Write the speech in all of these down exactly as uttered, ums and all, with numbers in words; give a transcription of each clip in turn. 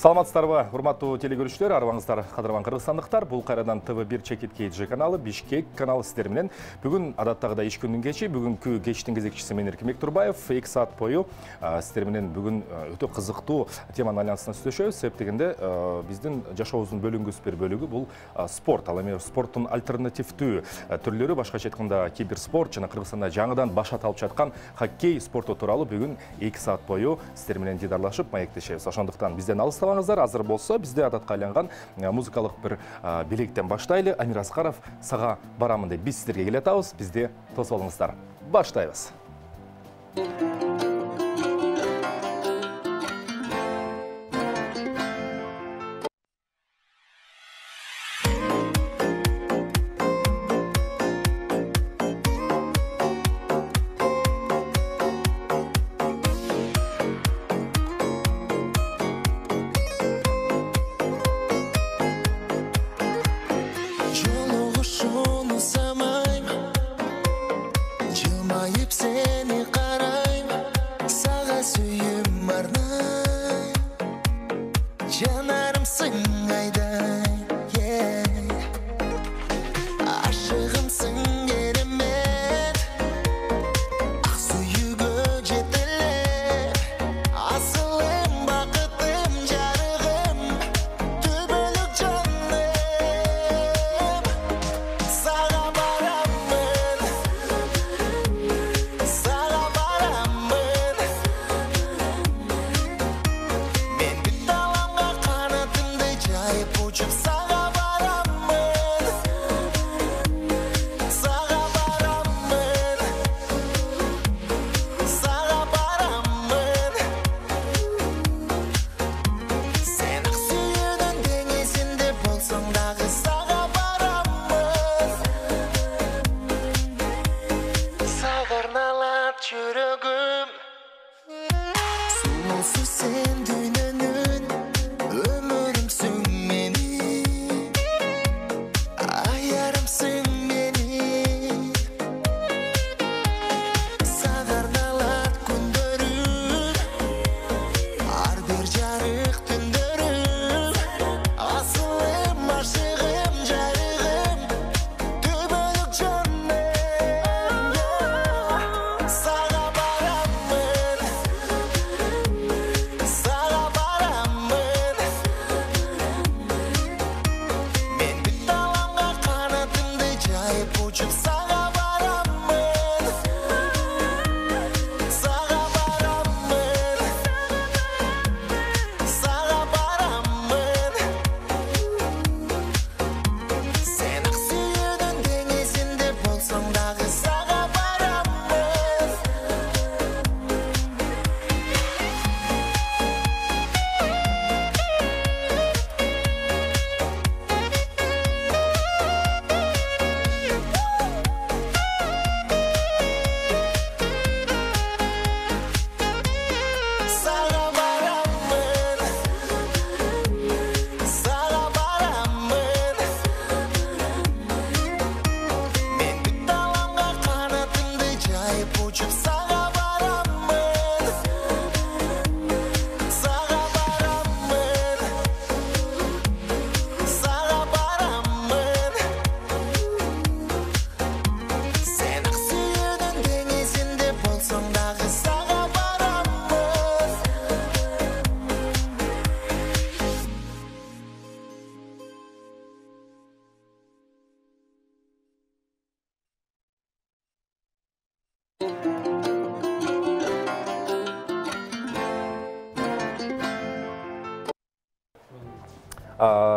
Саламатсыздарбы, урматтуу телекөрүүчүлөр, арыбаңыздар кадырман кыргызстандыктар. Бул кайрадан Т В бир Чекит Кейджи каналы, Бишкек каналы сиздер менен. Бүгүн адаттагыдай иш күнүнүн кечи, бүгүнкү кечтин кезекчиси мен Эркинбек Турбаев. эки саат бою сиздер менен бүгүн өтө кызыктуу теманын айланасында сүйлөшөбүз. Себеп дегенде биздин жашообуздун бөлүнгүс бир бөлүгү бул спорт. Ал эми спорттун альтернативдүү түрлөрү, башкача айтканда киберспорт жана Кыргызстанда жаңыдан баш алып жаткан хоккей спорту тууралуу бүгүн эки саат бою сиздер менен дидарлашып маектешебиз. Ошондуктан бизден алыстабаңыздар. Азыр болсо бизде адатка айланган музыкалык бир белектен баштайлы. Амир Аскаров сага барамын деп биз сиздерге келе атабыз. Бизде тосуп алыңыздар. Баштайбыз.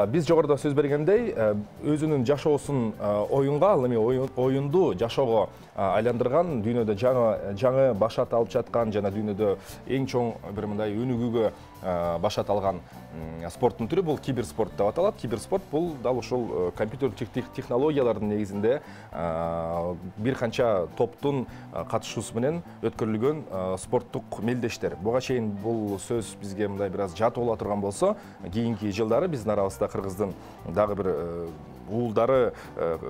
Биз жогоруда сөз бергендей, өзүнүн жашоосун оюнга, ал эми оюнду жашоого айландырган, дүйнөдө жаңы жаңы башат алып жаткан жана дүйнөдө эң чоң бир мындай өнүгүүгө башат алган спорттун түрү бул киберспорт деп аталат. Киберспорт бул дал ушул компьютерлик технологиялардын негизинде бир канча топтун катышуусу менен өткөрүлгөн спорттук мелдештер. Буга чейин бул сөз бизге мындай бир аз жат боло турган болсо, кийинки жылдары биздин арабызда Кыргыздын дагы бир уулдары,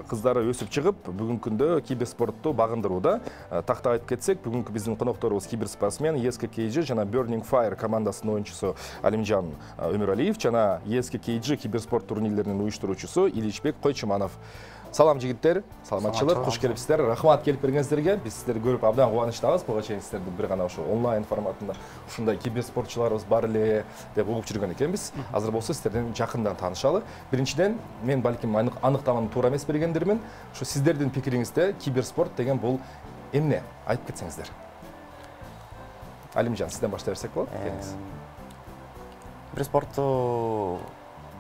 кыздары өсүп чыгып, бүгүнкү күндө киберспортту багындырууда. Такта айтып кетсек, бүгүнкү биздин конокторубуз киберспортсмен, и эс ка кей джи жана Burning Fire командасынын оюнчусу Алимжан Өмүралиев жана и эс ка кей джи киберспорт турнирлеринин уюштуруучусу Иличбек Койчуманов. Салам жигиттер, саламатчылык, куш келипсиздер. Рахмат келип бергениңиздерге. Биз сиздерди көрүп абдан кубанычтабыз. Буга чейин сиздерди бир гана ошо онлайн форматында ушундай киберспортчуларыбыз бар эле деп угуп жүргөн экенбиз. Азыр болсо сиздерден жакындан таанышалы. Биринчиден, мен балким аныктаманы туура эмес бергендирмин. Ошо сиздердин пикириңизде киберспорт деген бул эмне? Айтып кетсеңиздер. Алимжан, сизден баштай берсек болот. Келиңиз. Киберспортту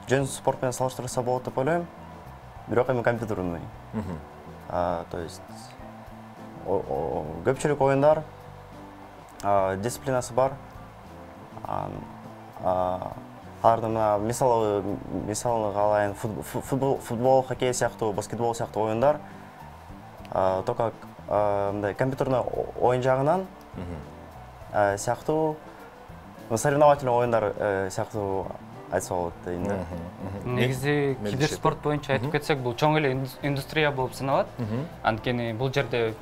жөн спорт менен салыштырса болот деп ойлойм. Бирок эми компьютерный. То есть көпчүлүк оюндар дисциплинасы бар. Алардын мына мисалы мисалын алайын, футбол, хоккей сыяктуу, баскетбол сыяктуу оюндар только мындай компьютерный оюн жагынан сыяктуу соревновательный оюндар сыяктуу айтса болот дейм да. Негизи киберспорт боюнча айтып кетсек, бул чоң эле индустрия болуп саналат. Анткени бул жерде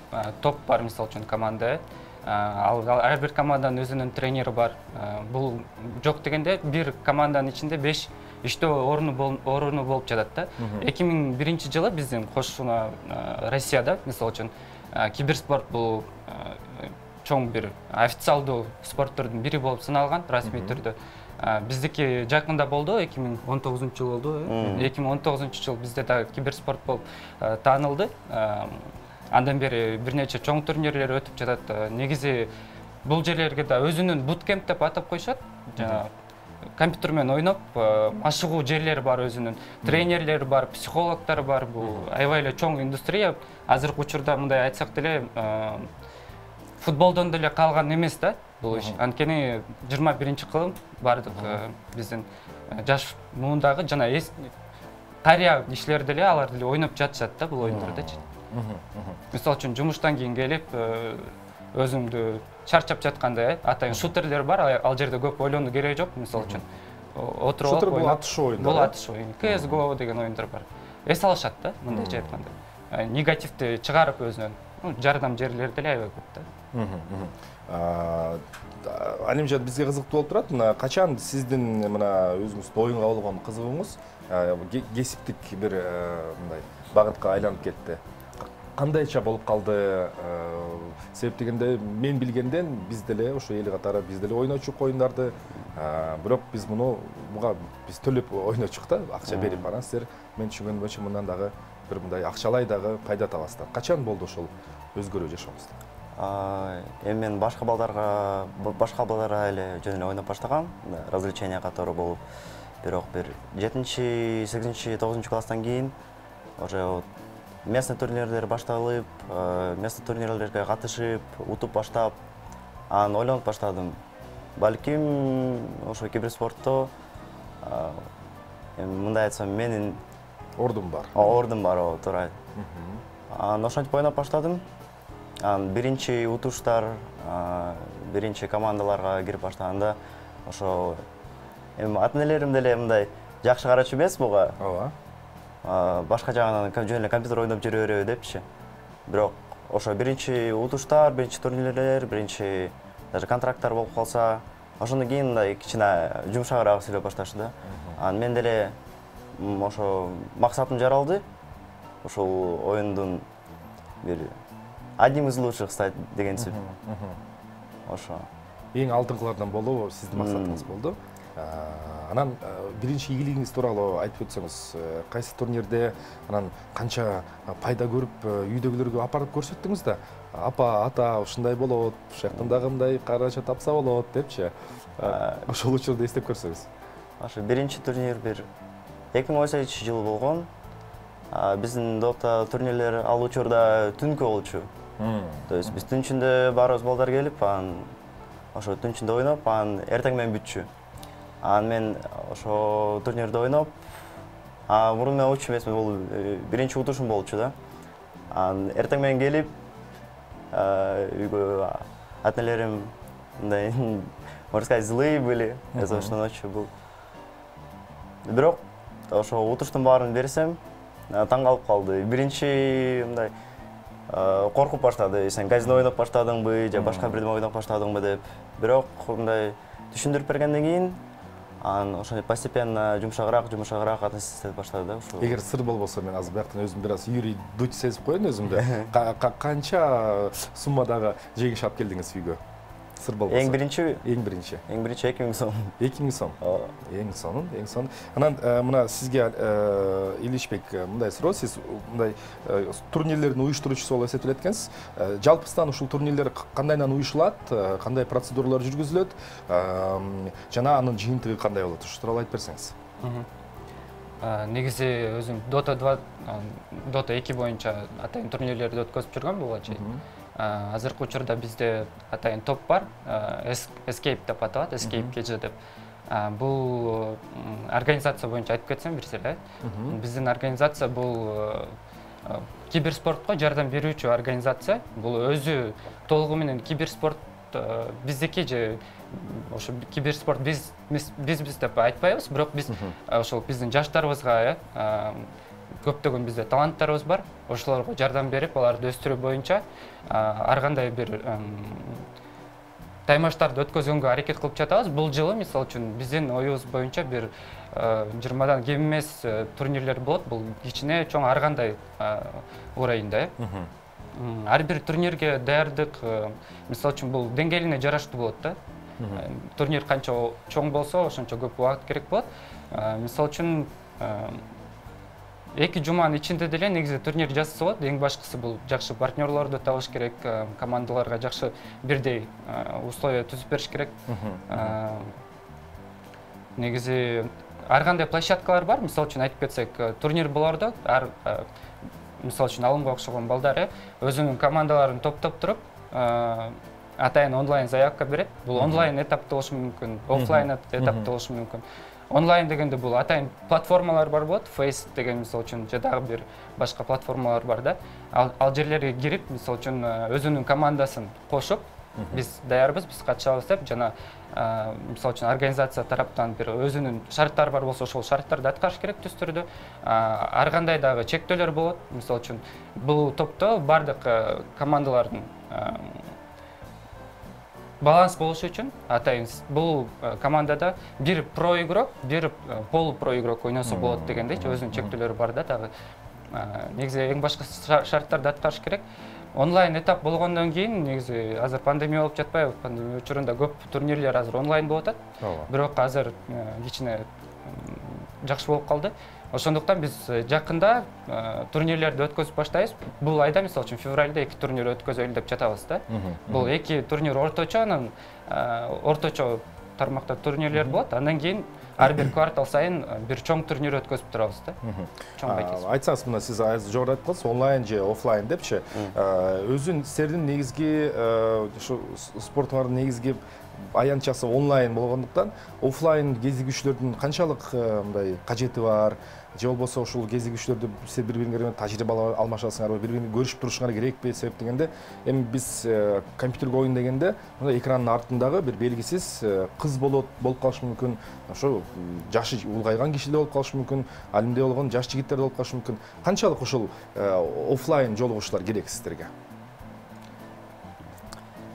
топ бар, мисалы үчүн команда. Ал ар бир команданын өзүнүн тренери бар. Бул жок дегенде бир команданын ичинде беш иштөө орну орну болуп жатат да. эки миң биринчи жылы биздин кошуна Россияда, мисалы үчүн, киберспорт бул чоң бир официалдуу спорт түрүнүн бири болуп саналган, расмий түрдө. Биздики жакында болду, эки миң он тогузунчу жыл болду. эки миң он тогузунчу жыл бизде да киберспорт болуп таанылды. Андан бери бир нече чоң турнирлер өтүп жатат. Негизи бул жерлерге да өзүнүн буткемп деп атап коюшат. Жана компьютер менен ойноп, машыгуу жерлери бар, өзүнүн тренерлери бар, психологдору бар. Бул аябай эле чоң индустрия. Азыркы учурда мындай айтсак деле футболдон деле калган эмес да бул иш. Анткени жыйырма биринчи кылым бардык биздин жаш муундагы жана карыя кишилер деле алар деле ойноп жатышат да бул оюндардычы. Мисалы үчүн жумуштан кийин келип өзүңдү чарчап жатканда атайын шутерлер бар, ал жерде көп ойлонуу кереги жок. Мисалы үчүн отуруп шутер бул атышуу оюндар. Бул атышуу оюн. си эс го деген оюндар бар. Эс алышат да, мындайча айтканда. Негативди чыгарып өзүнөн жардам жерлери деле аябай көп да. Алимжан, бизге кызыктуу болуп турат. Мына качан сиздин мына өзүңүздүн оюнга болгон кызыгууңуз кесиптик бир мындай багытка айланып кетти? Кандайча болуп калды? Себеп дегенде мен билгенден биз деле ошо эл катары биз деле ойночук оюндарды, бирок биз муну буга биз төлөп ойночук да, акча берип. Анан силер мен түшүнгөнүм боюнча мындан дагы бир мындай акчалай дагы пайда табасыздар. Качан болду ошол өзгөрүү жашооңузда? Эми мен башка балдарга башка балдарга эле жөн эле ойноп баштагам, развлечение катары болуп. Бирок бир жетинчи, сегизинчи, тогузунчу класстан кийин уже местный турнирлер башталып, местный турнирлерге катышып, утуп баштап, анан ойлонуп баштадым. Балким ошо киберспортто мындай айтсам, менин ордум бар. Ордум бар, туура. Анан ошентип ойноп баштадым. Анан биринчи утуштар, биринчи командаларга кирип баштаганда ошо эми ата-энелерим деле мындай жакшы карачу эмес буга. Ооба. Башка жагынан жөн эле компьютер ойноп жүрө береби депчи. Бирок ошо биринчи утуштар, биринчи турнирлер, биринчи даже контракттар болуп калса, ошондон кийин мындай кичине жумшагыраак сүйлөп башташты да. Анан мен деле ошо максатым жаралды. Ошол оюндун бир одним из лучших стать дегенсип. Ошо. Эң алдыңкылардан болуу сиздин максатыңыз болду. Анан биринчи ийгилигиңиз тууралуу айтып өтсөңүз, кайсы турнирде анан канча пайда көрүп, үйдөгүлөргө апарып көрсөттүңүз да? Апа, ата, ушундай болот, ушул жактан дагы мындай каражат тапса болот депчи. Ошол учурду эстеп көрсөңүз. Ошо биринчи турнир бир эки миң он сегизинчи жылы болгон. Биздин допта турнирлер ал учурда түнкү болчу. То есть биз түн ичинде баарыбыз балдар келип, анан ошо түн ичинде ойноп, анан эртең менен бүтчү. Анан мен ошо турнирде ойноп, мурун мен уччу эмесмин, бул биринчи утушум болчу да. Анан эртең менен келип, үйгө ата-энелерим мындай, можно сказать, злые были из-за ошол ночью был. Бирок ошо утуштун баарын берсем, таң калып калды. Биринчи мындай коркуп баштады. Сен казино ойноп баштадыңбы же башка бирдеме ойноп баштадыңбы деп. Бирок мындай түшүндүрүп бергенден кийин анан ошондой постепенно жумшагыраак, жумшагыраак относиться ете баштады да ушул. Эгер сыр болбосо мен азыр бияктан өзүм бир аз Юрий Дудь сезип коеюн өзүмдү. Канча суммадагы жеңиш алып келдиңиз үйгө? Сыр болбосо. Эң биринчи, эң биринчи. эң биринчи эки миң сом. эки миң сом. Эң сонун, эң сонун. Анан мына сизге Иличбек мындай суроо, сиз мындай турнирлердин уюштуруучусу болуп эсептелет экенсиз. Жалпысынан ушул турнирлер кандайдан уюшулат, кандай процедуралар жүргүзүлөт, жана анын жыйынтыгы кандай болот? Ушул тууралуу айтып берсеңиз. Негизи өзүм Dota два, Dota эки боюнча атайын турнирлерди өткөзүп жүргөм буга чейин. Азыркы учурда бизде атайын топ бар, Escape деп аталат, Escape кей джи деп. Бул организация боюнча айтып кетсем бир сире. Биздин организация бул киберспортко жардам берүүчү организация. Бул өзү толугу менен киберспорт биздики же ошо киберспорт биз биз деп айтпайбыз, бирок биз ошол биздин жаштарыбызга көптөгөн бизде таланттарыбыз бар. Ошолорго жардам берип, аларды өстүрүү боюнча ар кандай бир таймаштарды өткөзгөнгө аракет кылып жатабыз. Бул жылы мисалы үчүн биздин оюбуз боюнча бир жыйырмадан кем эмес турнирлер болот. Бул кичине чоң ар кандай уровеньде. Ар бир турнирге даярдык мисалы үчүн бул деңгээлине жараштуу болот да. Турнир канча чоң болсо, ошончо көп убакыт керек болот. Мисалы үчүн эки жуманын ичинде деле негизи турнир жасаса болот. Эң башкысы бул жакшы партнерлорду табыш керек, командаларга жакшы бирдей условия түзүп бериш керек. Негизи ар кандай площадкалар бар. Мисалы үчүн айтып кетсек, турнир болордо ар мисалы үчүн алымга окшогон балдар өзүнүн командаларын топтоп туруп, атайын онлайн заявка берет. Бул онлайн этапта болушу мүмкүн, офлайн этапта болушу мүмкүн. Онлайн дегенде бул атайын платформалар бар болот, Face деген мисалы үчүн же дагы бир башка платформалар бар да. Ал жерлерге кирип, мисалы үчүн өзүнүн командасын кошуп, биз даярбыз, биз катышабыз деп жана мисалы үчүн организация тараптан бир өзүнүн шарттары бар болсо, ошол шарттарды аткарыш керек түз түрдө. Ар кандай дагы чектөөлөр болот. Мисалы үчүн бул топто бардык командалардын баланс болушу үчүн атайын бул командада бир про игрок, бир полу про игрок ойносо болот дегендейчи, өзүнүн чектөөлөрү бар да дагы. Негизи эң башкы шарттарды аткарыш керек. Онлайн этап болгондон кийин негизи азыр пандемия болуп жатпайбы? Пандемия учурунда көп турнирлер азыр онлайн болуп атат. Бирок азыр кичине жакшы болуп калды. Ошондуктан биз жакында турнирлерди өткөзүп баштайбыз. Бул айда мисалы үчүн февралда эки турнир өткөзөлү деп жатабыз да. Бул эки турнир орточо, анан орточо тармакта турнирлер болот. Андан кийин ар бир квартал сайын бир чоң турнир өткөзүп турабыз да. Чоң байкес. Айтсаңыз, мына сиз азыр жогору айтып калдыңыз, онлайн же офлайн депчи. Өзүн силердин негизги ушу спортуңардын негизги аянтчасы онлайн болгондуктан офлайн кезигүүчүлөрдүн канчалык мындай кажети бар, же болбосо ушул кезигүүчүлөрдү силер бири-бириңер менен тажрыйба алмашасыңарбы, бири-бириңи көрүшүп турушуңар керекпи? Себеп дегенде, эми биз компьютерге ойын дегенде, мындай экранын артындагы бир белгисиз кыз болот, болуп калышы мүмкүн, ошо жашы улгайган кишилер болуп калышы мүмкүн, алимде болгон жаш жигиттер болуп калышы мүмкүн. Канчалык ушул офлайн жолугушуулар керек сиздерге?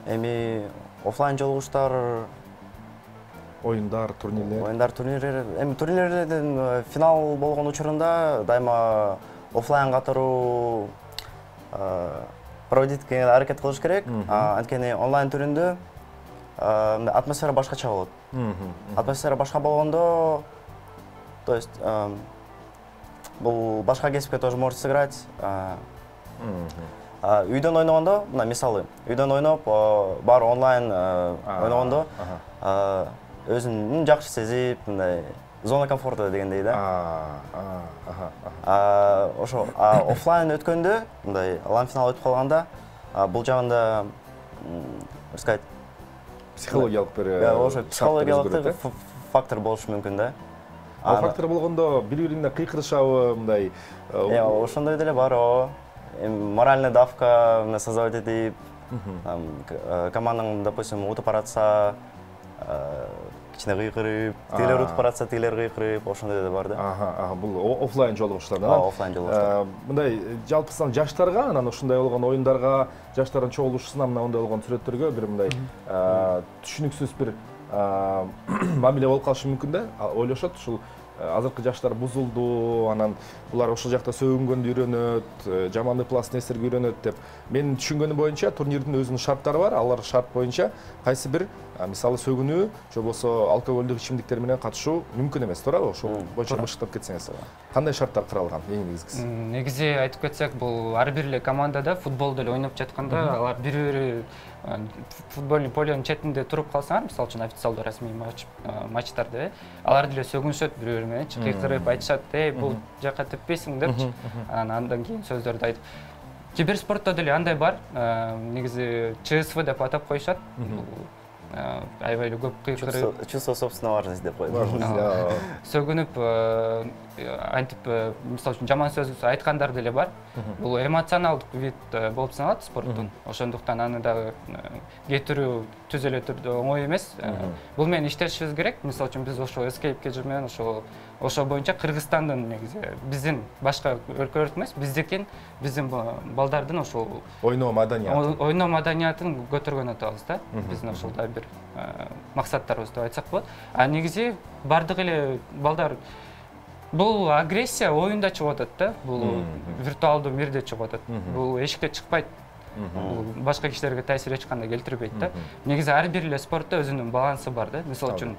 Эми офлайн жолугуштар, оюндар, турнирлер. Оюндар, турнирлер. Эми турнирлердин финал болгон учурунда дайыма офлайн катаруу проводитке аракет кылыш керек. Анткени онлайн түрүндө атмосфера башкача болот. Атмосфера башка болгондо, то есть бул башка кесипке тоже может сыграть. Үйдөн ойногондо, мына мисалы, үйдөн ойноп, бар онлайн ойногондо өзүн жакшы сезип, мындай зона комфорта дегендей да. Ошо офлайн өткөндө, мындай лан финал өтүп калганда, бул жагында, как сказать, психологиялык бир ошо психологиялык фактор болушу мүмкүн да. Ал фактор болгондо бири-бирине кыйкырышабы, мындай? Ошондой деле бар, о. Моральная давка создавать этип, командаң, допустим, утуп баратса, кичине кыйкырып, тигилер утуп баратса тигилер кыйкырып, ошондой да бар да. Ага, бул офлайн жолугушуулар. Ооба, офлайн жолугушуулар. Мындай жалпысынан жаштарга, анан ушундай болгон оюндарга, жаштардын чогулушусуна мындай болгон сүрөттөргө бир мындай түшүнүксүз бир мамиле болуп калышы мүмкүн да. Ойлошот ушул азыркы жаштар бузулду, анан булар ошол жакта сөгүнгөндү үйрөнөт, жаман ыплас нерселерге үйрөнөт деп. Менин түшүнгөнүм боюнча турнирдин өзүнүн шарттары бар. Алар шарт боюнча кайсы бир мисалы сөгүнүү же болбосо алкоголдук ичимдиктер менен катышуу мүмкүн эмес, туурабы? Ошол боюнча бышыктап кетсеңиз. Кандай шарттар каралган эң негизгиси? Негизи айтып кетсек, бул ар бир эле командада футболду эле ойноп жатканда, алар бири-бири футбольный полянын четинде туруп калсаңар, мисалы үчүн официалдуу расмий матчтарда, алар деле сөгүнүшөт бири-бири менен, кыйкырып айтышат, "Эй, бул жака теппейсиң" депчи. Андан кийин сөздөрдү айтып. Киберспортто деле андай бар. Негизи ЧСВ деп атап коюшат. Аябай эле көп кыйкырып, чувство собственной важности деп коет. Сөгүнүп, антип, мисалы үчүн жаман сөз айткандар деле бар. Бул эмоционалдык вид болуп саналат спорттун. Ошондуктан аны дагы кетирүү түз эле түрдө оңой эмес. Бул менен иштешибиз керек. Мисалы үчүн биз ошо Escape Cage менен ошо ошо боюнча Кыргызстандын негизи биздин башка өлкөлөрдүн эмес, биздикин, биздин балдардын ошол ойноо маданиятын ойноо маданиятын көтөргөн атабыз да. Биздин ошол да бир максаттарыбыз деп айтсак болот. А негизи бардык эле балдар бул агрессия оюнда чыгып атат да. Бул виртуалдуу мирде чыгып атат. Бул эшикте чыкпайт. Башка кишилерге таасир эч кандай келтирбейт да. Негизи ар бир эле спортто өзүнүн балансы бар да. Мисалы үчүн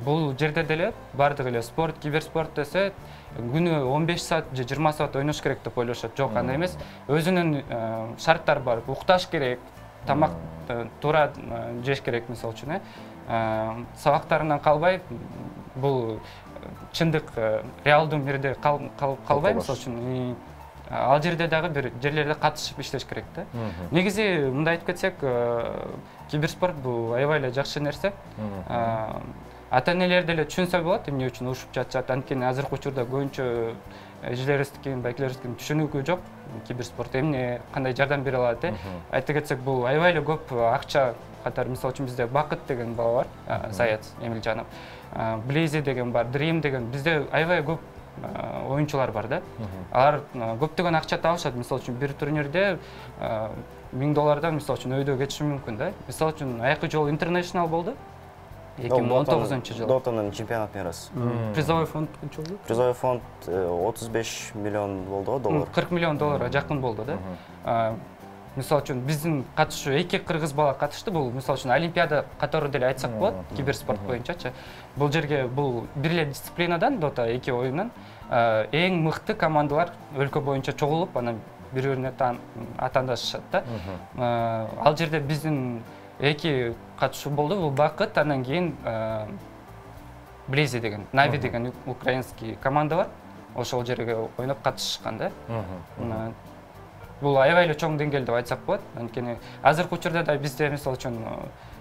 бул жерде деле бардык эле спорт, киберспорт десе күнү он беш саат же жыйырма саат ойнош керек деп ойлошот. Жок, андай эмес. Өзүнүн шарттары бар. Укташ керек, тамак туура жеш керек, мисалы үчүн, э. Сабактарынан калбай, бул чындык реалдуу мирде калбай, мисалы үчүн ал жерде дагы бир жерлерде катышып иштеш керек да. Негизи мындай айтып кетсек, киберспорт бул аябай эле жакшы нерсе. Ата-энелер деле түшүнсө болот, эмне үчүн урушуп жатышат. Анткени азыркы учурда көбүнчө эжелерибиздин, байкелерибиздин түшүнүгү жок. Киберспорт эмне, кандай жардам бере алат деп. Айтып кетсек, бул аябай эле көп акча катары. Мисалы үчүн бизде Бакыт деген бала бар, Саят Эмилжанов. Blaze деген бар, Dream деген. Бизде аябай көп оюнчулар бар да. Алар көптөгөн акча табышат. Мисалы үчүн бир турнирде миң доллардан мисалы үчүн өйдө кетиши мүмкүн да. Мисалы үчүн айкы жолу International болду. эки миң он тогузунчу жылы. Дотанын чемпионат мирасы. Призовой фонд канча болду? Призовой фонд отуз беш миллион болду го, доллар. кырк миллион долларга жакын болду да. Мисалы үчүн биздин катышуу эки кыргыз бала катышты. Бул мисалы үчүн олимпиада катары деле айтсак болот, киберспорт боюнчачы. Бул жерге бул бир эле дисциплинадан, Дота эки оюндан эң мыкты командалар өлкө боюнча чогулуп, анан бири-бирине атаандашышат да. Ал жерде биздин эки катышуу болду. Бул Бакыт, андан кийин Blaze деген, Нави деген украинский команда бар. Ошол жерге ойноп катышкан да. Бул аябай эле чоң деңгээл деп айтсак болот. Анткени азыркы учурда да бизде мисалы үчүн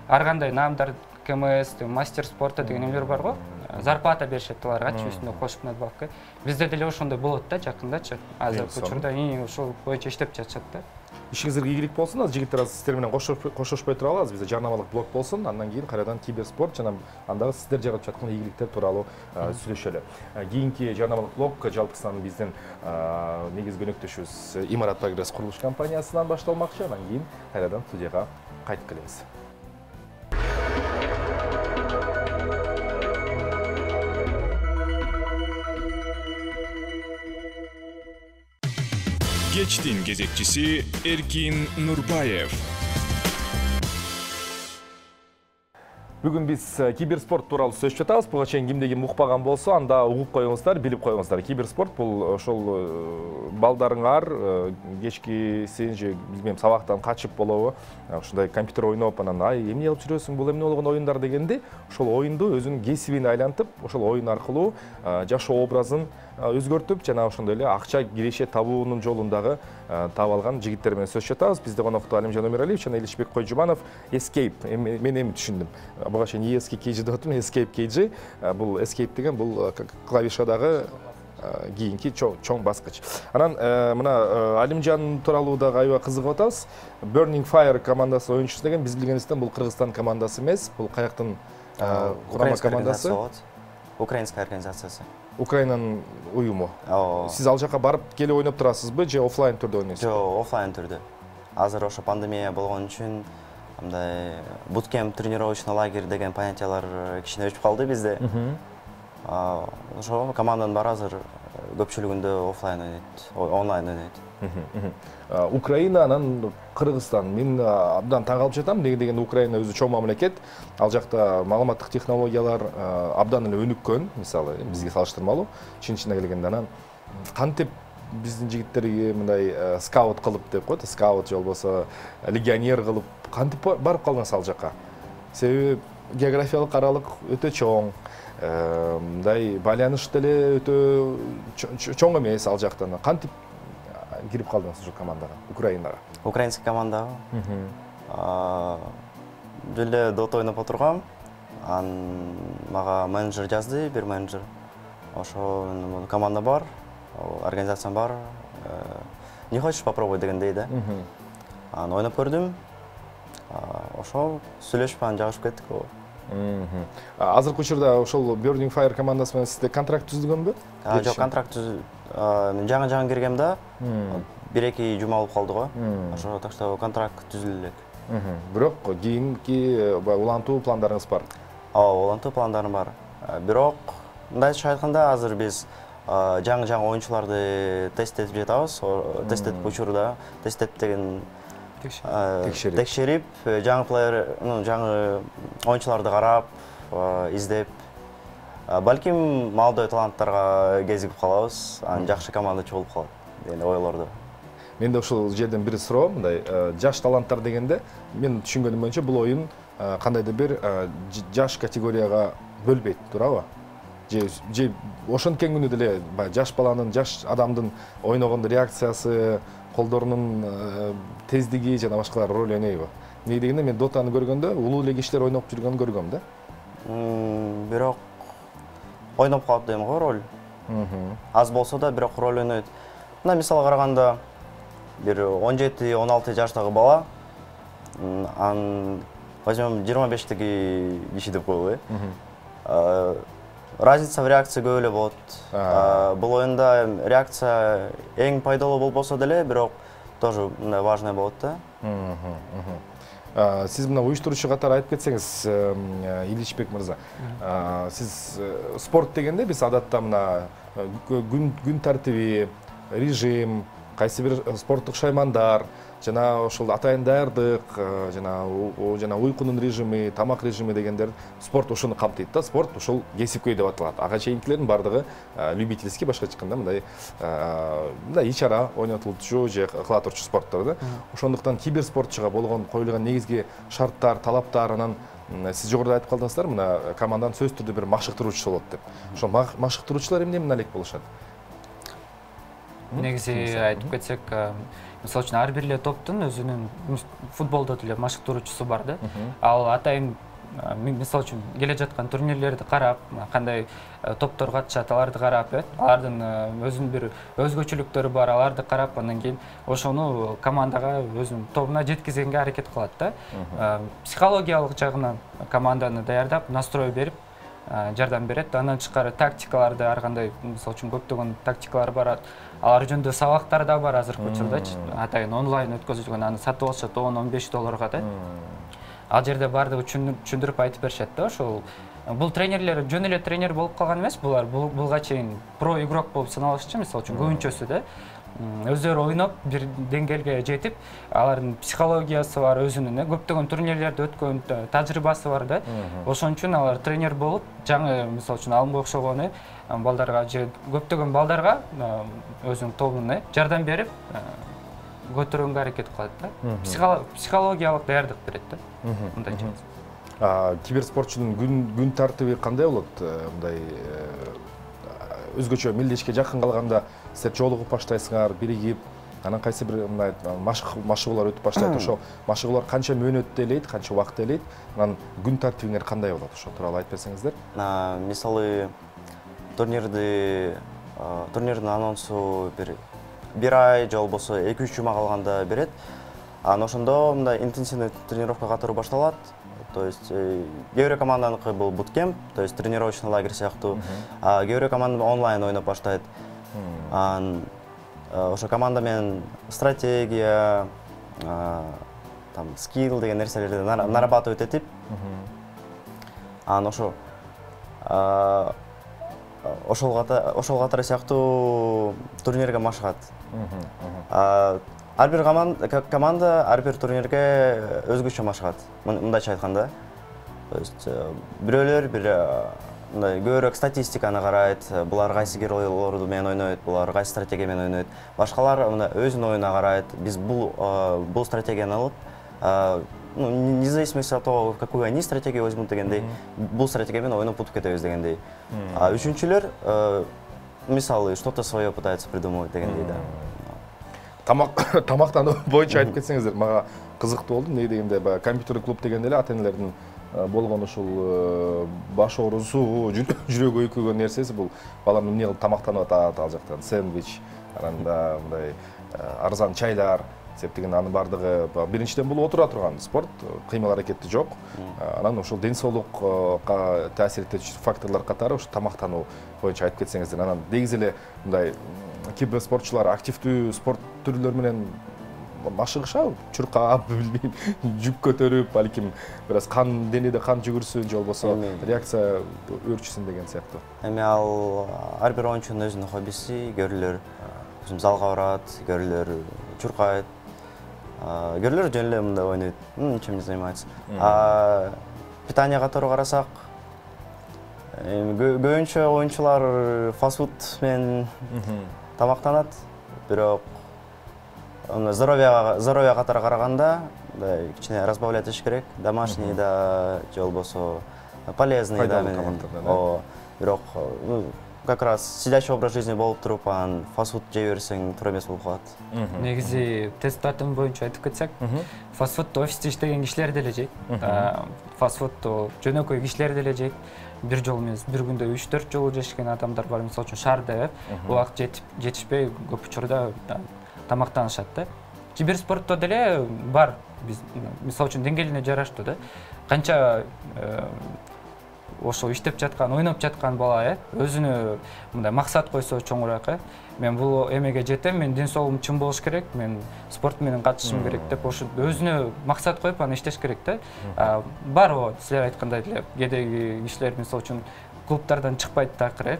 ар кандай наамдар, КМС, мастер спорта деген эмелер бар го. Зарплата беришет аларга, үстүнө кошуп надбавка. Бизде деле ошондой болот да жакындачы. Азыркы учурда ошол боюнча иштеп жатышат да. Ишиңиздерге ийгилик болсун. Азыр жигиттер сиздер менен коштошпой туралы, бизде жарнамалык блок болсун. Андан кийин кайрадан киберспорт жана андагы сиздер жаратып жаткан ийгиликтер тууралуу сүйлөшөлү. Кийинки жарнамалык блок жалпысынан биздин негизги өнөктөшүбүз Имарат Прогресс курулуш компаниясынан башталмакчы. Андан кийин кайрадан студияга кайтып келебиз. Кечтин кезекчиси Эркин Нурбаев. Бүгүн биз киберспорт тууралуу сүйлөшүп жатабыз. Буга чейин кимде ким укпаган болсо, анда угуп коюңуздар, билип коюңуздар. Киберспорт бул ошол балдарыңар кечки сен же билбейм сабактан качып болобу, ушундай компьютер ойноп, анан ай эмне кылып жүрөсүң, бул эмне болгон оюндар дегенде, ошол оюнду өзүнүн кесибине айлантып, ошол оюн аркылуу жашоо образын өзгөртүп, жана ошондой эле акча киреше табуунун жолундагы таап алган жигиттер менен сөйлөшүп жатабыз. Бизде конокто Алимжан Өмүралиев жана Илишбек Койжубанов. Escape, мен эми түшүндүм. Буга чейин и эс кей кей джи деп атам, Escape кей джи. Бул Escape деген бул клавишадагы кийинки чоң баскыч. Анан мына Алимжан тууралуу дагы аябай кызыгып атабыз. Burning Fire командасы оюнчусу деген биз билгенибизден бул Кыргызстан командасы эмес, бул каяктын курама командасы болот. Украинская организациясы. Украинанын уюму. Ооба. Сиз ал жака барып келип ойноп турасызбы же офлайн түрдө ойнойсузбу? Жок, офлайн түрдө. Азыр ошо пандемия болгон үчүн мындай буткемп, тренировочный лагерь деген понятиялар кичине өчүп калды бизде. Ошо команданын баары азыр көпчүлүгүндө офлайн ойнойт, онлайн ойнойт. Украина анан Кыргызстан. Мен абдан таң калып жатам, неге дегенде Украина өзү чоң мамлекет. Ал жакта маалыматтык технологиялар абдан эле өнүккөн, мисалы, бизге салыштырмалуу. Чын-чынына келгенде анан кантип биздин жигиттерге мындай скаут кылып деп коет, скаут же болбосо легионер кылып кантип барып калдыңыз ал жака? Себеби географиялык аралык өтө чоң. Мындай байланыш деле өтө чоң эмес ал жактан. Кантип кирип калдыңыз ошо командага, Украинага? Украинский командага. Деле дот ойноп отургам. Ан мага менеджер жазды, бир менеджер. Ошо команда бар, организация бар. Не хочешь попробовать дегендей да. Аны ойноп көрдүм. Ошо сүйлөшүп анан жагышып кеттик. Азыркы учурда ошол Burning Fire командасы менен сизде контракт түзүлгөнбү? Жок, контракт түз мен жаңы-жаңы киргем да. бир-эки жума болуп калды го. Ошо так что контракт түзүлө элек. Бирок кийинки улантуу пландарыңыз бар. Ооба, улантуу пландарым бар. Бирок мындайча айтканда азыр биз жаңы-жаңы оюнчуларды тесттетип жатабыз. Тесттетип учурда, тесттетип деген текшерип, жаңы плеер, жаңы оюнчуларды карап, издеп, балким молодой таланттарга кезигип калабыз, анан жакшы команда болуп калат деген ойлордо. Менде ушул жерден бир суроо, мындай жаш таланттар дегенде, мен түшүнгөнүм боюнча бул оюн кандайдыр бир жаш категорияга бөлбөйт, туурабы? Же же ошенткен күнү деле жаш баланын, жаш адамдын ойногондо реакциясы, колдорунун тездиги жана башкалар роль ойнойбу? Эмне дегенде мен дотаны көргөндө улуу эле кишилер ойноп жүргөнүн көргөм да. Бирок ойноп калат дейм го роль. Аз болсо да бирок роль ойнойт. Мына мисалга караганда бир он жети он алты жаштагы бала, ан возьмем жыйырма бештеги киши деп коелу, э. Разница в реакции көп эле болот. Бул оюнда реакция эң пайдалуу болбосо деле, бирок тоже мындай важный болот да. Сиз мына уюштуруучу катары айтып кетсеңиз, Иличбек мырза, сиз спорт дегенде биз адатта мына күн тартиби, режим, кайсы бир спорттук шаймандар, жана ошол атайын даярдык, жана жана уйкунун режими, тамак режими дегендер спорт ошону камтыйт да. Спорт ошол кесипкөй деп аталат. Ага чейинкилердин бардыгы любительский, башкача айтканда мындай мындай ич-ара ойнотулчу же кыла турчу спорттор да. Ошондуктан киберспортчуга болгон коюлган негизги шарттар, талаптар, анан сиз жогоруда айтып калдыңыздар, мына команданын сөзсүз түрдө бир машыктыруучусу болот деп. Ошол машыктыруучулар эмне менен алек болушат? Негизи айтып кетсек, мисалы үчүн ар бир эле топтун өзүнүн футболдо деле машыктыруучусу бар да. Ал атайын мисалы үчүн келе жаткан турнирлерди карап, кандай топтор катышат, аларды карап, алардын өзүнүн бир өзгөчөлүктөрү бар, аларды карап, андан кийин ошону командага өзүнүн тобуна жеткизгенге аракет кылат да. Психологиялык жагынан команданы даярдап, настрой берип жардам берет. Андан тышкары тактикаларды ар кандай, мисалы үчүн көптөгөн тактикалар бар. Алар жөнүндө сабактар да бар азыркы учурдачы. Атайын онлайн өткөзүлгөн, аны сатып алышат он он беш долларга да. Ал жерде бардыгы түшүндүрүп айтып беришет да. Ошол бул тренерлер жөн эле тренер болуп калган эмес, булар булга чейин про игрок болуп саналышчы, мисалы үчүн көбүнчөсү да. Өздөрү ойноп бир деңгээлге жетип, алардын психологиясы бар, өзүнүн көптөгөн турнирлерде өткөн тажрыйбасы бар да. Ошон үчүн алар тренер болуп, жаңы мисалы үчүн алымга окшогон балдарга же көптөгөн балдарга өзүнүн тобуна жардам берип, көтөргөнгө аракет кылат да. Психологиялык даярдык берет да. Мындайча. Киберспортчунун күн тартиби кандай болот? Мындай өзгөчө мелдешке жакын калганда силер жолугуп баштайсыңар, биригип, анан кайсы бир мындай машыгуулар өтүп баштайт. Ошо машыгуулар канча мөөнөттө элейт, канча убакытта элейт? Анан күн тартибиңер кандай болот? Ошо тууралуу айтып берсеңиздер. Мисалы турнирди турнирдин анонсу бир бир ай же болбосо эки үч жума калганда берет. Анан ошондо мындай интенсивный тренировка катары башталат. То есть кээ бир команданыкы бул буткемп, то есть тренировочный лагерь сыяктуу, а кээ бир команда онлайн ойноп баштайт. Анан ошо команда менен стратегия, там скилл деген нерселерди нарабатывать этип, анан ошо ошол ошол катары сыяктуу турнирге машыгат. Ар бир команда ар бир турнирге өзгөчө машыгат. Мындайча айтканда, то есть бирөөлөр бир мындай көбүрөөк статистиканы карайт, булар кайсы геройлорду менен ойнойт, булар кайсы стратегия менен ойнойт. Башкалар мындай өзүнүн оюна карайт. Биз бул бул стратегияны алып, ну, независимости от того, какую они стратегию возьмут дегендей, бул стратегия менен ойноп утуп кетебиз дегендей. А үчүнчүлөр мисалы что-то свое пытаются придумывать дегендей да. Тамак тамактануу боюнча айтып кетсеңиздер, мага кызыктуу болду. Эмне дегенде баягы компьютер клуб дегенде эле ата-энелердин болгон ушул баш оорусу, жүрөгү өйкөгөн нерсеси бул балам эмне кылып тамактанып атат ал жактан, сэндвич, анан да мындай арзан чайлар, септеген анын бардыгы биринчиден бул отура турган спорт, кыймыл аракети жок. Анан ошол ден соолукка таасир этүүчү факторлор катары ошо тамактануу боюнча айтып кетсеңиздер. Анан дегиз эле мындай кийбир спортчулар активдүү спорт түрлөрү менен машыгышабы, чуркап, билбейм, жүк көтөрүп, балким бир аз кан денеде кан жүгүрсүн, же болбосо реакция өөрчүсүн деген сыяктуу. Эми ал ар бир оюнчунун өзүнүн хоббиси, көрүлөр залга барат, көрүлөр чуркайт, көрүлөр жөн эле мындай ойнойт, ничем не занимается. А питание катары карасак, көбүнчө оюнчулар фастфуд менен тамактанат, бирок здоровьяга здоровья катары караганда мындай кичине разбавлять этиш керек, домашний да, же болбосо полезный да менен. Бирок как раз сидячий образ жизни болуп туруп, анан фастфуд жей берсең туура эмес болуп калат. Негизи тест тартым боюнча айтып кетсек, фастфуд офисте иштеген кишилер деле жейт. Фастфуд жөнөкөй кишилер деле жейт. Бир жолу эмес, бир күндө үч төрт жолу жешкен адамдар бар. Мисалы үчүн шаарда убакыт жетип жетишпей көп учурда тамактанышат да. Кибер спортто деле бар. Биз мисалы үчүн деңгээлине жараштуу да. Канча ошо иштеп жаткан, ойноп жаткан бала өзүнө мындай максат койсо чоңураак, мен бул эмеге жетем, мен ден соолугум чын болуш керек, мен спорт менен катышышым керек деп ошо өзүнө максат коюп аны иштеш керек да. Бар о, силер айткандай эле, кээдеги кишилер мисалы үчүн клубтардан чыкпайт такыр,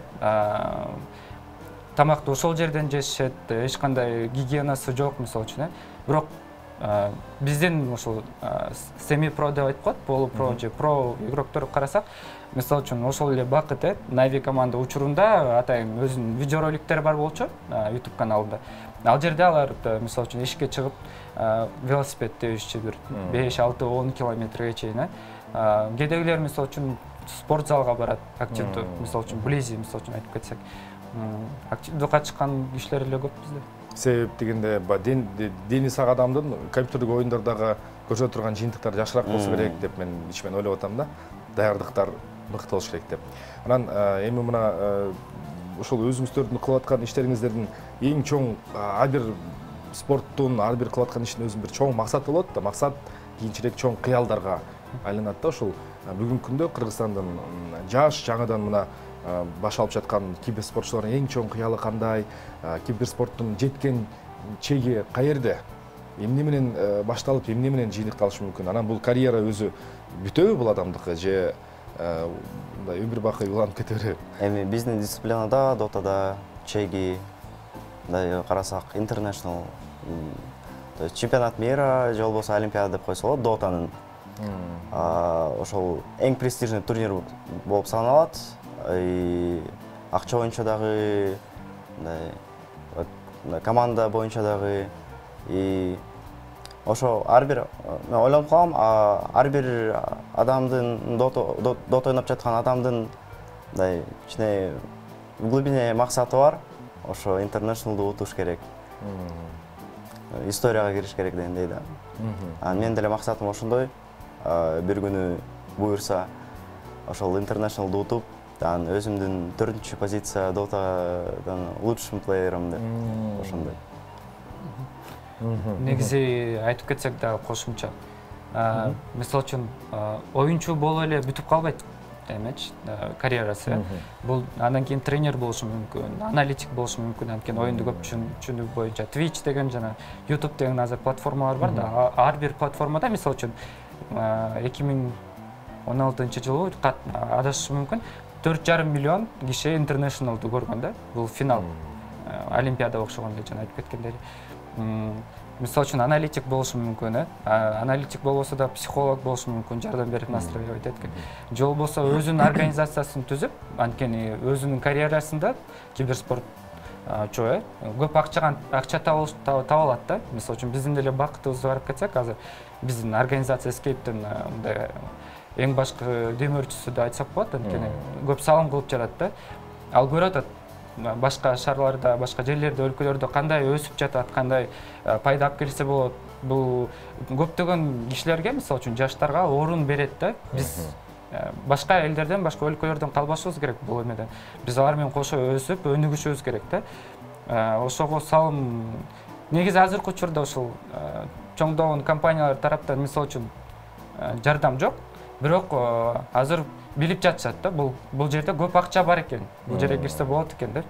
тамакты ошол жерден жешет, эч кандай гигиенасы жок мисалы үчүн, бирок биздин ошол семи про деп айтып коет, полу про же про игрокторду карасак, мисалы үчүн ошол эле Бакыт Нави команда учурунда атайын өзүнүн видеороликтери бар болчу YouTube каналында. Ал жерде алар мисалы үчүн эшикке чыгып велосипед тебишчи бир беш алты он километрге чейин. Кээдегилер мисалы үчүн спорт залга барат, активдүү, мисалы үчүн близи мисалы үчүн айтып кетсек, активдүү катышкан кишилер эле көп бизде. Себеп дегенде дени сак адамдын компьютердик оюндардагы көрсөтө турган жыйынтыктар жакшыраак болсо керек деп мен ичимен ойлоп атам да. Даярдыктар мыкты болуш керек деп. Анан эми мына ошол өзүңүздөрдүн кылып аткан иштериңиздердин эң чоң ар бир спорттун, ар бир кылып аткан иштин өзүнүн бир чоң максаты болот да. Максат кийинчерээк чоң кыялдарга айланат да. Ошол бүгүнкү күндө Кыргызстандын жаш жаңыдан мына баш алып жаткан кибер спортчулардын эң чоң кыялы кандай, кибер спорттун жеткен чеги каерде, эмне менен башталып, эмне менен жыйынтыкталышы мүмкүн? Анан бул карьера өзү бүтөбү бул адамдыкы же мындай өмүр бакый уланып кетеби? Эми биздин дисциплинада, дотада чеги мындай карасак international, то есть чемпионат мира же болбосо олимпиада деп койсо болот, дотанын. Ошол эң престижный турнир болуп саналат. Акча боюнча дагы, команда боюнча дагы, и ошо ар бир мен ойлонуп калам, ар бир адамдын дот ойноп жаткан адамдын мындай кичине в глубине максаты бар, ошо интернешналду утуш керек, историяга кириш керек дегендей да. Анан менин деле максатым ошондой, бир күнү буюрса ошол интернешналду утуп, анан өзүмдүн төртүнчү позиция дотадан лучшим плеерим деп ошондой. Негизи айтып кетсек дагы кошумча, Мисалы үчүн оюнчу болуп эле бүтүп калбайт эмечи карьерасы. Бул андан кийин тренер болушу мүмкүн, аналитик болушу мүмкүн, анткени оюнду көп түшүнүү боюнча Twitch деген жана YouTube деген азыр платформалар бар да. Ар бир платформада мисалы үчүн эки миң он алтынчы жылы адашышым мүмкүн төрт жарым миллион киши интернешналды көргөн да. Бул финал. Олимпиада окшогон эле жана айтып кеткендей. Мисалы үчүн аналитик болушу мүмкүн, э? Аналитик болбосо да психолог болушу мүмкүн, жардам берип настроивать эткен. Же болбосо өзүнүн организациясын түзүп, анткени өзүнүн карьерасында киберспорт чоо көп акча акча таба алат да. Мисалы үчүн биздин деле бакытыбызды карап кетсек, азыр биздин организация Escape'дин мындай эң башкы демөөрчүсү да айтсак болот, анткени көп салым кылып жатат да. Ал көрүп атат башка шаарларда, башка жерлерде, өлкөлөрдө кандай өсүп жатат, кандай пайда алып келсе болот. Бул көптөгөн кишилерге, мисалы үчүн жаштарга орун берет да. Биз башка элдерден, башка өлкөлөрдөн калбашыбыз керек бул эмеден. Биз алар менен кошо өсүп, өнүгүшүбүз керек да. Ошого салым негизи азыркы учурда ушул чоңдогон компаниялар тараптан мисалы үчүн жардам жок. Бирок азыр билип жатышат да, бул бул жерде көп акча бар экен. Бул жерге кирсе болот экен деп.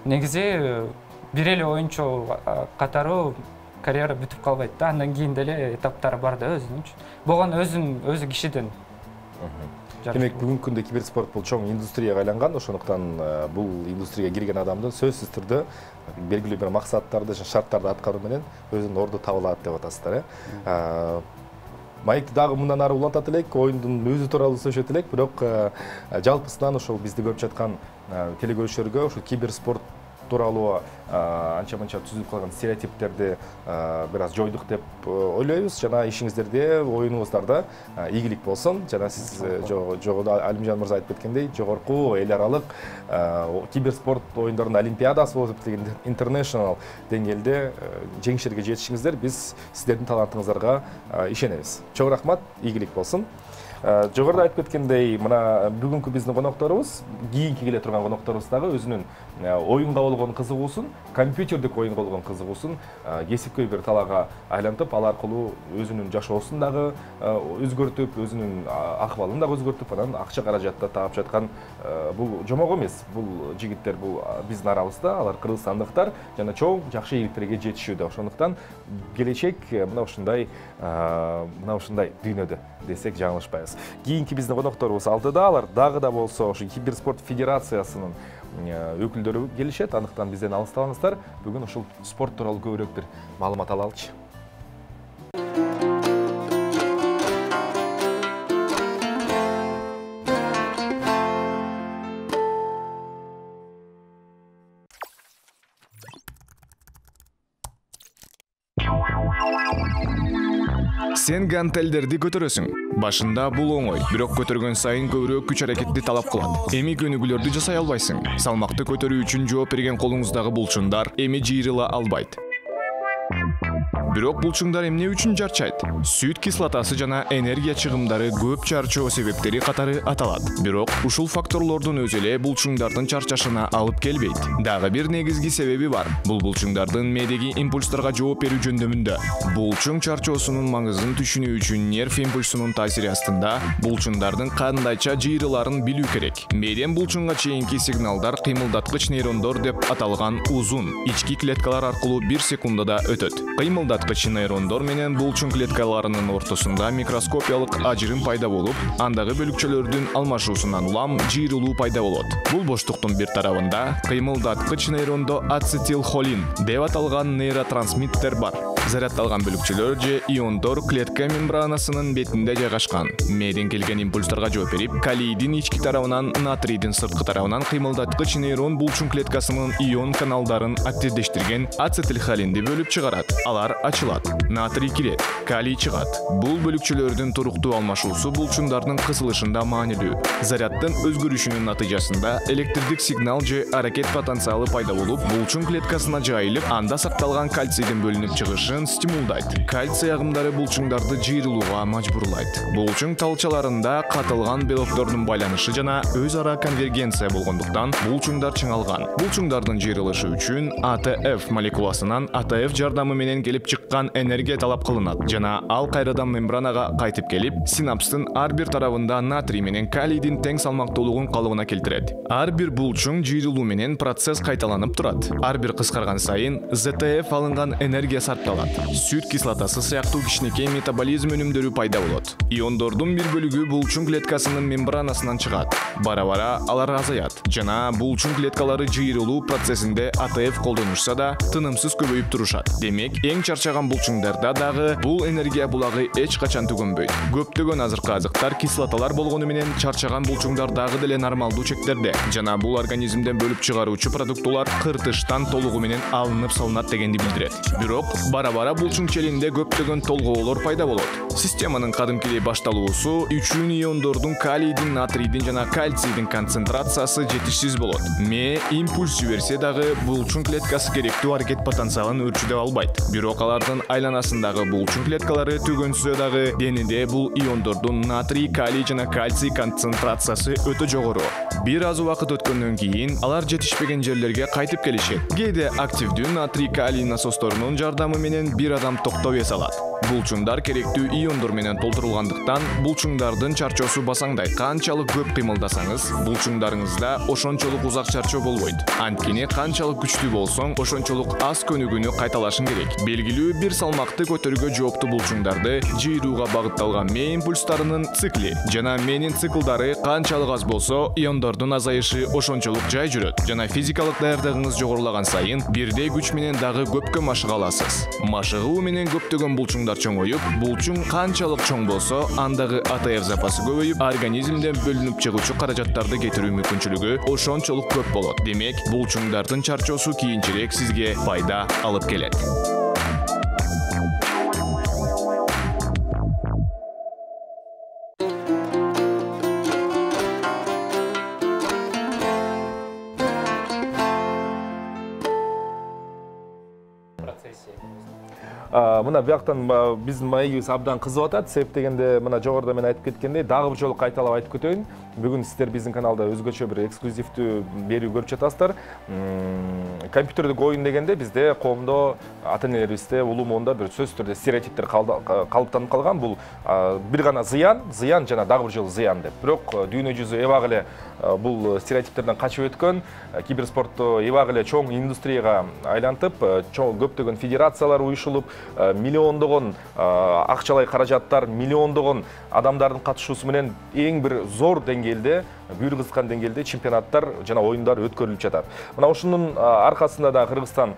Негизи бир эле оюнчу катары карьера бүтүп калбайт да. Андан кийин деле этаптары бар да өзүнүн. Болгон өзүн өзү кишиден. Демек бүгүнкү күндө киберспорт бул чоң индустрияга айланган, ошондуктан бул индустрияга кирген адамдын сөзсүз түрдө белгилүү бир максаттарды, шарттарды аткаруу менен өзүнүн орду таба алат деп атасыздар, э? Майкты дагы мындан ары улантат элек, оюндун өзү тууралуу сүйлөшөт элек, бирок жалпысынан ошол бизди көрүп жаткан телекөрүүчүлөргө ошол киберспорт тууралуу анча-мынча түзүлүп калган стереотиптерди бир аз жойдук деп ойлойбуз. Жана ишиңиздерде, оюнуңуздарда ийгилик болсун. Жана сиз жогоруда Алимжан мырза айтып кеткендей, жогорку эл аралык киберспорт оюндарынын олимпиадасы болуп деген интернешнл деңгээлде жеңиштерге жетишиңиздер, биз сиздердин талантыңыздарга ишенебиз. Чоң рахмат, ийгилик болсун. Жогоруда айтып кеткендей, мына бүгүнкү биздин конокторубуз, кийинки келе турган конокторубуз дагы өзүнүн оюнга болгон кызыгуусун, компьютердик оюнга болгон кызыгуусун кесипкөй бир талаага айлантып, ал аркылуу өзүнүн жашоосун дагы өзгөртүп, өзүнүн акыбалын дагы өзгөртүп, анан акча каражатты таап жаткан бул жомок эмес. Бул жигиттер бул биздин арабызда, алар кыргызстандыктар жана чоң жакшы ийгиликтерге жетишүүдө. Ошондуктан келечек мына ушундай мына ушундай дүйнөдө десек жаңылышпайбыз. Кийинки биздин конокторубуз алдыда, алар дагы да болсо ошо киберспорт федерациясынын өкүлдөрү келишет. Андыктан бизден алыстабаңыздар. Бүгүн ушул спорт тууралуу көбүрөөк бир маалымат алалычы. Сен гантелдерди көтөрөсүң. Башында бул оңой, бирок көтөргөн сайын көбүрөөк күч аракетти талап кылат. Эми көнүгүүлөрдү жасай албайсың. Салмакты көтөрүү үчүн жооп берген колуңуздагы булчуңдар эми жыйрыла албайт. Бирок булчуңдар эмне үчүн жарчайт? Сүт кислотасы жана энергия чыгымдары көп чарчоо себептери катары аталат. Бирок ушул факторлордун өзү эле булчуңдардын чарчашына алып келбейт. Дагы бир негизги себеби бар. Бул булчуңдардын мээдеги импульстарга жооп берүү жөндөмүндө. Булчуң чарчоосунун маңызын түшүнүү үчүн нерв импульсунун таасири астында булчуңдардын кандайча жыйрыларын билүү керек. Мээден булчуңга чейинки сигналдар кыймылдаткыч нейрондор деп аталган узун ички клеткалар аркылуу бир секундада өтөт. Кыймылдаткыч нейрондор менен булчуң клеткаларынын ортосунда микроскопиялык ажырым пайда болуп, андагы бөлүкчөлөрдүн алмашуусунан улам жыйрылуу пайда болот. Бул боштуктун бир тарабында кыймылдаткыч нейрондо ацетилхолин деп аталган нейротрансмиттер бар. Зарядталган бөлүкчөлөр же иондор клетка мембранасынын бетинде жайгашкан. Мээден келген импульстарга жооп берип, калийдин ички тарабынан, натрийдин сырткы тарабынан кыймылдаткыч нейрон булчуң клеткасынын ион каналдарын активдештирген ацетилхолинди бөлүп чыгарат. Алар ачылат. Натрий кирет, калий чыгат. Бул бөлүкчөлөрдүн туруктуу алмашуусу булчуңдардын кысылышында маанилүү. Заряддын өзгөрүшүнүн натыйжасында электрдик сигнал же аракет потенциалы пайда болуп, булчуң клеткасына жайылып, анда сакталган кальцийдин бөлүнүп чыгышы өсүшүн стимулдайт. Кальций агымдары булчуңдарды жыйрылууга мажбурлайт. Булчуң талчаларында катылган белоктордун байланышы жана өз ара конвергенция болгондуктан булчуңдар чыңалган. Булчуңдардын жыйрылышы үчүн А Т Ф молекуласынан А Т Ф жардамы менен келип чыккан энергия талап кылынат жана ал кайрадан мембранага кайтып келип, синапстын ар бир тарабында натрий менен калийдин тең салмактуулугун калыбына келтирет. Ар бир булчуң жыйрылуу менен процесс кайталанып турат. Ар бир кыскарган сайын З Т Ф алынган энергия сарпталат. Сүт кислотасы сыяктуу кичинекей метаболизм өнүмдөрү пайда болот. Иондордун бир бөлүгү булчуң клеткасынын мембранасынан чыгат. Бара-бара алар азаят жана булчуң клеткалары жыйрылуу процессинде А Т Ф колдонушса да тынымсыз көбөйүп турушат. Демек, эң чарчаган булчуңдарда дагы бул энергия булагы эч качан түгөнбөйт. Көптөгөн азыркы азыктар кислоталар болгону менен чарчаган булчуңдар дагы деле нормалдуу чектерде жана бул организмден бөлүп чыгаруучу продуктулар кыртыштан толугу менен алынып салынат дегенди билдирет. Бирок бара-бара булчуң челинде көптөгөн толгоолор пайда болот. Системанын кадимкидей башталуусу үчүн иондордун калийдин, натрийдин жана кальцийдин концентрациясы жетишсиз болот. Ме импульс жиберсе дагы булчуң клеткасы керектүү аракет потенциалын өрчүдө албайт. Бирок алардын айланасындагы булчуң клеткалары түгөнсө дагы денеде бул иондордун натрий, калий жана кальций концентрациясы өтө жогору. Бир аз убакыт өткөндөн кийин алар жетишпеген жерлерге кайтып келишет. Кээде активдүү натрий, калий насосторунун жардамы менен бир адам токтоп эс алат. Булчуңдар керектүү иондор менен толтурулгандыктан булчуңдардын чарчоосу басаңдайт. Канчалык көп кыймылдасаңыз, булчуңдарыңызда ошончолук узак чарчоо болбойт. Анткени канчалык күчтүү болсоң, ошончолук аз көнүгүүнү кайталашың керек. Белгилүү бир салмакты көтөрүүгө жооптуу булчуңдарды жыйрууга багытталган ме импульстарынын цикли жана менин циклдары канчалык аз болсо, иондордун азайышы ошончолук жай жүрөт жана физикалык даярдыгыңыз жогорулаган сайын бирдей күч менен дагы көпкө машыга аласыз. Машыгуу менен көптөгөн булчуңдар чоңоюп, булчуң канчалык чоң болсо, андагы А Т Ф запасы көбөйүп, организмден бөлүнүп чыгуучу каражаттарды кетирүү мүмкүнчүлүгү ошончолук көп болот. Демек, булчуңдардын чарчоосу кийинчерээк сизге пайда алып келет. Мына бияктан биздин маегибиз абдан кызып атат. Себеп дегенде мына жогоруда мен айтып кеткендей, дагы бир жолу кайталап айтып кетөйүн. Бүгүн сиздер биздин каналда өзгөчө бир эксклюзивдүү берүү көрүп жатасыздар. Компьютердик оюн дегенде бизде коомдо, ата-энелерибизде, улуу моунда бир сөзсүз түрдө стереотиптер калыптанып калган. Бул бир гана зыян, зыян жана дагы бир жолу зыян деп. Бирок дүйнө жүзү эбак эле бул стереотиптерден качып өткөн, киберспортту эбак эле чоң индустрияга айлантып, чоң көптөгөн федерациялар уюшулуп, миллиондогон акчалай каражаттар, миллиондогон адамдардын катышуусу менен эң бир зор деңгээлде, бүйүр кызыккан деңгээлде чемпионаттар жана оюндар өткөрүлүп жатат. Мына ушунун аркасында да Кыргызстан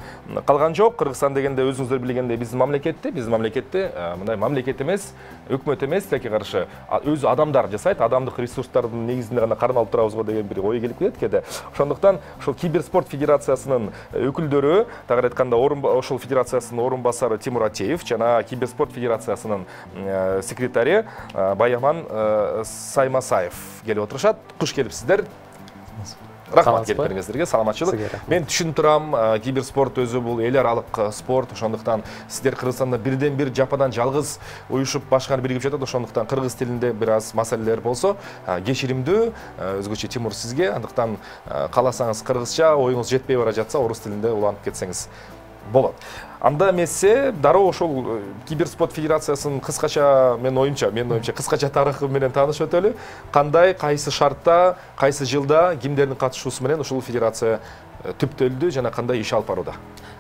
калган жок. Кыргызстан дегенде өзүңүздөр билгендей биздин мамлекетте, биздин мамлекетте мындай мамлекет эмес, өкмөт эмес, тилекке каршы өзү адамдар жасайт, адамдык ресурстардын негизинде гана кармалып алып турабыз го деген бир ой келип кетет кээде. Ошондуктан ошол киберспорт федерациясынын өкүлдөрү, тагыраак айтканда, ошол федерациясынын орун басары Тимур Атеев жана киберспорт федерациясынын секретари Баяман Саймасаев келип отурушат. Куш келипсиздер. Рахмат келиптериңиздерге, саламатчылык. Мен түшүнүп турам, киберспорт өзү бул эл аралык спорт, ошондуктан сиздер Кыргызстанда бирден бир жападан жалгыз уюшуп башкар биригип жатат. Ошондуктан кыргыз тилинде бир аз маселелер болсо, кечиримдүү, өзгөчө Тимур сизге. Андыктан кааласаңыз кыргызча, оюңуз жетпей бара жатса, орус тилинде уланып кетсеңиз болот. Анда эмесе дароо ошол киберспорт федерациясынын кыскача, мен оюмча, мен оюмча кыскача тарыхы менен таанышып өтөлү. Кандай, кайсы шартта, кайсы жылда кимдердин катышуусу менен ушул федерация түптөлдү жана кандай иш алып барууда?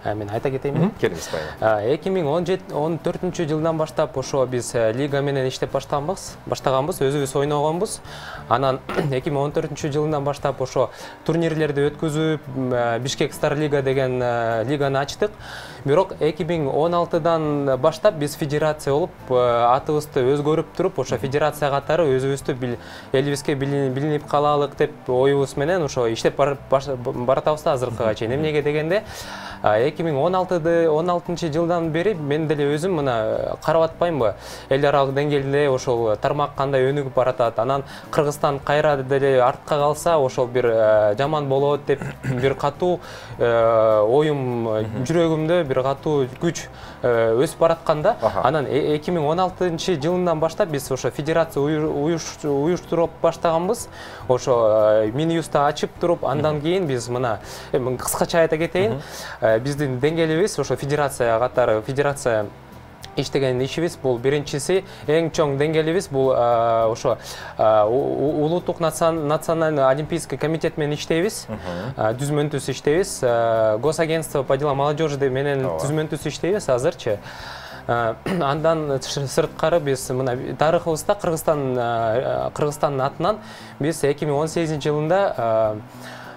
Мен айта кетейинби? Келиңиз Баян. эки миң он төртүнчү жылдан баштап ошо биз лига менен иштеп баштаганбыз, баштаганбыз, өзүбүз ойногонбуз. Анан эки миң он төртүнчү жылдан баштап ошо турнирлерди өткөзүп, Бишкек Стар Лига деген лиганы ачтык. Бирок эки миң он алтыдан баштап биз федерация болуп, атыбызды өзгөрүп туруп, ошо федерация катары өзүбүздү элибизге билинип калалык деп оюбуз менен ошо иштеп баратабыз азыркыга чейин. Эмнеге дегенде, эки миң он алтынчы жылдан бери мен деле өзүм мына карап атпаймынбы, эл аралык деңгээлде ошол тармак кандай өнүгүп баратат, анан Кыргызстан кайра деле артка калса ошол бир жаман болот деп бир катуу оюм жүрөгүмдө бир катуу күч өсүп баратканда, анан эки миң он алтынчы жылынан баштап биз ошо федерация уюштуруп баштаганбыз. Ошо Минюсту ачып туруп, андан кийин биз мына кыскача айта кетейин, биздин деңгээлибиз ошо федерация катары, федерация иштеген ишибиз бул биринчиси, эң чоң деңгээлибиз бул ошо улуттук национальный олимпийский комитет менен иштейбиз, түзмөнтүс иштейбиз, госагентство по делам молодежи менен түзмөнтүс иштейбиз азырчы. Андан сырткары биз мына тарыхыбызда Кыргызстан Кыргызстандын атынан биз эки миң он сегизинчи жылында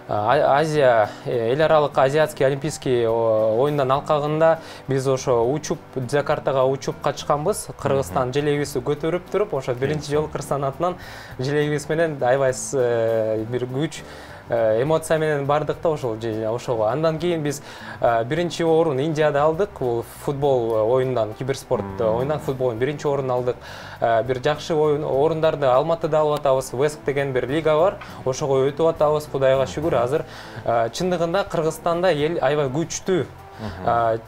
Азия, эл аралык азиатский олимпийский оюндан алкагында биз ошо учуп, Джакартага учуп качканбыз. Кыргызстан желегибизди көтөрүп туруп, ошо биринчи жолу Кыргызстан атынан желегибиз менен аябай бир күч эмоция менен бардык да ошол ошого. Андан кийин биз биринчи орун Индияда алдык. Бул футбол оюнундан, киберспорт оюнунан футболдун биринчи орунун алдык. Бир жакшы орундарды Алматыда алып атабыз. Веск деген бир лига бар. Ошого өтүп атабыз. Кудайга шүгүр, азыр чындыгында Кыргызстанда эл аябай күчтүү,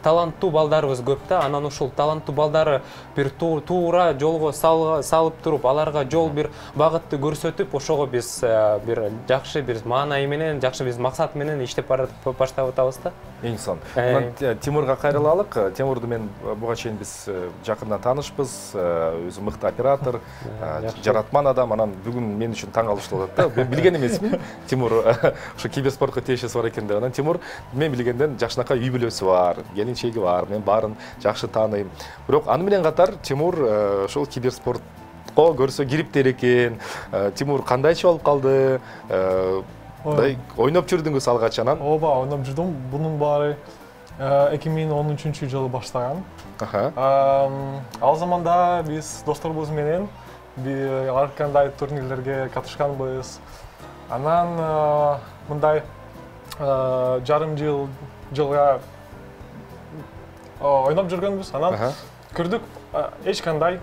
таланттуу балдарыбыз көп да. Анан ушул таланттуу балдары бир туура жолго салып туруп, аларга жол бир багытты көрсөтүп, ошого биз бир жакшы бир маанай менен, жакшы биз максат менен иштеп баштап атабыз да. Эң сон. Тимурга кайрылалык. Тимурду мен буга чейин биз жакындан таанышпыз. Өзү мыкты оператор, жаратман адам. Анан бүгүн мен үчүн таң калыштуу болот да. Билген эмесмин. Тимур ошо киберспортко тиешеси бар экен деп. Анан Тимур мен билгенден жакшынакай үй бүлөсү бар, келинчеги бар. Мен баарын жакшы тааныйм. Бирок аны менен катар Тимур ошол киберспортко көрсө кириптер экен. Тимур кандайчы болуп калды? Ойноп жүрдүңүз алгач анан? Ооба, ойноп жүрдүм. Бунун баары эки миң он үчүнчү жылы баштаган. Ал заманда биз досторубуз менен ар кандай турнирлерге катышканбыз. Анан мындай жарым жыл жылга ойноп жүргөнбүз. Анан көрдүк эч кандай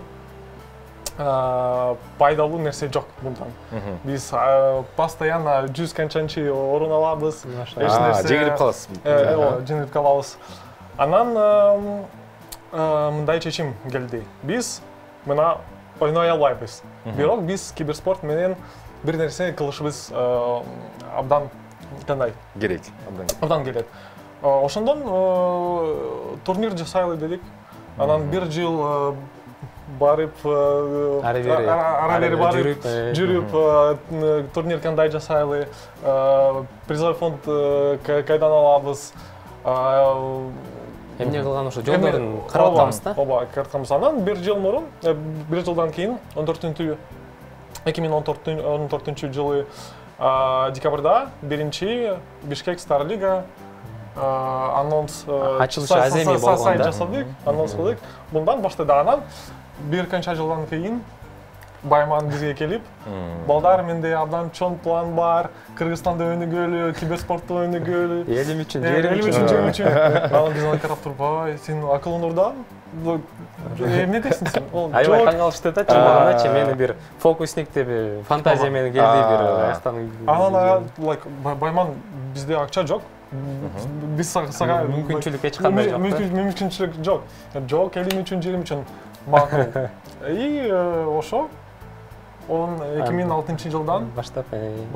пайдалуу нерсе жок мындан. Биз постоянно жүз канчанчы орун алабыз. Эч нерсе жеңилип каласыз. Ооба, жеңилип калабыз. Анан мындай чечим келди. Биз мына ойной албайбыз. Бирок биз киберспорт менен бир нерсе кылышыбыз абдан кандай керек. Абдан керек. Ошондон турнир жасайлы дедик. Анан бир жыл барып, ара бери барып, жүрүп, турнир кандай жасайлы, призовой фонд кайдан алабыз. Эмне кылган ошо жолдорун карап атабыз да? Ооба, карап атканбыз. Анан бир жыл мурун, бир жылдан кийин эки миң он төртүнчү жылы декабрда биринчи Бишкек Стар Лига анонс ачылышы аземи болгон да. Жасадык, анонс кылдык. Мындан баштады. Анан бир канча жылдан кийин Байман бизге келип, балдар менде абдан чоң план бар, Кыргызстанда өнүгөлү, киберспортто өнүгөлү. Элим үчүн, жерим үчүн, жерим үчүн. Анан биз аны карап туруп, ай, сен акылың урдан? Эмне дейсиң сен? Аябай таң калышты да, чындыгындачы мени бир фокусник деп фантазия менен келди бир аяктан. Анан like Байман бизде акча жок. Биз сага мүмкүнчүлүк эч кандай жок. Мүмкүнчүлүк жок. Жок, элим үчүн, жерим үчүн макул. И ошо он эки миң алтынчы жылдан баштап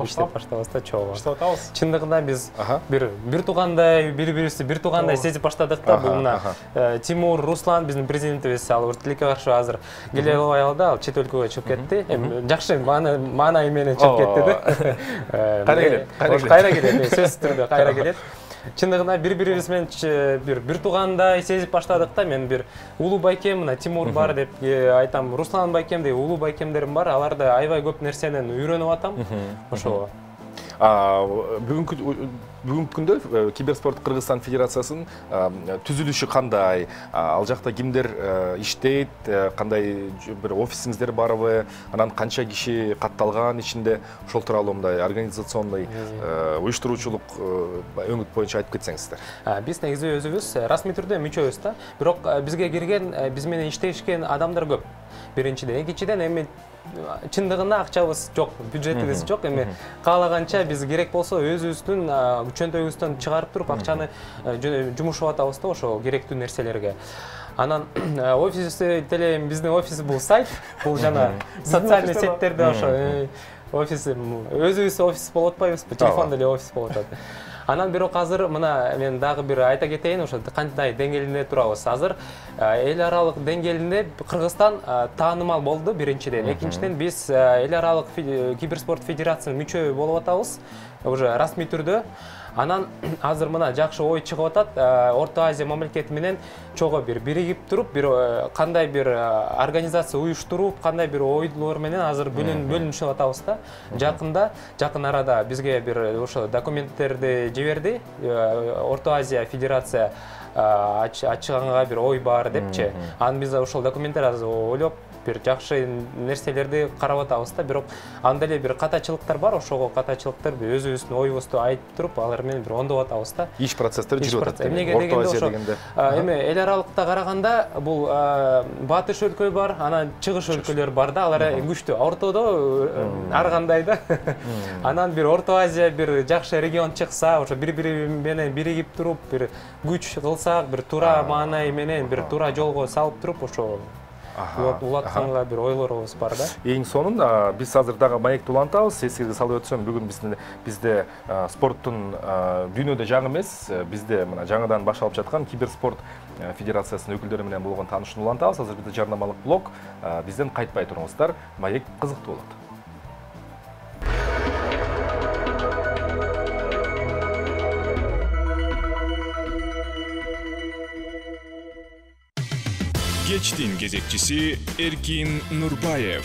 иштеп баштабыз да чогуу. Баштап атабыз. Чындыгында биз бир бир туугандай, бири-бирибизди бир туугандай сезип баштадык да. Бул мына Тимур, Руслан биздин президентибиз, ал тилекке каршы азыр келе албай калды, ал чет өлкөгө чыгып кетти. Эми жакшы маанай менен чыгып кетти да. Кайра келет, кайра келет, сөзсүз түрдө кайра келет. Чындыгында бири-бирибиз менен бир бир туугандай сезип баштадык да. Мен бир улуу байкем, мына Тимур бар деп айтам, Руслан байкем деп улуу байкемдерим бар. Аларда аябай көп нерсенен үйрөнүп атам. Ошого. Бүгүнкү бүгүнкү күндө Киберспорт Кыргызстан Федерациясынын түзүлүшү кандай? Ал жакта кимдер иштейт? Кандай бир офисиңиздер барбы? Анан канча киши катталган ичинде? Ошол тууралуу мындай организационный уюштуруучулук өңүт боюнча айтып кетсеңиздер. Биз негизи өзүбүз расмий түрдө мүчөбүз да. Бирок бизге кирген, биз менен иштешкен адамдар көп. Биринчиден, экинчиден эми чындыгында акчабыз жок, бюджетибиз жок. Эми каалаганча биз керек болсо өзүбүздүн күчөнтөйүбүздөн чыгарып туруп акчаны жумушап атабыз да ошо керектүү нерселерге. Анан офис деле биздин офис бул сайт, бул жана социальный сеттерде ошо офис өзүбүз офис болуп атпайбызбы? Телефон деле офис болуп атат. Анан бирок азыр мына мен дагы бир айта кетейин, ошо кандай деңгээлинде турабыз. Азыр эл аралык деңгээлинде Кыргызстан таанымал болду биринчиден. Экинчиден биз эл аралык киберспорт федерациясынын мүчө болуп атабыз, уже расмий түрдө. Анан азыр мына жакшы ой чыгып атат. Орто Азия мамлекети менен чогуу бир биригип туруп, бир кандай бир организация уюштуруп, кандай бир ойлор менен азыр бөлүнүшүп атабыз да. Жакында, жакын арада бизге бир ошо документтерди жиберди. Орто Азия Федерация ачыганга бир ой бар депчи. Анан биз ошол документтер азыр ойлоп бир жакшы нерселерди карап атабыз да. Бирок анда эле бир катачылыктар бар, ошого катачылыктар өзүбүздүн оюбузду айтып туруп, алар менен бир оңдоп атабыз да. Иш процесстери жүрүп атат. Эмнеге дегенде ошо эми эл аралыкта караганда бул батыш өлкө бар, анан чыгыш өлкөлөр бар да, алар күчтүү. Ортодо ар кандай да. Анан бир Орто Азия бир жакшы регион чыкса, ошо бири-бири менен биригип туруп, бир күч кылсак, бир туура маанай менен бир туура жолго салып туруп, ошо улатканга бир ойлорубуз бар да. Эң сонун биз азыр дагы маекти улантабыз. Эсиңизге салып өтсөм, бүгүн бизде бизде спорттун дүйнөдө жаңы эмес, бизде мына жаңыдан башталып жаткан Киберспорт Федерациясынын өкүлдөрү менен болгон таанышууну улантабыз. Азыр бизде жарнамалык блок, бизден кайтпай туруңуздар. Маек кызыктуу болот. Кечтин кезекчиси Эркин Нурбаев.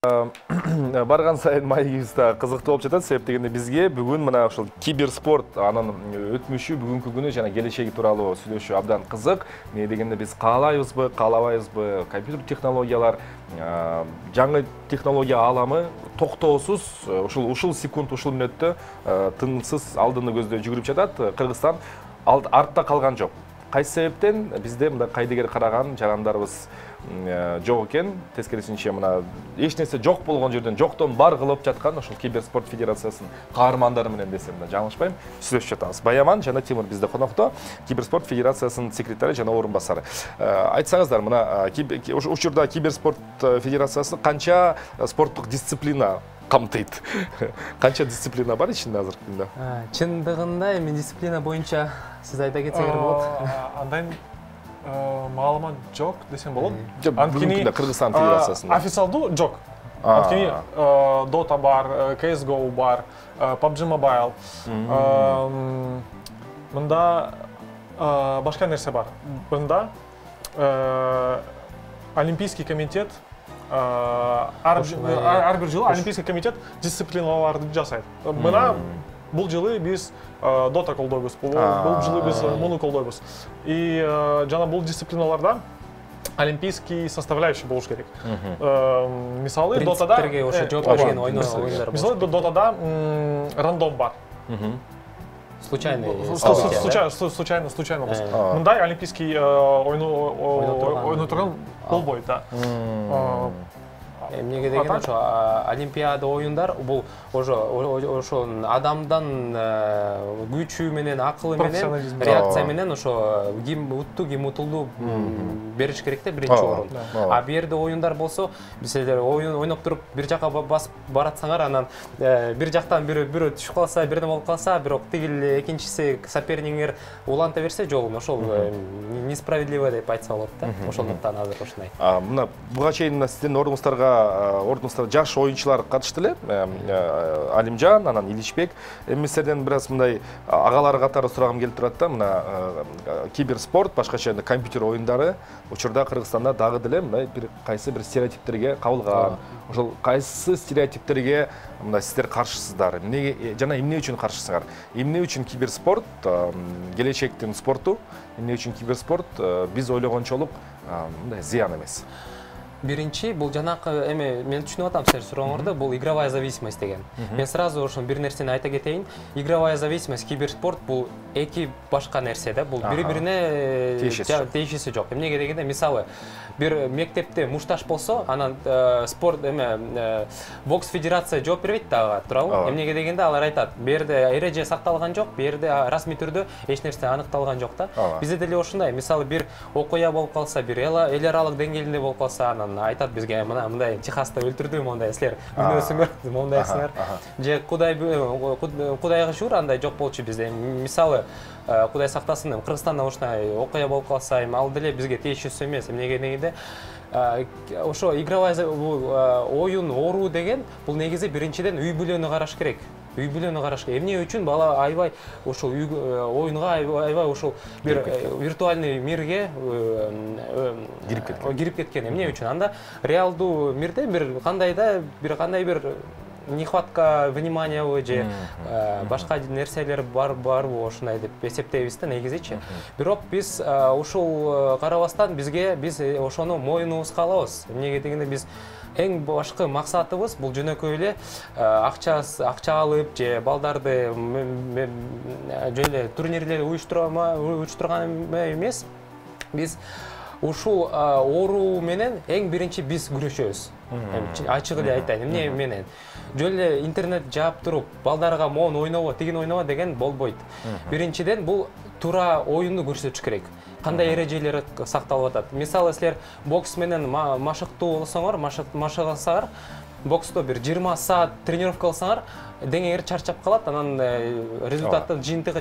Барган сайын маегибиз да кызыктуу болуп жатат. Себеп дегенде бизге бүгүн мына ошол киберспорт, анын өтмүшү, бүгүнкү күнү жана келечеги тууралуу сүйлөшүү абдан кызык. Эмне дегенде биз каалайбызбы, каалабайбызбы, компьютер технологиялар, жаңы технология ааламы токтоосуз ушул ушул секунд, ушул мүнөттө тынымсыз алдыны көздөй жүгүрүп жатат. Кыргызстан артта калган жок. Кайсы себептен бизде мындай кайдыгер караган жарандарыбыз жок экен. Тескерисинче мына эч нерсе жок болгон жерден жоктон бар кылып жаткан ошол Киберспорт Федерациясынын каармандары менен десем да жаңылышпайм, сүйлөшүп жатабыз. Баяман жана Тимур бизде конокто, Киберспорт Федерациясынын секретары жана орун басары. Айтсаңыздар, мына учурда Киберспорт Федерациясы канча спорттук дисциплина камтыйт? Канча дисциплина бар ичинде азыркы күндө? Чындыгында эми дисциплина боюнча сиз айта кетсеңер болот. Андай маалымат жок десем болот. Анткени Кыргызстан Федерациясында официалдуу жок. Анткени Dota бар, си эс го бар, пабджи Mobile. Мында башка нерсе бар. Мында Олимпийский комитет ар бир жылы Олимпийский комитет дисциплиналарды жасайт. Мына бул жылы биз Dota колдойбуз, бул жылы биз муну колдойбуз. И жана бул дисциплиналарда олимпийский составляющий болуш керек. Мисалы Dota'da принциптерге ошо жооп берген оюндар. Мисалы Dota'da рандом бар. Случайный случайно случайно случайно болсо. Мындай олимпийский ойно турган болбойт да. Эмнеге деген ошо олимпиада оюндар бул ошо ошо адамдан күчү менен, акылы менен, реакция менен ошо ким утту, ким утулду бериш керек да биринчи орун. А бу жерде оюндар болсо, силер оюн ойноп туруп бир жака басып баратсаңар, анан бир жактан бирөө түшүп калса, бирден болуп калса, бирок тигил экинчиси соперниңер уланта берсе жолун, ошол несправедливо деп айтса болот да. Ошондуктан азыр ушундай. Мына буга чейин сиздин ордуңуздарга ордубузда жаш оюнчулар катышты эле. Алимжан, анан Иличбек. Эми сиздерден бир аз мындай агалар катары сурагым келип турат да. Мына киберспорт, башкача компьютер оюндары учурда Кыргызстанда дагы деле мындай бир кайсы бир стереотиптерге кабылган. Ошол кайсы стереотиптерге мындай сиздер каршысыздар? Эмне жана эмне үчүн каршысыңар? Эмне үчүн киберспорт келечектин спорту? Эмне үчүн киберспорт биз ойлогончолук мындай зыян эмес? Биринчи, бул жанакы эме мен түшүнүп атам сиздер сурооңорду, бул игровая зависимость деген. Мен сразу ошо бир нерсени айта кетейин. Игровая зависимость, киберспорт бул эки башка нерсе да. Бул бири-бирине тиешеси жок. Эмнеге дегенде, мисалы, бир мектепте мушташ болсо, анан спорт эме бокс федерация жооп бербейт дагы, туурабы? Эмнеге дегенде алар айтат, бу жерде эреже сакталган жок, бу жерде расмий түрдө эч нерсе аныкталган жок да. Бизде деле ошондой, мисалы, бир окуя болуп калса, бир эл аралык деңгээлинде болуп калса, анан айтат бизге, мына мындай Техаста өлтүрдү, мондай силер күнөөсүңөр, мондайсыңар. Же Кудай Кудайга шүгүр андай жок болчу бизде. Мисалы, Кудай сактасын, Кыргызстанда ушундай окуя болуп калса, ал деле бизге тиешеси эмес. Эмнеге дегенде, ошо игровая оюн оору деген бул негизи биринчиден үй бүлөнү караш керек. Үй бүлөнү караш керек. Эмне үчүн бала аябай ошол оюнга аябай ошол бир виртуальный мирге кирип кеткен. Кирип кеткен. Эмне үчүн? Анда реалдуу мирде бир кандай да бир кандай бир нехватка вниманиябы же башка нерселер бар барбы ошондой деп эсептейбиз да негизичи. Бирок биз ушул карабастан бизге биз ошону мойнубузга алабыз. Эмнеге дегенде биз эң башкы максатыбыз бул жөнөкөй эле акча акча алып же балдарды жөн эле турнирлерди уюштурган эмес. Биз ушул оору менен эң биринчи биз күрөшөбүз. Ачык эле айтайын, эмне менен жөн эле интернет жаап туруп балдарга моун ойнобо, тигин ойнобо деген болбойт. Биринчиден бул туура оюнду көрсөтүш керек. Кандай эрежелери сакталып атат. Мисалы, силер бокс менен машыктуу болсоңор, машыгасаңар, боксто бир жыйырма саат тренировка кылсаңар, деңеңер чарчап калат, анан результаттын жыйынтыгы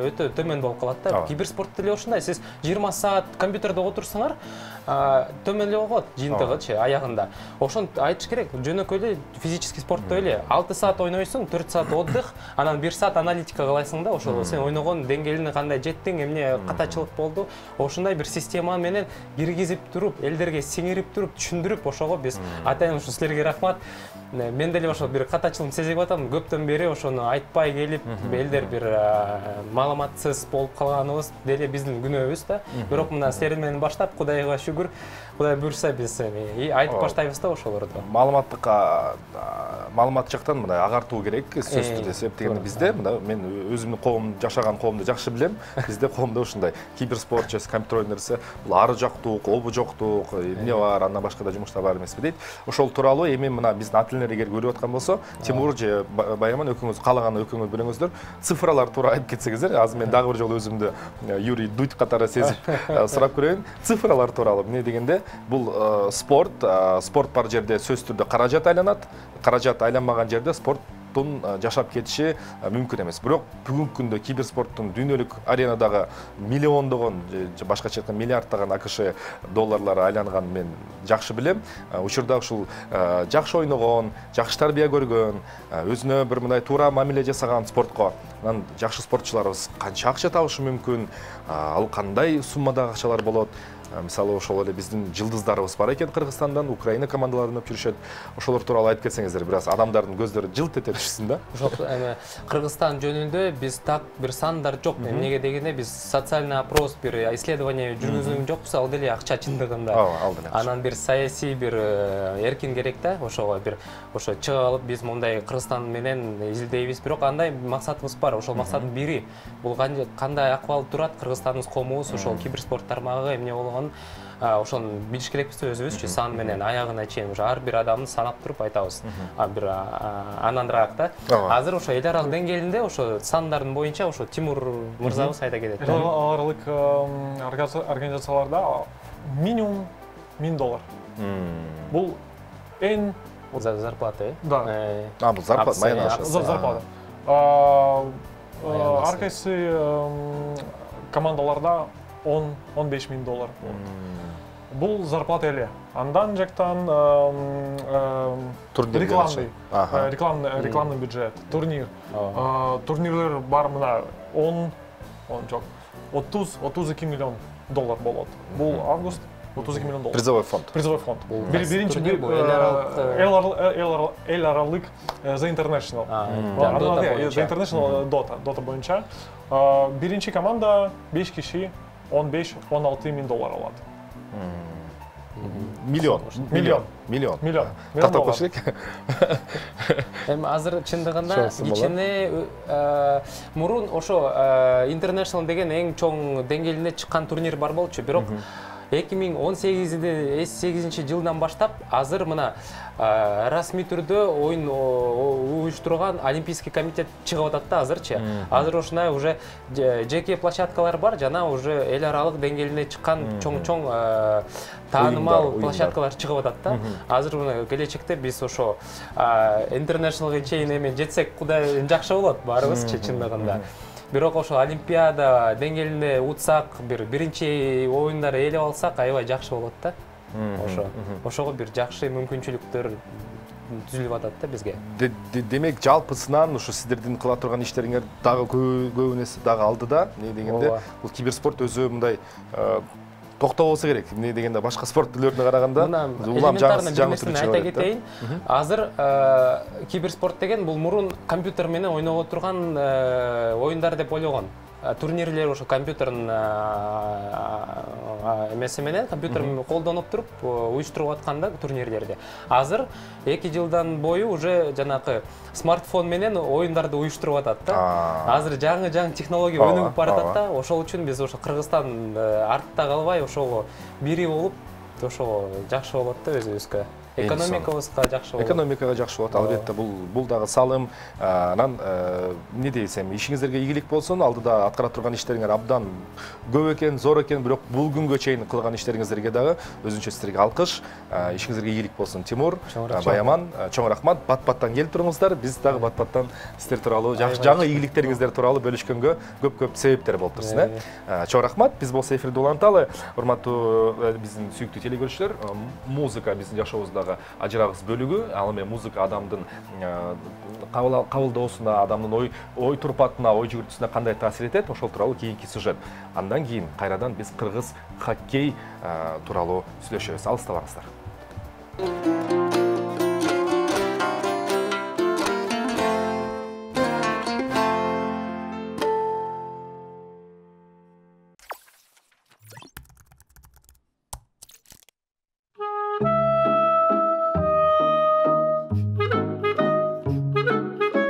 өтө төмөн болуп калат да. Киберспортто деле ошондой, сиз жыйырма саат компьютерде отурсаңар, төмөн эле болот жыйынтыгычы аягында. Ошону айтыш керек. Жөнөкөй эле физический спортто эле алты саат ойнойсуң, төрт саат отдых, анан бир саат аналитика кыласың да, ошол сен ойногон деңгээлине кандай жеттиң, эмне катачылык болду. Ошондой бир система менен киргизип туруп, элдерге сиңирип туруп, түшүндүрүп, ошого биз атайын ошо силерге рахмат. Мен деле ошо бир катачылык сезип атам, көптөн бери ошону айтпай келип, элдер бир маалыматсыз болуп калганыбыз деле биздин күнөөбүз да. Бирок мына силер менен баштап, Кудайга шүгүр, Кудай буйрса биз айтып баштайбыз да ошолорду. Маалыматтык маалымат жактан мындай агартуу керек, сөзсүз түрдө. Себеп дегенде бизде мына мен өзүмдүн коом жашаган коомду жакшы билем. Бизде коомдо ушундай киберспорт же компьютер ойнору бул ары жактук, обу жоктук, эмне бар, андан башка да жумуштар бар эмеспи дейт. Ошол тууралуу эми мына биздин ателлер эгер көрүп аткан болсо, Тимур же Байаман экөөңүз каалаган экөөңүз бирөөңүздөр цифралар туура айтып кетсеңиздер, азыр мен дагы бир жолу өзүмдү Юрий Дудь катары сезип сурап көрөйүн. Цифралар тууралуу эмне дегенде, бул спорт, спорт бар жерде сөзсүз түрдө каражат айланат, каражат айланмаган жерде спорттун жашап кетиши мүмкүн эмес. Бирок бүгүнкү күндө киберспорттун дүйнөлүк аренадагы миллиондогон же башкача айтканда миллиарддаган АКШ долларлары айланганын мен жакшы билем. Учурда ушул жакшы ойногон, жакшы тарбия көргөн, өзүнө бир мындай туура мамиле жасаган спортко анан жакшы спортчуларыбыз канча акча табышы мүмкүн, ал кандай суммадагы акчалар болот. Мисалы, ошол эле биздин жылдыздарыбыз бар экен Кыргызстандан, Украина командаларын өп жүрүшөт. Ошолор тууралуу айтып кетсеңиздер, бир аз адамдардын көздөрү жылт эте түшсүн да. Жок, эми Кыргызстан жөнүндө биз так бир сандар жок. Эмнеге дегенде биз социальный опрос, бир исследование жүргүзгөн жокпуз, ал деле акча чындыгында. Анан бир саясий бир эркин керек да, ошого бир ошо чыгып алып биз мондай Кыргызстан менен изилдейбиз. Бирок андай максатыбыз бар. Ошол максаттын бири бул кандай акыбал турат Кыргызстандын коомубуз, ошол киберспорт тармагы эмне болгон ошону билиш керекпиз өзүбүзчү, сан менен аягына чейин ушу ар бир адамды санап туруп айтабыз. Бир анандыраак да. Азыр ошо эл аралык деңгээлинде ошо сандардын боюнча ошо Тимур мырзабыз айта кетет. Эл аралык организацияларда минимум миң доллар. Бул эң зарплата, э? Да. А, бул зарплата, майна ашасы. Зарплата. Ар кайсы командаларда он он беш миң доллар. бул зарплата эле. Андан жактан рекламный рекламный рекламный бюджет, турнир. Турнирлер бар мына он он жок отуз отуз эки миллион доллар болот. Бул август отуз эки миллион доллар. Призовой фонд. Призовой фонд. Биринчи эл аралык The International. The International Dota, Dota боюнча биринчи команда беш киши он беш он алты миң доллар алат. Миллион. Миллион. Миллион. Миллион. Тактап коюш керек. Эми азыр чындыгында ичине мурун ошо International деген эң чоң деңгээлине чыккан турнир бар болчу, бирок эки миң он сегизинчи жылдан баштап азыр мына расмий түрдө оюн уюштурган Олимпийский комитет чыгып атат да азырчы. Азыр ушундай уже жеке площадкалар бар, жана уже эл аралык деңгээлине чыккан чоң-чоң таанымал площадкалар чыгып атат да. Азыр мына келечекте биз ошо Internationalга чейин эми жетсек кудай жакшы болот баарыбызчы чындыгында. Бирок ошо Олимпиада деңгээлинде утсак, бир биринчи оюндар ээлеп алсак, аябай жакшы болот да. Ошо. Ошого бир жакшы мүмкүнчүлүктөр түзүлүп атат да бизге. Демек жалпысынан ушу сиздердин кыла турган иштериңер дагы көбүнесе дагы алдыда. Эмне дегенде бул киберспорт өзү мындай токтоо болсо керек. Эмне дегенде башка спорт түрлөрүнө караганда улам жаңы жаңы түрү айта кетейин. Азыр киберспорт деген бул мурун компьютер менен ойного турган оюндар деп ойлогон. Турнирлер ошо компьютердин эмеси менен компьютер колдонуп туруп уюштуруп атканда турнирлерди. Азыр эки жылдан бою уже жанакы смартфон менен оюндарды уюштуруп атат да. Азыр жаңы-жаңы технология өнүгүп баратат да. Ошол үчүн биз ошо Кыргызстан артта калбай ошого бири болуп, ошого жакшы болот да өзүбүзгө. Экономикабызга жакшы болот. Экономикага жакшы болот. Албетте бул бул дагы салым. Анан эмне дейсем, ишиңиздерге ийгилик болсун. Алдыда аткара турган иштериңер абдан көп экен, зор экен, бирок бул күнгө чейин кылган иштериңиздерге дагы өзүнчө сиздерге алкыш. Ишиңиздерге ийгилик болсун. Тимур, Баяман, чоң рахмат. Бат-баттан келип туруңуздар. Биз дагы бат-баттан сиздер тууралуу жаңы ийгиликтериңиздер тууралуу бөлүшкөнгө көп-көп себептер болуп турсун, э. Чоң рахмат. Биз болсо эфирди уланталы. Урматтуу биздин сүйүктүү телекөрүүчүлөр, музыка биздин жашообуздагы ажырагыс бөлүгү. Ал эми музыка адамдын кабылдоосуна, адамдын ой ой турпатына, ой жүгүртүүсүнө кандай таасир этет, ошол тууралуу кийинки сюжет. Андан кийин кайрадан биз кыргыз хоккей тууралуу сүйлөшөбүз. Алыстабаңыздар.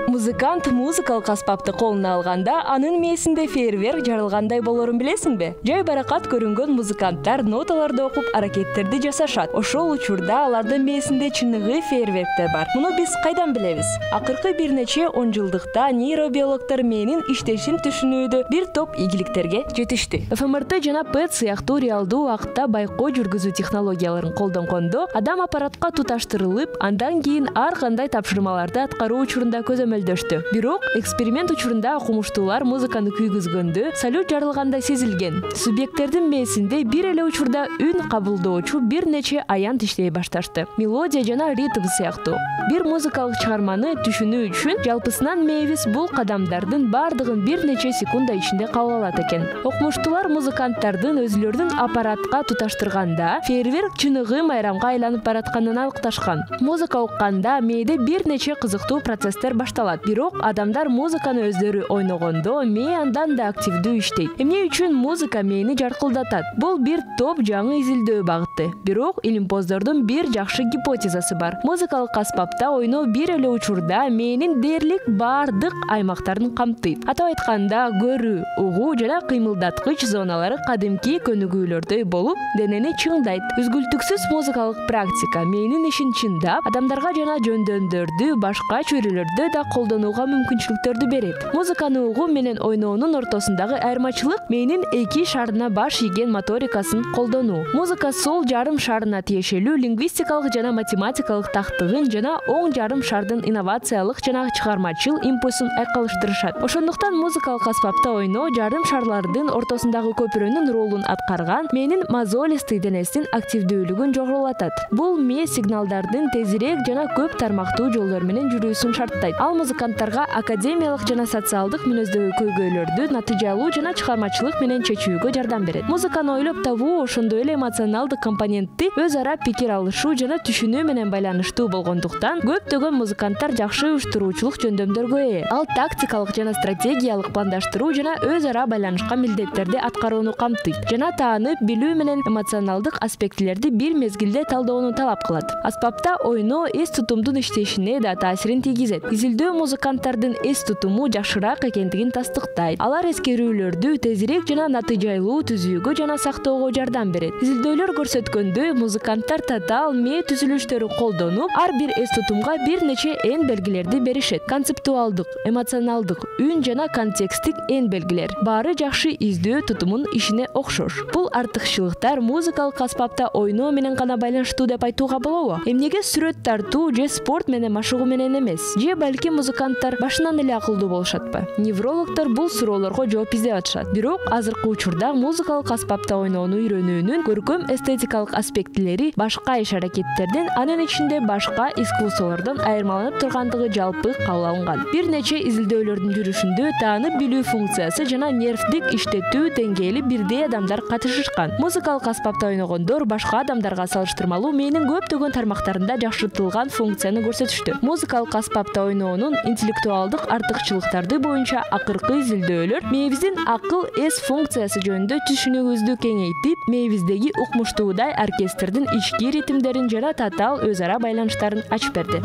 Музыкант музыкалык аспапты колуна алганда анын мээсинде фейерверк жарылгандай болорун билесиңби? Жай баракат көрүнгөн музыканттар ноталарды окуп аракеттерди жасашат. Ошол учурда алардын мээсинде чыныгы фейерверктер бар. Муну биз кайдан билебиз? Акыркы бир нече он жылдыкта нейробиологдор мээнин иштешин түшүнүүдө бир топ ийгиликтерге жетишти. эф эм эр тэ жана пэт сыяктуу реалдуу убакытта байкоо жүргүзүү технологияларын колдонгондо адам аппаратка туташтырылып, андан кийин ар кандай тапшырмаларды аткаруу учурунда көзөмөлдөштү. Бирок эксперимент учурунда окумуштуулар музыканы күйгүзгөндө салют жарылгандай сезилген. Субъекттердин мээсинде бир эле учурда үн кабылдоочу бир нече аянт иштей башташты. Мелодия жана ритм сыяктуу. Бир музыкалык чыгарманы түшүнүү үчүн жалпысынан мээбиз бул кадамдардын бардыгын бир нече секунда ичинде кабыл алат экен. Окумуштуулар музыканттардын өзүлөрүнүн аппаратка туташтырганда фейерверк чыныгы майрамга айланып баратканын аныкташкан. Музыка укканда мээде бир нече кызыктуу процесстер башталат. Бирок адамдар музыканы өздөрү ойногондо мээ андан да активдүү иштейт. Эмне үчүн музыка мээни жаркылдатат? Бул бир топ жаңы изилдөө багыты. Бирок илимпоздордун бир жакшы гипотезасы бар. Музыкалык аспапта ойноо бир эле учурда мээнин дээрлик бардык аймактарын камтыйт. Атап айтканда, көрүү, угуу жана кыймылдаткыч зоналары кадимки көнүгүүлөрдөй болуп, денени чыңдайт. Үзгүлтүксүз музыкалык практика мээнин ишин чыңдап, адамдарга жана жөндөмдөрдү башка чөйрөлөрдө да колдонуу колдонууга мүмкүнчүлүктөрдү берет. Музыканы угуу менен ойноонун ортосундагы айырмачылык мээнин эки шарына баш ийген моторикасын колдонуу. Музыка сол жарым шарына тиешелүү лингвистикалык жана математикалык тактыгын жана оң жарым шардын инновациялык жана чыгармачыл импульсун айкалыштырышат. Ошондуктан музыкалык аспапта ойноо жарым шарлардын ортосундагы көпүрөнүн ролун аткарган мээнин мозолистый денесинин активдүүлүгүн жогорулатат. Бул мээ сигналдардын тезирээк жана көп тармактуу жолдор менен жүрүүсүн шарттайт. Ал музыканттарга академиялык жана социалдык мүнөздөгү көйгөйлөрдү натыйжалуу жана чыгармачылык менен чечүүгө жардам берет. Музыканы ойлоп табуу ошондой эле эмоционалдык компонентти өз ара пикир алышуу жана түшүнүү менен байланыштуу болгондуктан көптөгөн музыканттар жакшы уюштуруучулук жөндөмдөргө ээ. Ал тактикалык жана стратегиялык пландаштыруу жана өз ара байланышкан милдеттерди аткарууну камтыйт жана таанып билүү менен эмоционалдык аспектилерди бир мезгилде талдоону талап кылат. Аспапта ойноо эс тутумдун иштешине да таасирин тийгизет. Изилдөө музыканттардын эс тутуму жакшыраак экендигин тастыктайт. Алар эскерүүлөрдү тезирээк жана натыйжалуу түзүүгө жана сактоого жардам берет. Изилдөөлөр көрсөткөндөй, музыканттар татаал мээ түзүлүштөрү колдонуп, ар бир эс тутумга бир нече эн белгилерди беришет. Концептуалдык, эмоционалдык, үн жана контекстик эн белгилер. Баары жакшы издөө тутумун ишине окшош. Бул артыкчылыктар музыкалык аспапта ойноо менен гана байланыштуу деп айтууга болобу? Эмнеге сүрөт тартуу же спорт менен машыгуу менен эмес? Же балки музыканттар башынан эле акылдуу болушатпы? Неврологдор бул суроолорго жооп издеп атышат. Бирок азыркы учурда музыкалык аспапта ойноону үйрөнүүнүн көркөм эстетикалык аспектилери башка иш-аракеттерден, анын ичинде башка искусстволордон айырмаланып тургандыгы жалпы кабыл алынган. Бир нече изилдөөлөрдүн жүрүшүндө таанып билүү функциясы жана нервдик иштетүү деңгээли бирдей адамдар катышышкан. Музыкалык аспапта ойногондор башка адамдарга салыштырмалуу мээнин көптөгөн тармактарында жакшыртылган функцияны көрсөтүштү. Музыкалык аспапта ойноонун интеллектуалдык артыкчылыктарды боюнча акыркы изилдөөлөр мээнибиздин акыл эс функциясы жөнүндө түшүнүгүбүздү кеңейтип, мээнибиздеги укмуштуудай оркестрдин ички ритмдерин жана татаал өз ара байланыштарын ачып берди.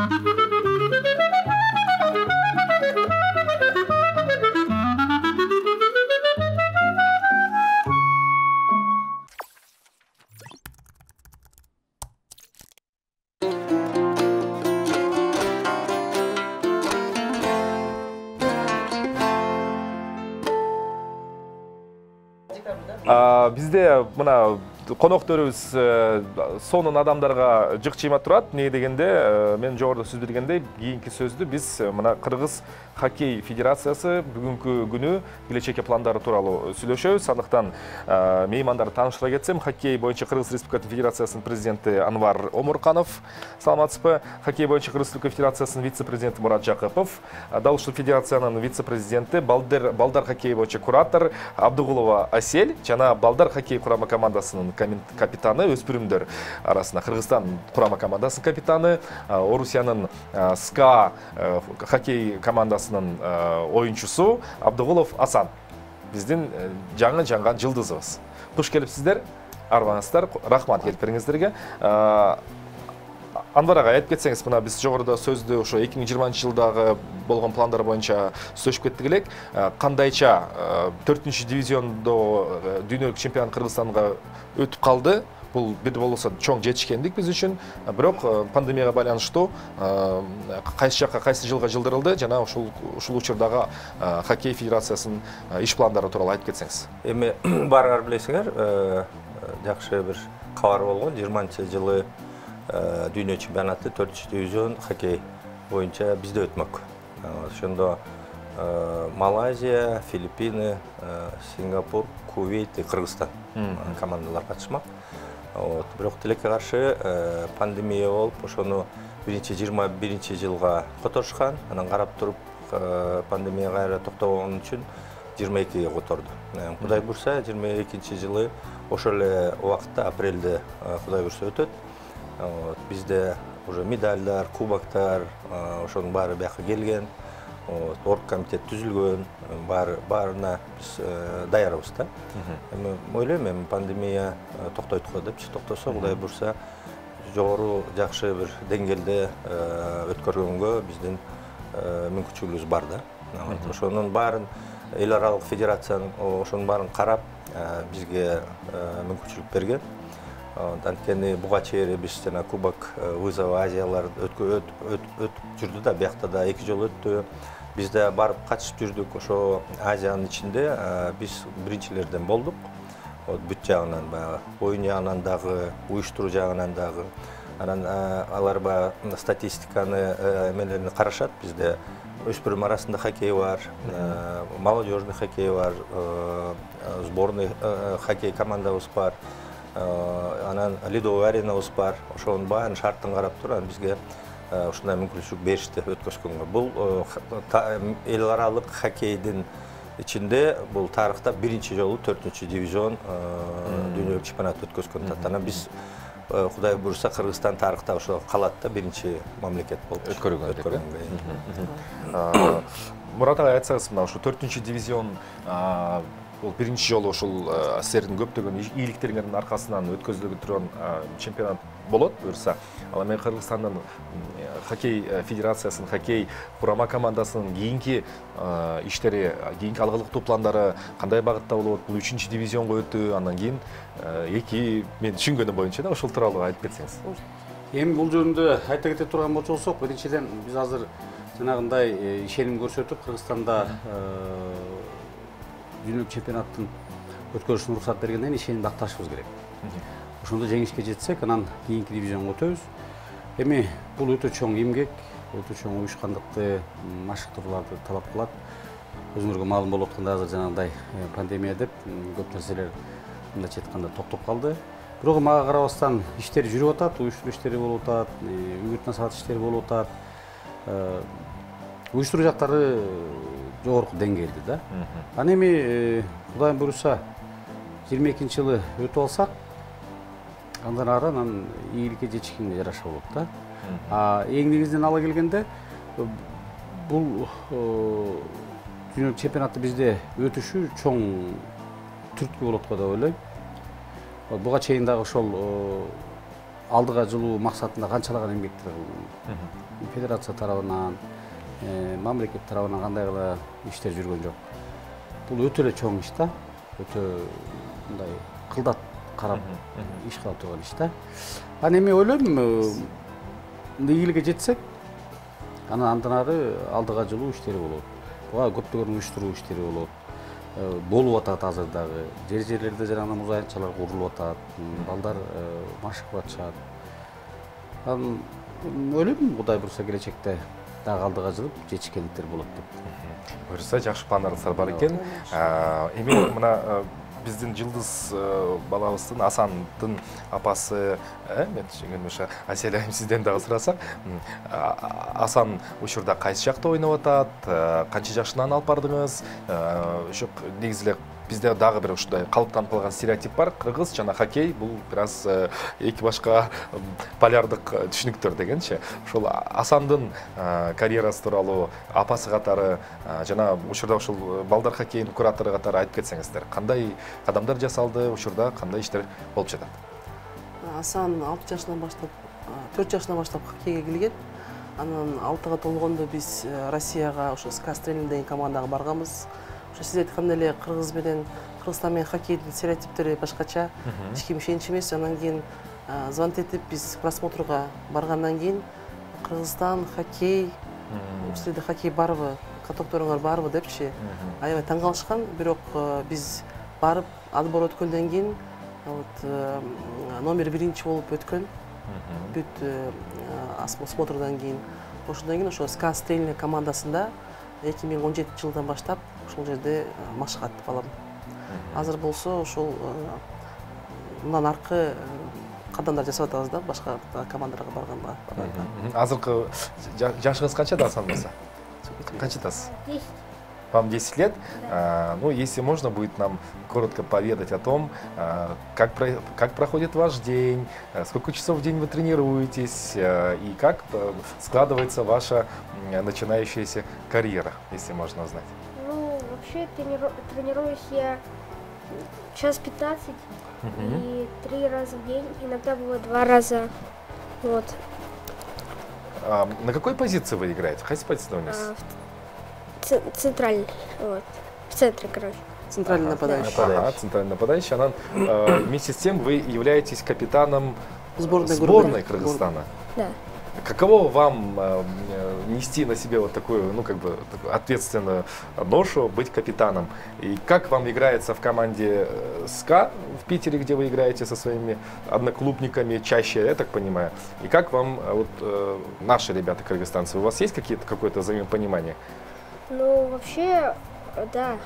Бизде мына конокторубуз сонун адамдарга жыкчыйма турат. Эмне дегенде, мен жогоруда сөз бергендей, кийинки сөздү биз мына Кыргыз хоккей федерациясы бүгүнкү күнү келечекке пландары тууралуу сүйлөшөбүз. Андыктан меймандарды тааныштыра кетсем, хоккей боюнча Кыргыз Республика Федерациясынын президенти Анвар Омурканов, саламатсызбы. Хоккей боюнча Кыргыз Республика Федерациясынын вице-президенти Мурат Жакыпов, дал ушул федерациянын вице-президенти, балдар балдар хоккей боюнча куратор Абдыгулова Асель жана балдар хоккей курама командасынын капитаны, өспүрүмдөр арасында Кыргызстан курама командасынын капитаны, Орусиянын СКА хоккей командасынын оюнчусу Абдыгулов Асан. Биздин жаңы жаңган жылдызыбыз. Куш келипсиздер, арбаңыздар, рахмат келиптериңиздерге. Анвар ага, айтып кетсеңиз, мына биз жогоруда сөздү ошо эки миң жыйырманчы жылдагы болгон пландар боюнча сүйлөшүп кеттик элек. Кандайча төртүнчү дивизиондо дүйнөлүк чемпионат Кыргызстанга өтүп калды. Бул бир болсо чоң жетишкендик биз үчүн. Бирок пандемияга байланыштуу кайсы жакка, кайсы жылга жылдырылды жана ушул ушул учурдагы хоккей федерациясынын иш пландары тууралуу айтып кетсеңиз. Эми баарыңар билесиңер, жакшы бир кабар болгон. жыйырманчы жылы дүйнө чемпионаты төртүнчү дивизион хоккей боюнча бизде өтмөк. Ошондо Малайзия, Филиппины, Сингапур, Кувейт, Кыргызстан командалар катышмак. Вот, бирок тилекке каршы пандемия болуп, ошону биринчи жыйырма биринчи жылга которушкан. Анан карап туруп пандемия кайра токтобогон үчүн жыйырма экиге которду. Кудай буйрса, жыйырма экинчи жылы ошол эле убакытта апрелде Кудай буйрса өтөт. Вот, бизде уже медальдар, кубоктар, ошонун баары бияка келген. Вот, оргкомитет түзүлгөн, баары баарына биз даярбыз да. Эми ойлойм, эми пандемия токтойт го депчи, токтосо, Кудай буйрса, жогору жакшы бир деңгээлде өткөргөнгө биздин мүмкүнчүлүгүбүз бар да. Ошонун баарын эл аралык федерациянын ошонун баарын карап бизге мүмкүнчүлүк берген. Анткени буга чейин биз жана Кубок вызова Азиялар өтүп жүрдү да, биякта да эки жолу өттү. Биз да барып катышып жүрдүк. Ошо Азиянын ичинде биз биринчилерден болдук. Вот бүт жагынан баягы оюн жагынан дагы, уюштуруу жагынан дагы. Анан алар баягы статистиканы эмелерин карашат. Бизде өспүрүм арасында хоккей бар, молодежный хоккей бар, сборный хоккей командабыз бар. Анан ледовый аренабыз бар. Ошонун баарын шарттын карап туруп, анан бизге ушундай мүмкүнчүлүк беришти өткөзгөнгө. Бул эл аралык хоккейдин ичинде бул тарыхта биринчи жолу төртүнчү дивизион дүйнөлүк чемпионат өткөзгөн. Анан биз Кудай буюрса Кыргызстан тарыхта ошо калат да биринчи мамлекет болуп өткөргөн. Мурат ага айтсаңыз, мына ушу төртүнчү дивизион бул биринчи жолу ушул силердин көптөгөн ийгиликтериңердин аркасынан өткөзүлүп турган чемпионат болот буюрса. Ал эми Кыргызстандын хоккей федерациясынын хоккей курама командасынын кийинки иштери, кийинки алгылыктуу пландары кандай багытта болот? Бул үчүнчү дивизионго өтүү, андан кийин эки мен түшүнгөнүм боюнча да ошол тууралуу айтып кетсеңиз. Эми бул жөнүндө айта кете турган болсок, биринчиден биз азыр жанагындай ишеним көрсөтүп, Кыргызстанда дүйнөлүк чемпионаттын өткөрүшүнө уруксат бергенден кийин ишенимди акташыбыз керек. Ошондо жеңишке жетсек, анан кийинки дивизионго өтөбүз. Эми бул өтө чоң эмгек, өтө чоң уюшкандыкты, машыктырууларды талап кылат. Өзүңөргө маалым болуп аткандай азыр жанагындай пандемия деп көп нерселер мындайча айтканда токтоп калды. Бирок мага карабастан иштер жүрүп атат, уюштуруу иштери болуп атат, үгүт насаат иштери болуп атат. Уюштуруу жактары жогорку деңгээлде да. Анан эми Кудайым буюрса жыйырма экинчи жылы өтүп алсак, андан ары анан ийгиликке жетишкенге жараша болот да. А эң негизинен ала келгенде бул дүйнөлүк чемпионатты бизде өтүшү чоң түрткү болот го деп ойлойм. Буга чейин дагы ошол алдыга жылуу максатында канчалаган эмгектер кылдым. Федерация тарабынан, мамлекет тарабынан кандай гана иштер жүргөн жок. Бул өтө эле чоң иш да. Өтө мындай кылдат карап иш кылып турган иш да. Анан эми ойлойм, ийгиликке жетсек, анан андан ары алдыга жылуу иштери болот. Буга көптөгөн уюштуруу иштери болот. Болуп атат азыр дагы. Жер-жерлерде жанагы муз аянтчалар курулуп атат, балдар машыгып атышат. Анан ойлойм, Кудай буюрса келечекте дагы алдыга жылып жетишкендиктер болот деп. Буюрса жакшы пландарыңыздар бар экен. Эми мына биздин жылдыз балабыздын Асандын апасы, мен түшүнгөнүмчө Асель айым сизден дагы сурасак, Асан учурда кайсы жакта ойноп атат, канча жашынан алып бардыңыз? Ошо негизи эле бизде дагы бир ушундай калыптанып калган стереотип бар. Кыргыз жана хоккей бул бир аз эки башка полярдык түшүнүктөр дегенчи. Ошол Асандын карьерасы тууралуу апасы катары жана учурда ушул балдар хоккейинин куратору катары айтып кетсеңиздер, кандай кадамдар жасалды, учурда кандай иштер болуп жатат? Асан алты жашынан баштап, төрт жашынан баштап хоккейге келген. Анан алтыга толгондо биз Россияга ошо СКА Стрельный деген командага барганбыз. Ошо сиз айткандай эле Кыргыз менен Кыргызстан менен хоккейдин стереотиптери башкача, эч ким ишенич эмес. Анан кийин звонок этип биз просмотрга баргандан кийин Кыргызстан хоккей, силерде хоккей барбы, катокторуңар барбы депчи аябай таң калышкан. Бирок биз барып отбор өткөндөн кийин вот номер биринчи болуп өткөн. Бүт осмотрдан кийин ошондон кийин ошо СКА Стрельный командасында эки миң он жетинчи жылдан баштап ошол жерде машык аттып балам. Азыр болсо ошол мындан аркы кадамдар жасап атабыз да, башка командаларга барганга. Азыркы жашыңыз канчада Асан болсо? Канчадасыз? Вам десять лет. Ну, если можно, будет нам коротко поведать о том, как, как проходит ваш день, сколько часов в день вы тренируетесь и как складывается ваша начинающаяся карьера, если можно узнать. Ну, вообще трениру... тренируюсь я час пятнадцать uh-huh. и три раза в день, иногда бывает два раза. Вот. А на какой позиции вы играете? Какая позиция у нас? А, Центральный, вот, в центре, короче. Центральный ага, нападающий. Ага, центральный нападающий. Она, э, вместе с тем вы являетесь капитаном сборной, сборной Кыргызстана. Да. каково вам нести на себе вот такую, ну, как бы, такую ответственную ношу, быть капитаном? И как вам играется в команде СКА в Питере, где вы играете со своими одноклубниками чаще, я так понимаю? И как вам вот наши ребята кыргызстанцы? У вас есть какие-то какое-то взаимопонимание? Ну, вообще, да.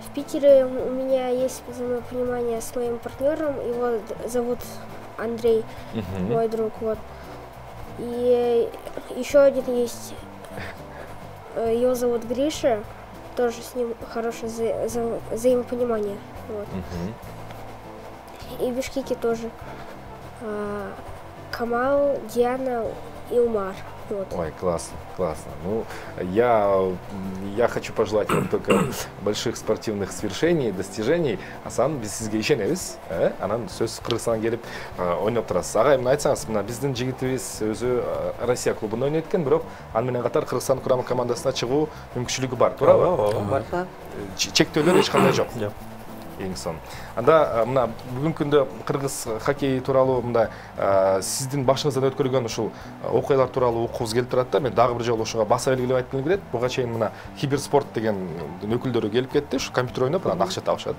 В Питере у меня есть взаимопонимание с моим партнером, его зовут Андрей, uh-huh. мой друг, вот. И еще один есть, его зовут Гриша, тоже с ним хорошее вза- вза- взаимопонимание, вот. Uh-huh. И в Бишкеке тоже а, Камал, Диана и Умар. Вот. Ой, классно, классно. Ну, я, я хочу пожелать вам только больших спортивных свершений, достижений. Асан, біз сізге ишенебиз. Э? Анан сөз Кыргызстанга келип ойноп турасыз. Агай, мына айтсаңыз, мына биздин жигитибиз өзү Россия клубунда ойнойт экен, бирок аны менен катар Кыргызстан курама командасына чыгуу мүмкүнчүлүгү бар, туурабы? Бар. Чектөөлөр эч кандай жок. Жок. Эң сон. Анда мына бүгүнкү күндө кыргыз хоккей тууралуу мында сиздин башыңыздан өткөрүлгөн ушул окуялар тууралуу уккубуз келип турат да. Мен дагы бир жолу ошого баса белгилеп айткым келет. Буга чейин мына Киберспорт деген өкүлдөрү келип кетти. Ушу компьютер ойноп, анан акча табышат.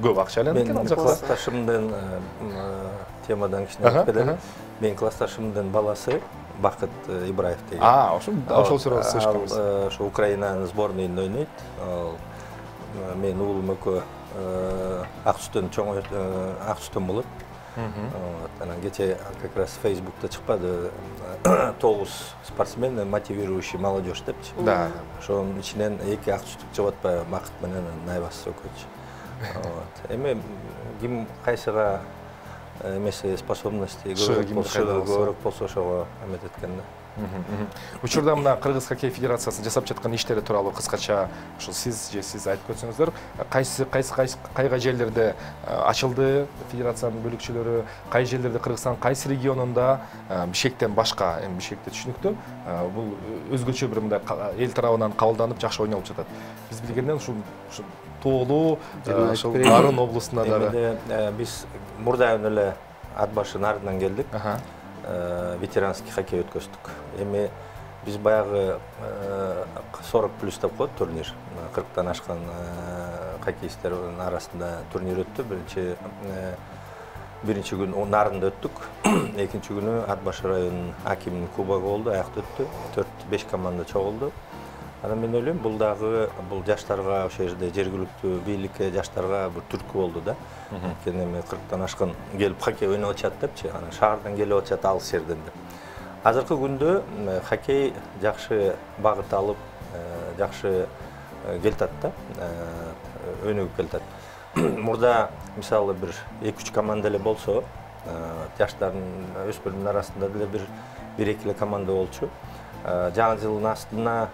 Көп акча алат экен ал жакта. Классташымдын темадан кичине өтүп кетели. Менин классташымдын баласы Бакыт Ибраев деген. А, ошол ошол тууралуу сөз. Ошо Украинанын сборныйында ойнойт. Мен уулум экөө ак түстөн чоң ак түстөн болот. Анан кече как раз Facebook'та чыкпады тогуз спортсмен мотивирующий молодежь депчи. Да. Ошонун ичинен эки ак түстүк чыгып атпайбы, Бакыт менен найбасы экөөчү. Вот. Эми ким кайсыга эмеси способности көбүрөөк болсо ошого эмет эткен да. Учурда мына Кыргыз хоккей федерациясынын жасап жаткан иштери тууралуу кыскача ушул сиз же сиз айтып өтсөңүздөр, кайсы кайсы кайга жерлерде ачылды федерациянын бөлүкчөлөрү, кай жерлерде Кыргызстан кайсы регионунда Бишкектен башка, эми Бишкекте түшүнүктүү, бул өзгөчө бир мындай эл тарабынан кабылданып жакшы ойнолуп жатат. Биз билгенден ушул тоолуу ушул Нарын облусунда дагы биз мурдайын эле ат башы Нарындан келдик. Ветеранский хоккей өткөздүк. Эми биз баягы сорок плюс деп коет турнир. кырктан ашкан хоккеисттердин арасында турнир өттү. Биринчи биринчи күн Нарында өттүк. Экинчи күнү Ат башы районунун акиминин кубогу болду, аякта өттү. төрт беш команда чогулду. Анан мен ойлойм, бул дагы бул жаштарга, ошол жерде жергиликтүү бийликке, жаштарга бир түрткү болду да. Анткени эми кырктан ашкан келип хоккей ойноп атышат депчи, анан шаардан келип атышат алыс жерден деп. Азыркы күндө хоккей жакшы багыт алып, жакшы келтат да, өнүгүп келтат. Мурда мисалы бир эки үч команда эле болсо, жаштардын өспүрүмдүн арасында деле бир бир эки эле команда болчу. Жаңы жылдын астына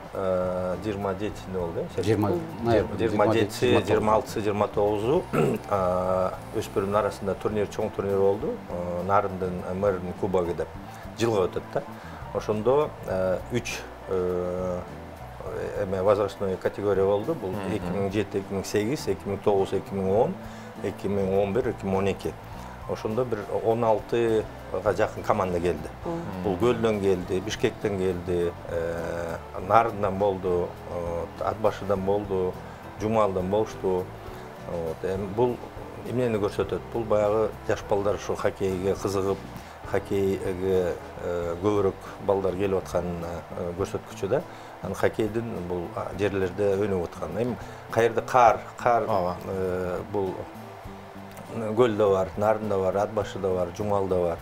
жыйырма жетинде болду, э? жыйырма жети, жыйырма алты, жыйырма тогузу өспүрүмдүн арасында турнир, чоң турнир болду. Нарындын мэринин кубогу деп жылга өтөт да. Ошондо үч эме возрастной категория болду. Бул эки миң жети, эки миң сегиз, эки миң тогуз, эки миң он, эки миң он бир, эки миң он эки. Ошондо бир он алтыга жакын команда келди. Бул Көлдөн келди, Бишкектен келди, Нарындан болду, Ат башыдан болду, Жумалдан болушту. Эми бул эмнени көрсөтөт? Бул баягы жаш балдар ушу хоккейге кызыгып, хоккейге көбүрөөк балдар келип атканын көрсөткүчү да. Анан хоккейдин бул жерлерде өнүгүп аткан. Эми каерде кар, кар бул Көлдө бар, Нарында бар, Ат башыда бар, Жумалда бар.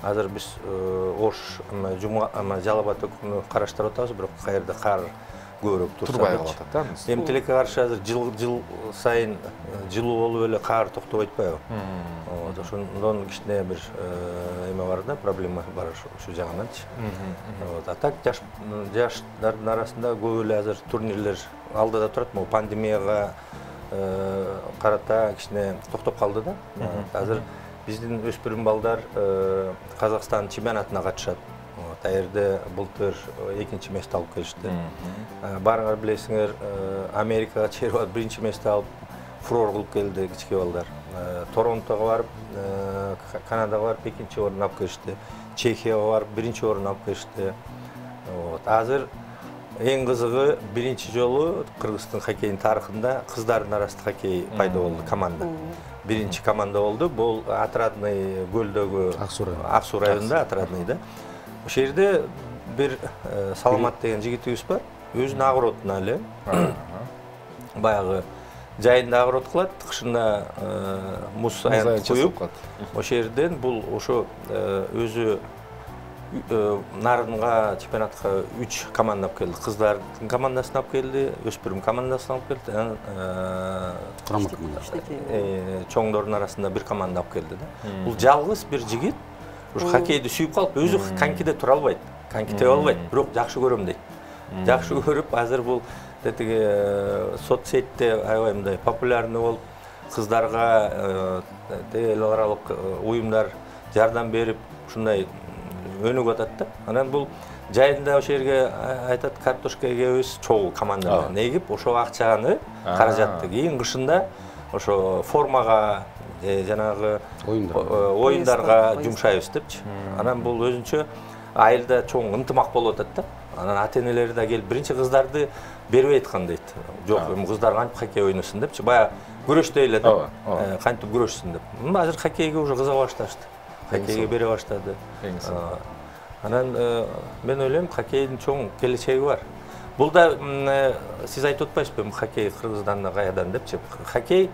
Азыр биз Ош, Жалал Абад өкүмүн караштырып атабыз, бирок каерде кар көбүрөөк турбай калат да. Эми тилекке каршы азыр жыл жыл сайын жылуу болуп эле кар токтоп атпайбы? Ошондон кичине бир эме бар да, проблема бар ушу жагынанчы. А так жаштардын арасында көп эле азыр турнирлер алдыда турат, могу пандемияга карата кичине токтоп калды да. Азыр биздин өспүрүм балдар Казакстан чемпионатына катышат. Таерде былтыр экинчи месте алып келишти. Барыңар билесиңер, Америкага чейин биринчи месте алып фурор кылып келди кичке балдар. Торонтого барып, Канадага барып экинчи орун алып келишти. Чехияга барып биринчи орун алып келишти. Вот. Азыр эң кызыгы биринчи жолу Кыргыздын хоккейдин тарыхында кыздардын арасында хоккей пайда болду команда. Биринчи команда болду. Бул Отрадный көлдөгү Ак Суу районунда Отрадный да. Ошол жерде бир Саламат деген жигитибиз бар. Өзүнүн огородуна эле баягы жайында огород кылат, кышында муз аянт куюп, ошол жерден бул ошо өзү нарынга чемпионатка үч команда алып келди. Кыздардын командасын алып келди, өспүрүм командасын алып келди, курама команда. Чоңдордун арасында бир команда алып келди да. Бул жалгыз бир жигит ушу хоккейди сүйүп калып, өзү конькиде тура албайт, коньки тебе албайт, бирок жакшы көрөм дейт. Жакшы көрүп, азыр бул тетиги соцсетте аябай мындай популярный болуп, кыздарга эл аралык уюмдар жардам берип, ушундай өнүгүп атат да. Анан бул жайында ошол жерге айтат, картошка эгебиз чогуу команда менен эгип, ошол акчаны, каражатты кийин кышында ошо формага, жанагы оюндарга жумшайбыз депчи. Анан бул өзүнчө айылда чоң ынтымак болуп атат да. Анан ата-энелери да келип биринчи кыздарды бербей айткан дейт. Жок, эми кыздар кантип хоккей ойносун депчи. Бая күрөштөй эле да. Кантип күрөшсүн деп. Азыр хоккейге уже кызыга башташты. Хоккейге бере баштады. Анан мен ойлойм, хоккейдин чоң келечеги бар. Бул да сиз айтып атпайсызбы, хоккей Кыргызстанда каядан депчи. Хоккей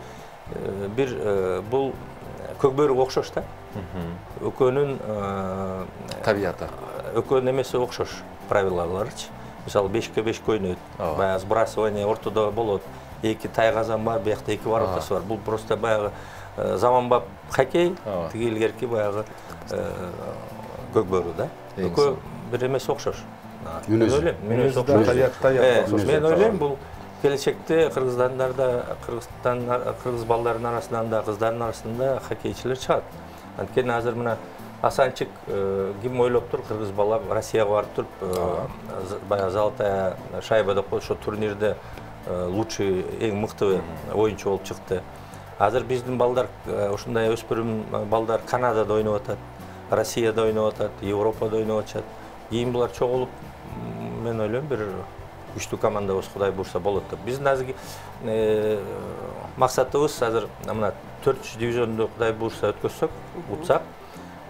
бир бул көкбөрүгө окшош да. Экөөнүн табияты. Экөөнүн эмеси окшош, правилаларычы. Мисалы бешке бешке ойнойт. Баягы сбрасывание ортодо болот. Эки тайгазан бар, биякта эки воротасы бар. Бул просто баягы заманбап хоккей, тиги илгерки баягы көкбөрү да. Экөө бир эмеси окшош. Мен ойлойм, мүнөзү окшош. Мен ойлойм, бул келечекте Кыргызстандарда, Кыргызстан, кыргыз балдарынын арасынан да, кыздардын арасында хоккейчилер чыгат. Анткени азыр мына Асанчык ким ойлоп тур, кыргыз бала Россияга барып туруп, баягы золотая шайба деп коет, ошо турнирде лучший, эң мыкты оюнчу болуп чыкты. Азыр биздин балдар, ушундай өспүрүм балдар Канадада ойноп атат, Россияда ойноп атат, Европада ойноп атышат. Кийин булар чогулуп, мен ойлойм, бир үчтүү командабыз Кудай буйрса болот деп. Биздин азыр максатыбыз азыр мына төртүнчү дивизионду Кудай буйрса өткөзсөк, утсак,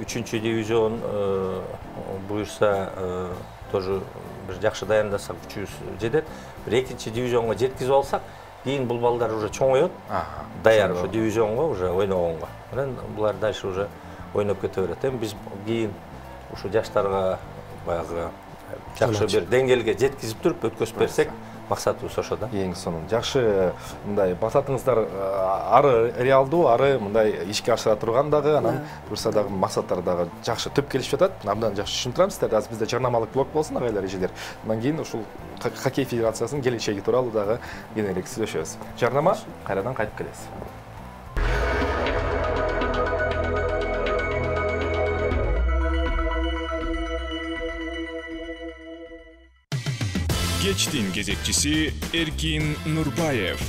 үчүнчү дивизион буйрса тоже бир жакшы даяндасак күчүбүз жетет. Бир экинчи дивизионго жеткизип алсак, кийин бул балдар уже чоңойот, даяр ошо дивизионго уже ойногонго. Анан булар дальше уже ойноп кете берет. Эми биз кийин ушу жаштарга баягы жакшы бир деңгээлге жеткизип туруп өткөзүп берсек, максатыбыз ошо да. Эң сонун. Жакшы мындай максатыңыздар ары реалдуу, ары мындай ишке ашыра турган дагы, анан буюрса дагы максаттар дагы жакшы түп келишип жатат. Абдан жакшы түшүндүрөм сиздерди. Азыр бизде жарнамалык блок болсун, агайлар, эжелер. Андан кийин ушул хоккей федерациясынын келечеги тууралуу дагы кененирээк сүйлөшөбүз. Жарнама, кайрадан кайтып келебиз. Кечтин кезекчиси Эркин Нурбаев.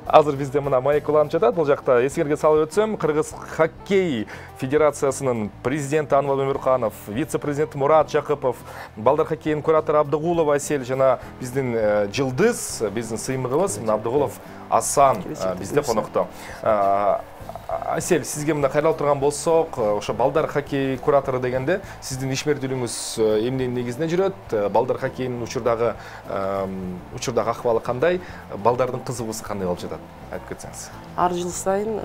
Азыр бизде мына маек уланып жатат. Бул жакта эсиңерге салып өтсөм, Кыргыз хоккей федерациясынын президенти Анвар Өмүрканов, вице-президент Мурат Жакыпов, балдар хоккейинин куратору Абдыгулова Асель жана биздин жылдыз, биздин сыймыгыбыз Абдыгулов Асан бизде конокто. Асель, сизге мына кайрылып турган болсок, ошо балдар хоккей куратору дегенде сиздин ишмердүүлүгүңүз эмненин негизинде жүрөт? Балдар хоккейинин учурдагы учурдагы акыбалы кандай? Балдардын кызыгуусу кандай болуп жатат? Айтып кетсеңиз. Ар жыл сайын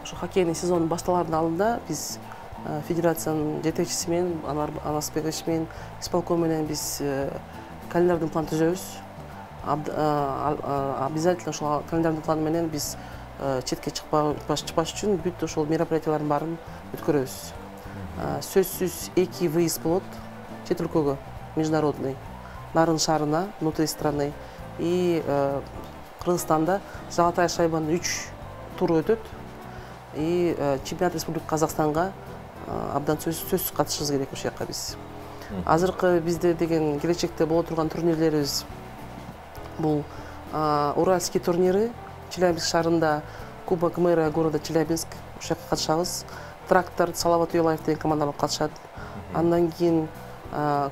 ошо хоккейный сезон башталардын алдында биз федерациянын жетекчиси менен, Анар Анасбекович менен, исполком менен биз календарный план түзөбүз. Обязательно ошол календарный план менен биз четке чыкпаш үчүн бүт ошол мероприятиялардын баарын өткөрөбүз. Сөзсүз эки выезд болот чет өлкөгө, международный, нарын шаарына, внутри страны. И Кыргызстанда золотая шайбанын үч туру өтөт. И чемпионат Республика Казакстанга абдан сөзсүз катышыбыз керек ошол жака биз. Азыркы бизде деген келечекте боло турган турнирлерибиз бул Уральский турниры, Челябинск шаарында Кубок мэра города Челябинск, ошол жака катышабыз. Трактор, Салават Уялаев деген командалар катышат. Андан кийин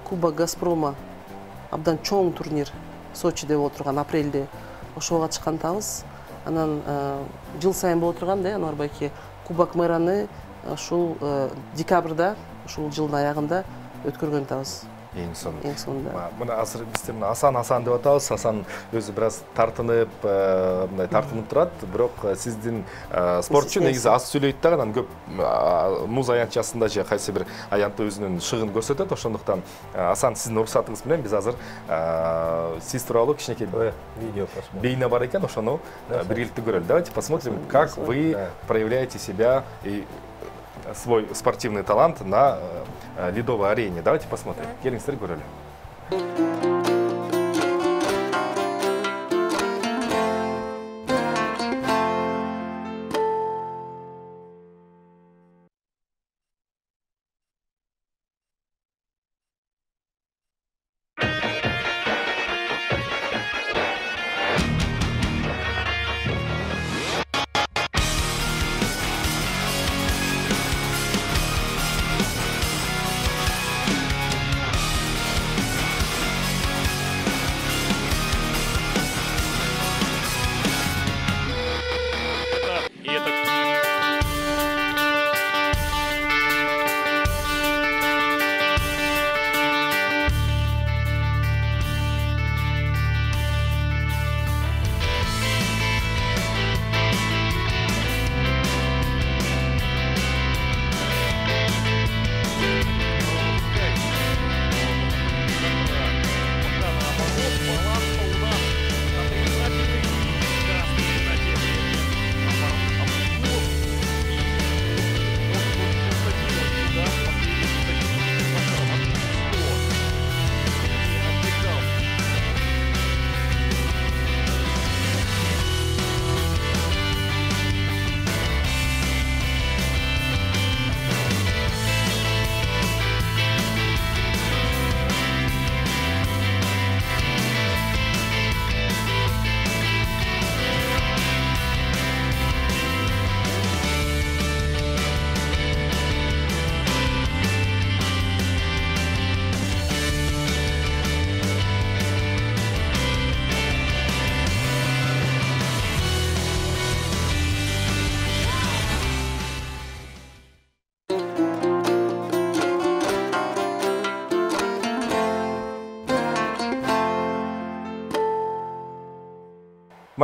Кубок Газпрома, абдан чоң турнир Сочиде болуп турган апрелде, ошого катышкантабыз. Анан жыл сайын болуп турган да, Анвар байке, Кубок мэраны ушул декабрда, ушул жылдын аягында өткөргөн атабыз. Эң сонун. Эң сонунда. Мына азыр бизде мына Асан Асан деп атабыз. Асан өзү бир аз тартынып, мындай тартынып турат, бирок сиздин спортчу негизи аз сүйлөйт да, анан көп муз аянтчасында же кайсы бир аянтта өзүнүн шыгын көрсөтөт. Ошондуктан Асан, сиздин уруксатыңыз менен биз азыр сиз тууралуу кичинекей видео посмотрим. Бейне бар экен, ошону биргеликте көрөлү. Давайте посмотрим, как вы проявляете себя и свой спортивный талант на ледовой арене. Давайте посмотрим. Келиңиздер көрөлү.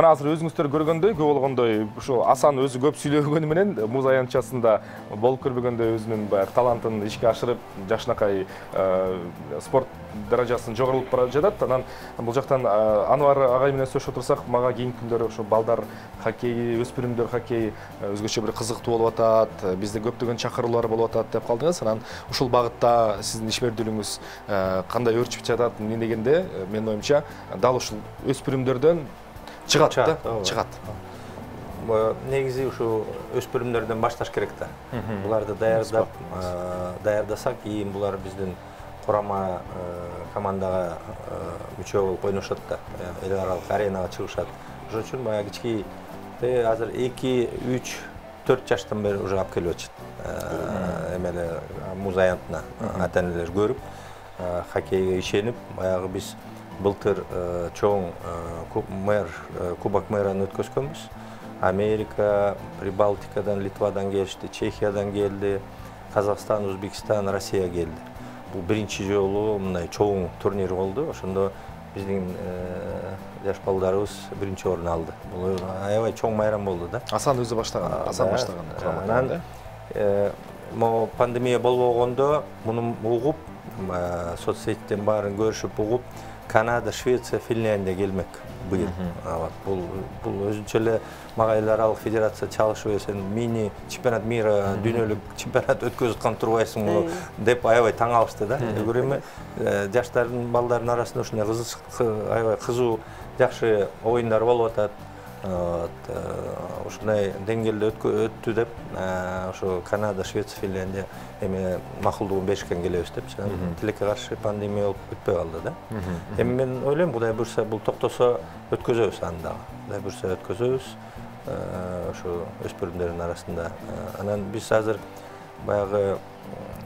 Мына азыр өзүңүздөр көргөндөй, көп болгондой, ушу Асан өзү көп сүйлөгөнү менен муз аянтчасында болуп көрбөгөндөй өзүнүн баягы талантын ишке ашырып, жакшынакай спорт даражасын жогорулуп бара жатат. Анан бул жактан Анвар агай менен сөйлөшүп отурсак, мага кийинки күндөрү ушу балдар хоккейи, өспүрүмдөр хоккейи өзгөчө бир кызыктуу болуп атат, бизде көптөгөн чакыруулар болуп атат деп калдыңыз. Анан ушул багытта сиздин ишмердүүлүгүңүз кандай өрчүп жатат, эмне дегенде, менин оюмча, дал ушул өспүрүмдөрдөн чыгат да, чыгат. Негизи ушу өспүрүмдөрдөн башташ керек да. Буларды даярдап, даярдасак, кийин булар биздин курама командага мүчө болуп ойношот да. Эл аралык аренага чыгышат. Ошон үчүн баягы кички азыр эки, үч, төрт жаштан бери уже алып келип атышат. Эмеле муз аянтына ата-энелер көрүп, хоккейге ишенип, баягы биз былтыр чоң Кубок мэраны өткөзгөнбүз. Америка, Прибалтикадан, Литвадан келишти, Чехиядан келди, Казакстан, Өзбекстан, Россия келди. Бул биринчи жолу мындай чоң турнир болду. Ошондо биздин жаш балдарыбыз биринчи орун алды. Бул аябай чоң майрам болду да. Асан өзү баштаган, Асан баштаган курамадан. Мо пандемия болбогондо муну угуп, соцсетиен баарын көрүшүп угуп, Канада, Швеция, Финляндия келмек быйыл. Бул бул өзүнчө эле мага эл аралык федерация чалышып, сен мини чемпионат мира, дүйнөлүк чемпионат өткөзүп аткан турбайсың муну деп аябай таң калышты да. Бир эми жаштардын, балдардын арасында ушундай аябай кызуу, жакшы оюндар болуп атат. ушундай деңгээлде өттү деп ошо Канада, Швеция, Финляндия эми макулдугун беришкен келебиз депчи. Тилекке каршы пандемия болуп бүтпөй калды да. Эми мен ойлойм, Кудай буйрса бул токтосо өткөзөбүз аны дагы. Кудай буйрса өткөзөбүз. Ошо өспүрүмдөрдүн арасында. Анан биз азыр баягы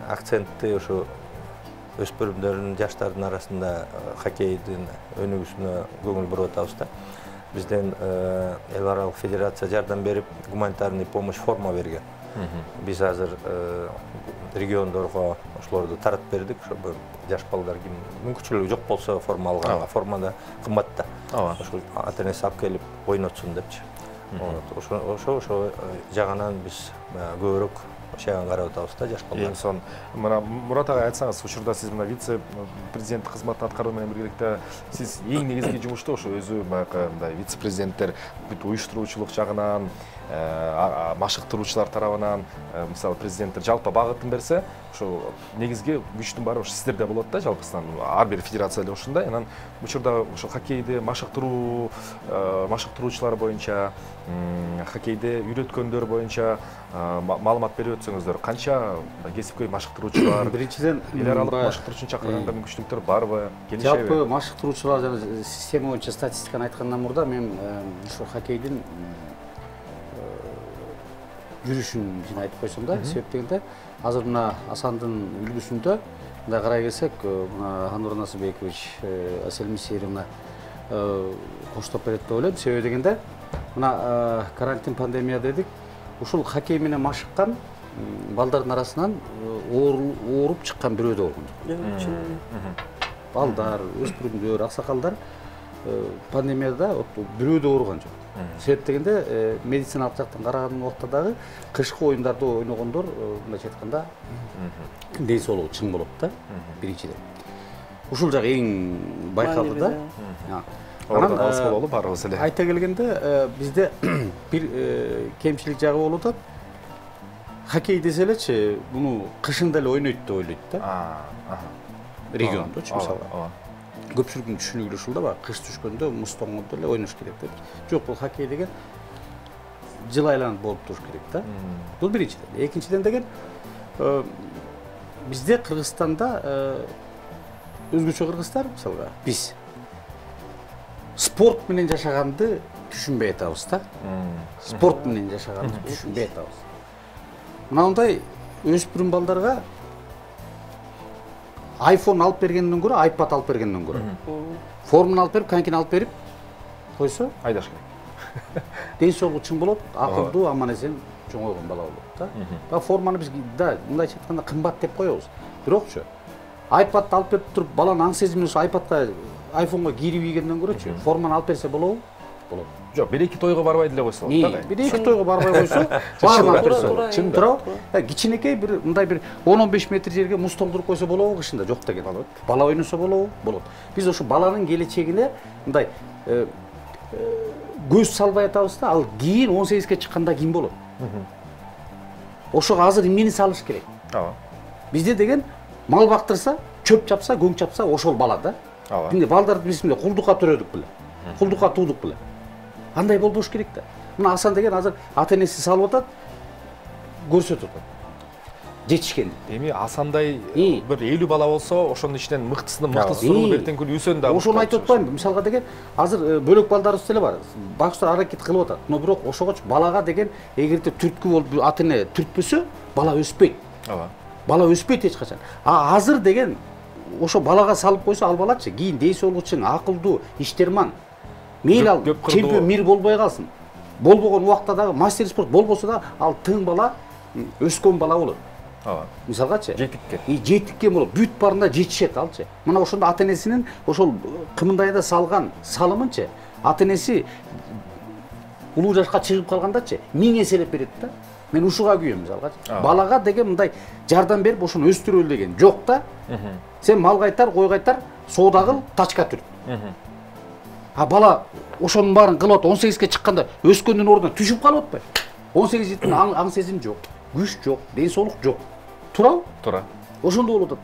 акцентти ошо өспүрүмдөрдүн, жаштардын арасында хоккейдин өнүгүүсүнө көңүл буруп атабыз да. Бизден эл аралык федерация жардам берип, гуманитарный помощь форма берген. Биз азыр региондорго ошолорду таратып бердик. Ошо жаш балдар ким мүмкүнчүлүгү жок болсо форма алганга, формада кымбат да. Ошо ата-энеси алып келип ойнотсун депчи. Ошо ошо жагынан биз көбүрөөк чаган карап атабыз да жаш балдар. Эң сон мына Мурат ага айтсаңыз, учурда сиз мына вице президент кызматын аткаруу менен биргеликте сиз эң негизги жумушту ошо өзү баягы мындай вице президенттер бүт уюштуруучулук жагынан, машыктыруучулар тарабынан, мисалы президенттер жалпы багытын берсе, ошо негизги күчтүн баары ошо сиздерде болот да жалпысынан. Ар бир федерация эле ушундай. Анан учурда ошо хоккейди машыктыруу, машыктыруучулар боюнча, хоккейди үйрөткөндөр боюнча маалымат берип өтсөңүздөр, канча кесипкөй машыктыруучулар, биринчиден эл аралык машыктыруучуну чакырганга мүмкүнчүлүктөр барбы, келишеби? Жалпы машыктыруучулар жана система боюнча статистиканы айткандан мурда мен ушу хоккейдин жүрүшүн жана айтып койсом да, себеп дегенде азыр мына Асандын үлгүсүндө мындай карай келсек, мына Анур Насыбекович, Асель Мисеевна коштоп берет деп ойлойм. Себеби дегенде мына карантин, пандемия дедик, ушул хоккей менен машыккан балдардын арасынан ооруп чыккан бирөө да болгон жок. Балдар, өспүрүмдөр, аксакалдар пандемияда бирөө да ооруган жок. Себеп дегенде медициналык жактан караган убакта дагы кышкы оюндарда ойногондор мындайча айтканда ден соолугу чың болот да, биринчиден. Ушул жагы эң байкалды да. Анан алыс бололу баарыбыз эле. Айта келгенде бизде бир кемчилик жагы болуп атат. Хоккей десе элечи, буну кышында эле ойнойт деп ойлойт да. Региондочу мисалы. Көпчүлүктүн түшүнүгү ушул да, баягы кыш түшкөндө муз тоңгондо эле ойнош керек деп. Жок, бул хоккей деген жыл айланып болуп туруш керек да. Бул биринчиден. Экинчиден деген бизде Кыргызстанда өзгөчө кыргыздар мисалга биз спорт менен жашаганды түшүнбөй атабыз да. Спорт менен жашаганды түшүнбөй атабыз. Мынандай өспүрүм балдарга айфон алып бергенден көрө, айпад алып бергенден көрө. Форманы алып берип, конькини алып берип койсо, айдаш керек. Ден соолугу чың болот, акылдуу, аман-эсен чоңойгон бала болот да. Ба форманы биз да мындайча айтканда кымбат деп коебуз. Бирокчу айпадты алып берип туруп, баланын аң сезими ошо айпадка, айфонго кирип ийгенден көрөчү, форманы алып берсе болобу? Болот. Жок, бир-эки тойго барбай деле койсо болот да. Бир-эки тойго барбай койсо, баарына берсе. Чын тура. Кичинекей бир мындай бир он он беш метр жерге муз тоңдуруп койсо болобу кышында? Жок деген. Бала ойносо болобу? Болот. Биз ошо баланын келечегине мындай көз салбай атабыз да, ал кийин он сегизге чыкканда ким болот? Ошого азыр эмнени салыш керек? Ооба. Бизде деген мал бактырса, чөп чапса, көң чапса ошол бала да. Ооба. Эмне балдарды биз эмне кулдукка төрөдүк беле? Кулдукка туудук беле? Андай болбош керек да. Мына Асан деген азыр ата-энеси салып атат, көрсөтүп атат. Жетишкен. Эми Асандай бир элүү бала болсо, ошонун ичинен мыктысынын мыктысынын бертең күнү үсөн да. Ошону айтып атпаймынбы? Мисалга деген азыр бөлөк балдарыбыз деле бар. Бакчылар аракет кылып атат. Но бирок ошогочу балага деген эгерде түрткү болуп ата-эне түртпөсө, бала өспөйт. Ооба. Бала өспөйт эч качан. А азыр деген ошо балага салып койсо, ал балачы кийин ден соолугу чың, акылдуу, иштерман. Мейлі ал чемпион мир болбой калсын. Болбогон убакта дагы мастер спорт болбосо да ал тың бала, өскөн бала болот. Ооба. Мисалгачы, жетикке. И жетикке болот. Бүт барында жетишет алчы. Мына ошондо ата-энесинин ошол кымындайда салган салымынчы, ата-энеси улуу жашка чыгып калгандачы миң эселеп берет да. Мен ушуга күйөм мисалгачы. Балага деген мындай жардам берип ошону өстүрөлү деген жок да. Сен мал кайтар, кой кайтар, соода кыл, тачка түрт. А бала ошонун баарын кылып атат, он сегизге чыкканда өскөндүн ордуна түшүп калып атпайбы? он сегиз жеттин аң сезим жок, күч жок, ден соолук жок. Туурабы? Туура. Ошондо болуп атат.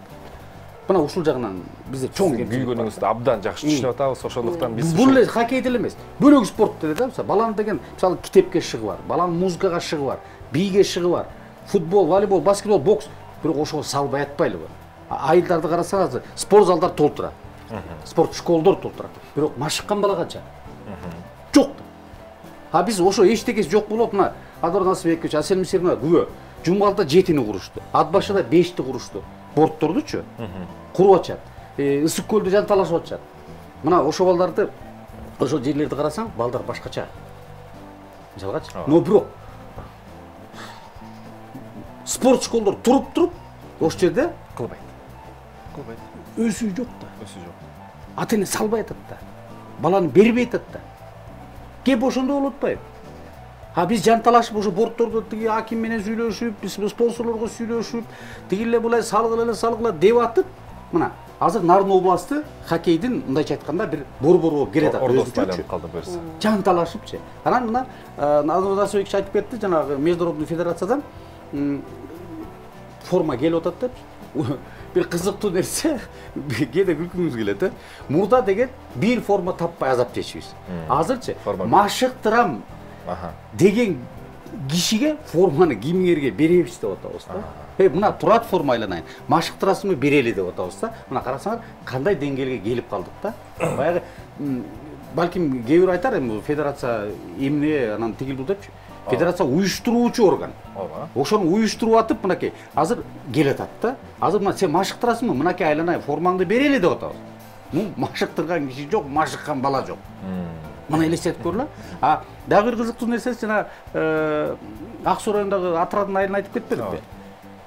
мына ушул жагынан бизде чоң күйгөнүңүздү абдан жакшы түшүнүп атабыз, ошондуктан биз бул эле хоккей деле эмес, бөлөк спорт деле да. Мисалы баланын деген мисалы китепке шыгы бар, баланын музыкага шыгы бар, бийге шыгы бар. Футбол, волейбол, баскетбол, бокс, бирок ошого салбай атпайлыбы. Айылдарды карасаңыз, спорт залдар толтура. Спорт школдор толтура. Бирок машыккан бала канча? Жок. А биз ошо эчтекеси жок болуп, мына Адор Насыбекович, Асель Мисирова күбө Жумгалда жетини курушту. Атбашыда бешти курушту. Бордтордучу куруп атышат. Ысык көлдү жанталашып атышат. Мына ошо балдарды, ошо жерлерди карасаң, балдар башкача. Мисалгачы. Но бирок спорт школдор туруп-туруп, ошол жерде кылбайт. Кылбайт. Өсүү жок да. Өсүү жок. Ата-эне салбай атат да. Баланы бербей атат да. Кеп ошондо болуп атпайбы? А биз жанталашып ошо бордтордо тиги аким менен сүйлөшүп, биз спонсорлорго сүйлөшүп, тигиле булай салгыла, салгыла деп атып, мына азыр Нарын областы хоккейдин мындайча айтканда бир борбору болуп келе атат. Ордостайланып калды буюрса. Жанталашыпчы. Анан мына Азыр Насыбекович айтып кетти, жанагы международный федерациядан форма келип атат деп. Бир кызыктуу нерсе, кээде күлкүңүз келет, э? Мурда деген бир форма таппай азап чечибиз. Азырчы машыктырам деген кишиге форманы кимиңерге беребиз деп атабыз да. Э, мына турат форма айланайын. Машыктырасыңбы берели деп атабыз да. Мына карасаңар кандай деңгээлге келип калдык да. Баягы балким кээ бир айтар эми федерация эмне анан тигил депчи. Федерация уюштуруучу орган. Ошону уюштуруп атып, мынакей азыр келет атат да. Азыр мына сен машыктырасыңбы? Мынакей айланайын, формаңды берели деп атабыз. Ну, машыктырган киши жок, машыккан бала жок. Мына элестетип көрүлө. А дагы бир кызыктуу нерсеси жана Ак Суу районундагы отряддын айылын айтып кетпедикпи?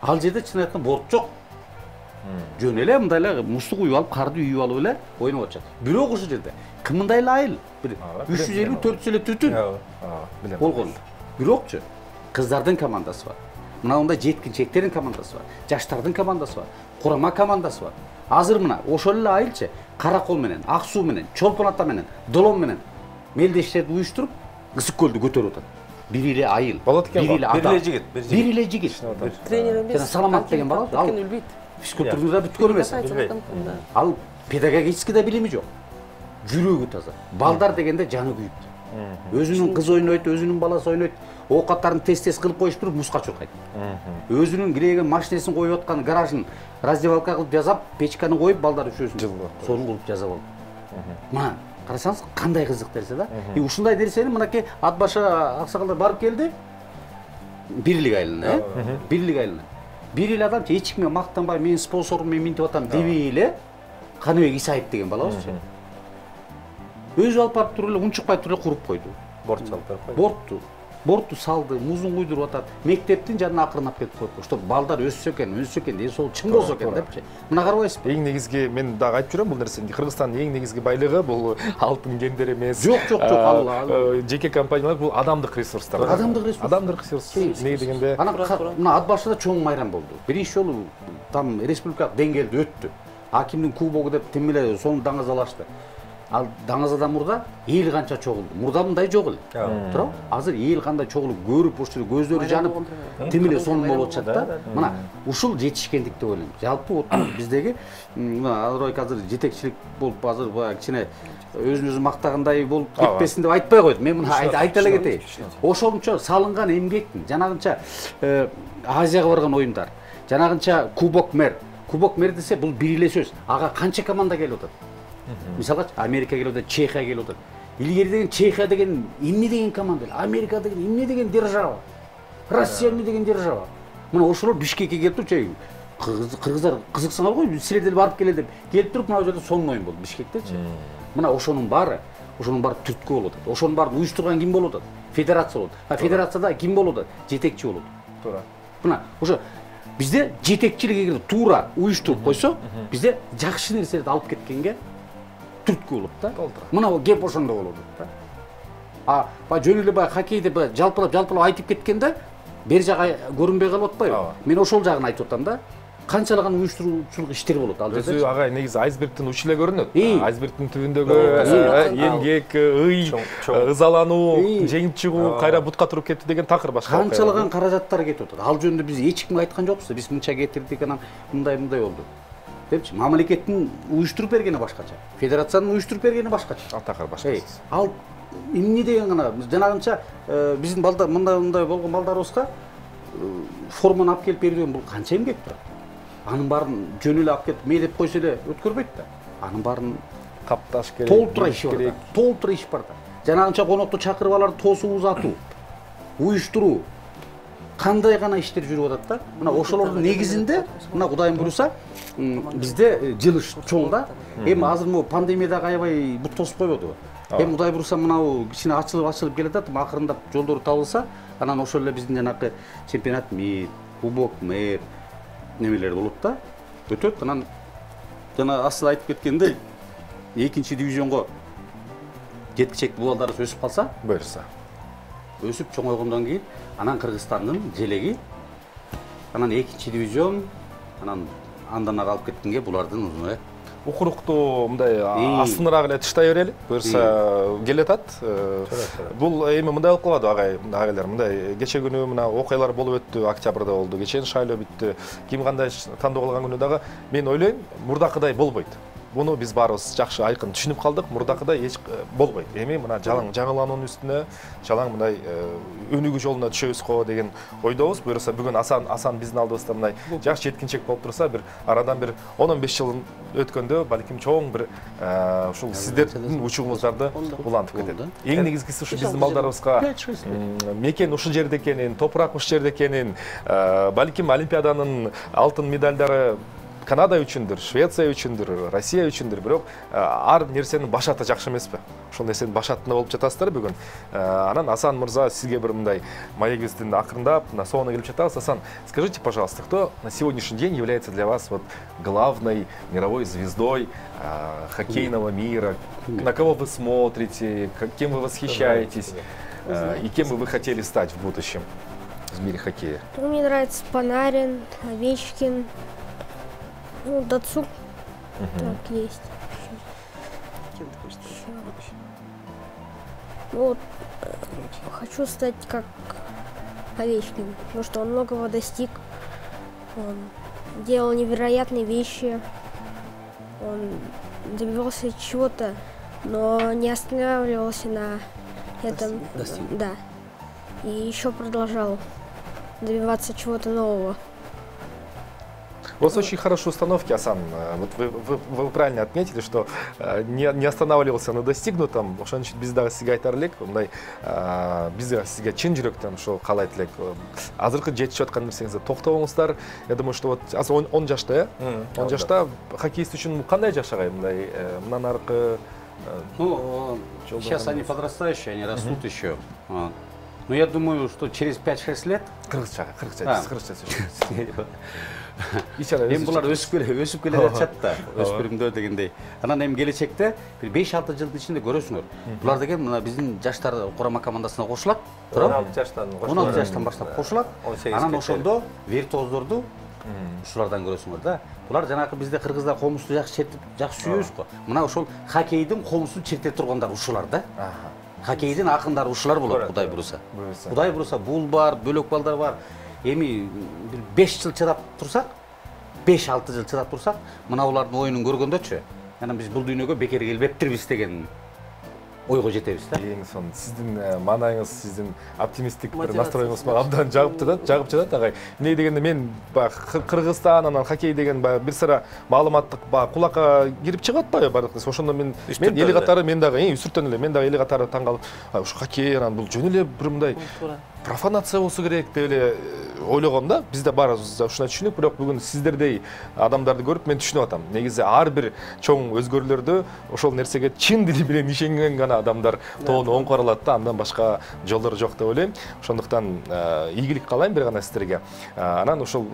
Ал жерде чын айтканда борт жок. Жөн эле мындай эле муздук уюп алып, карды үйүп алып эле ойноп атышат. Бирок ошол жерде кымындай эле айыл, бир үч жүз элүү төрт жүз эле түтүн болгон. Бирокчу кыздардын командасы бар. Мына мындай жеткинчектердин командасы бар. Жаштардын командасы бар. Курама командасы бар. Азыр мына ошол эле айылчы Каракол менен, Ак Суу менен, Чолпон Ата менен, Долом менен мелдештерди уюштуруп, Ысык көлдү көтөрүп атат. Бир эле айыл, бир эле адам, бир эле жигит, бир эле жигит. Тренер эмес. Жана Саламат деген бала, ал физкультурада бүткөн эмес. Ал педагогический да билими жок. Жүрөгү таза. Балдар дегенде жаны күйүп. Өзүнүн кызы ойнойт, өзүнүн баласы ойнойт. Оокаттарын тез-тез кылып коюштуруп музга чуркайт. Өзүнүн киреген машинесин коюп аткан гаражын раздевалка кылып жасап, печканы коюп балдар үчөөсүн сонун кылып жасап алды. Мына карасаңыз кандай кызык нерсе да. И ушундай нерсени мынакей Атбаша аксакалдар барып келди. Бирлик айылына, э? Бирлик айылына. Бир эле адам эч кимге мактанбай, менин спонсорум мен минтип атам дебей эле Каныбек Исаев деген балабызчы. Өзү алып барып туруп эле унчукпай туруп эле куруп койду. Борт салып койду. Бортту. Бортту салды, музун куйдуруп атат. Мектептин жанына акырынап кетип койду. Чтоб балдар өссө экен, өнсө экен, ден соолугу чың болсо экен депчи. Мына карабайсызбы? Эң негизги мен дагы айтып жүрөм бул нерсени. Кыргызстандын эң негизги байлыгы бул алтын кендер эмес. Жок, жок, жок. Ал жеке компаниялар бул адамдык ресурстар. Адамдык ресурс. Адамдык ресурс. Эмне дегенде? Анан мына Атбашыда чоң майрам болду. Биринчи жолу там республикалык деңгээлде өттү. Акимдин кубогу деп тим эле сону даңазалашты. Ал даңазадан мурда эл канча чогулду. Мурда мындай жок эле. Туурабы? Азыр эл кандай чогулуп, көрүп, ошол көздөрү жанып, тим эле сонун болуп атышат да. Мына ушул жетишкендик деп ойлойм. Жалпы вот биздеги мына Азырбек азыр жетекчилик болуп, азыр баягы кичине өзүн өзү мактагандай болуп кетпесин деп айтпай койду. Мен муну айта эле кетейин. Ошончо салынган эмгектин, жанагынча Азияга барган оюндар, жанагынча Кубок Мэр. Кубок Мэр десе бул бир эле сөз. Ага канча команда келип атат? Мисалга Америка келип атат, Чехия келип атат. Илгери деген Чехия деген эмне деген команда, Америка деген эмне деген держава, Россия эмне деген держава. Мына ошолор Бишкекке келип туруп, чей кыргыздар кызыксаңар го, силер деле барып келе деп келип туруп, мына жерде сонун оюн болду Бишкектечи. Мына ошонун баары, ошонун баары түрткү болуп атат. Ошонун баарын уюштурган ким болуп атат? Федерация болот. А федерацияда ким болуп атат? Жетекчи болот. Туура. Мына ошо бизде жетекчилик эгер туура уюштуруп койсо, бизде жакшы нерселерди алып кеткенге түрткү болот да. Мына кеп ошондо болот да. А ба жөн эле баягы хоккейде баягы жалпылап жалпылап айтып кеткенде бер жагы көрүнбөй калып атпайбы? Мен ошол жагын айтып атам да. Канчалаган уюштуруучулук иштер болот ал жерде. Өзү ага негизи айсбергдин учу эле көрүнөт. Айсбергдин түбүндөгү эмгек, ый, ызалануу, жеңип чыгуу, кайра бутка туруп кетти деген такыр башка. Канчалаган каражаттар кетип атат. Ал жөнүндө биз эч кимге айткан жокпуз. Биз мынча кетирдик, анан мындай мындай болду. депчи, мамлекеттин уюштуруп бергени башкача, федерациянын уюштуруп бергени башкача. Ал такыр башка. Ал эмне деген гана жанагынча биздин балдар мындай мындай болгон балдарыбызга форманы алып келип берүүдөн бул канча эмгек турат. Анын баарын жөн эле алып келип мейдеп койсо эле өткөрбөйт да. Анын баарын капташ керек, толтура иш керек, толтура иш бар да. Жанагынча конокто чакырып аларды тосуп узатуу, уюштуруу, кандай гана иштер жүрүп атат да. Мына ошолордун негизинде, мына Кудайым буйруса, бизде жылыш чоң да. Эми азыр могу пандемиядагы аябай бут тосуп койбодубу? Эми Кудай буйруса мынау кичине ачылып ачылып келатат, акырындап жолдору табылса, анан ошол эле биздин жанакы чемпионат мир, кубок мэр немелер болот да. Өтөт, анан жана асыл айтып кеткендей, экинчи дивизионго жеткичек балдарыбыз өсүп калса, буйруса. Өсүп чоңойгондон кийин, анан Кыргызстандын желеги, анан экинчи дивизион, анан андан ары алып кеткенге булардын узуну. Укурукту мындай астыныраак эле тыштай берели, буюрса келатат. Бул эми мындай болуп калады агай, агайлар, мындай кече күнү мына окуялар болуп өттү, октябрда болду. Кечен шайлоо бүттү. Ким кандай тандоо кылган күнү дагы мен ойлойм, мурдакыдай болбойт. Буну биз баарыбыз жакшы айкын түшүнүп калдык. Мурдакыдай эч болбойт. Эми мына жалаң жаңылануунун үстүнө, жалаң мындай өнүгүү жолуна түшөбүз го деген ойдобуз. Буюрса бүгүн Асан Асан биздин алдыбызда мындай жакшы жеткинчек болуп турса, бир арадан бир он он беш жыл өткөндө балким чоң бир ушул сиздердин учугуңуздарды улантып кетет. Эң негизгиси ушу биздин балдарыбызга мекен ушул жерде экенин, топурак ушул жерде экенин, балким Олимпиаданын алтын медалдары Канада үчүндүр, Швеция үчүндүр, Россия үчүндүр, бирок ар нерсенин башаты жакшы эмеспи? Ошол нерсенин башатында болуп жатасыздар бүгүн. Анан Асан мырза, сизге бир мындай маегибиздин акырындап, на соңуна келип жатабыз. Асан, скажите, пожалуйста, кто на сегодняшний день является для вас вот главной мировой звездой э, хоккейного мира? На кого вы смотрите, кем вы восхищаетесь э, и кем бы вы хотели стать в будущем в мире хоккея? Мне нравится Панарин, Овечкин. Ну, Дацук, так есть. Кем ты хочешь стать? Ну, вот, хочу стать как Овечкин, потому что он многого достиг. Он делал невероятные вещи. Он добивался чего-то, но не останавливался на этом. Достиг. Да. И еще продолжал добиваться чего-то нового. У вас очень хорошие установки, Асан. Вот вы, вы, вы правильно отметили, что не, не останавливался на достигнутом. Ошон үчүн биз дагы сизге айтар элек, мындай биз дагы сизге чын жүрөктөн ошо каалайт элек. Азыркы жетишип аткан нерсеңизде токтобоңуздар. Я думаю, что вот азыр он жашта, э? он жашта хоккеист үчүн кандай жаш агай, мындай мындан аркы? Ну, сейчас они подрастающие, они растут еще. Но я думаю, что через пять-шесть лет... Кыргызча, кыргызча, кыргызча сөйлөйт. Эми булар өсүп келе, өсүп келе жатышат да, өспүрүмдөр дегендей. Анан эми келечекте бир беш-алты жылдын ичинде көрөсүңөр. Булар деген мына биздин жаштар курама командасына кошулат. он алты жаштан он алты жаштан баштап кошулат. Анан ошондо виртуоздорду ушулардан көрөсүңөр да. Булар жанагы бизде кыргыздар комузду жакшы чертип, жакшы сүйөбүз го. Мына ошол хоккейдин комузун черте тургандар ушулар да. Хоккейдин акындары ушулар болот, Кудай буйруса. Кудай буйруса, бул бар, бөлөк балдар бар. Эми бир беш жыл чыдап турсак, беш-алты жыл чыдап турсак, мына булардын оюнун көргөндөчү, анан биз бул дүйнөгө бекер келбептирбиз деген ойго жетебиз да. Эң сонун сиздин маанайыңыз, сиздин оптимисттик бир настроюңуз мага абдан жагып жатат, жагып жатат агай. Эмне дегенде мен баягы Кыргызстан анан хоккей деген баягы бир сыра маалыматтык баягы кулакка кирип чыгып атпайбы бардык нерсе. Ошондо мен мен эли катары мен дагы үстүртөн эле мен дагы эли катары таң калып, ушу хоккей анан бул жөн эле бир мындай профанация болсу керек деп эле ойлогом да. Биз да баарыбыз ушуна түшүнүк, бирок бүгүн сиздердей адамдарды көрүп мен түшүнүп атам. Негизи ар бир чоң өзгөрүүлөрдө ошол нерсеге чын дили менен ишенген гана адамдар тоону оң каралат да, андан башка жолдор жок деп ойлойм. Ошондуктан ийгилик каалайм бир гана сиздерге. Анан ошол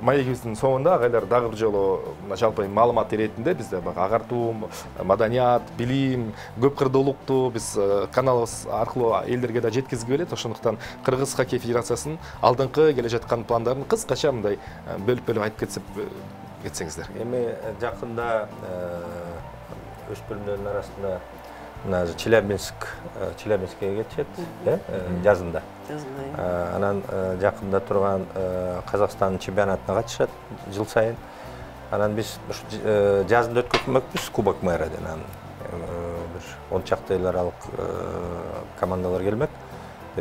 маегибиздин соңунда агайлар дагы бир жолу жалпы маалымат иретинде бизде агартуу, маданият, билим, көп кырдуулукту биз каналыбыз аркылуу элдерге да жеткизгип келет. Ошондуктан Кыргыз хоккей федерациясынын алдыңкы келе жаткан пландарын кыскача мындай бөлүп-бөлүп айтып кетсеп кетсеңиздер. Эми жакында өспүрүмдөрдүн арасында мына Челябинск, Челябинскке кетишет, э, жазында. Жазында. Анан жакында турган Казакстандын чемпионатына катышат жыл сайын. Анан биз жазында өткөрмөкпүз Кубок мэраден. Бир он чакты эл аралык командалар келмек.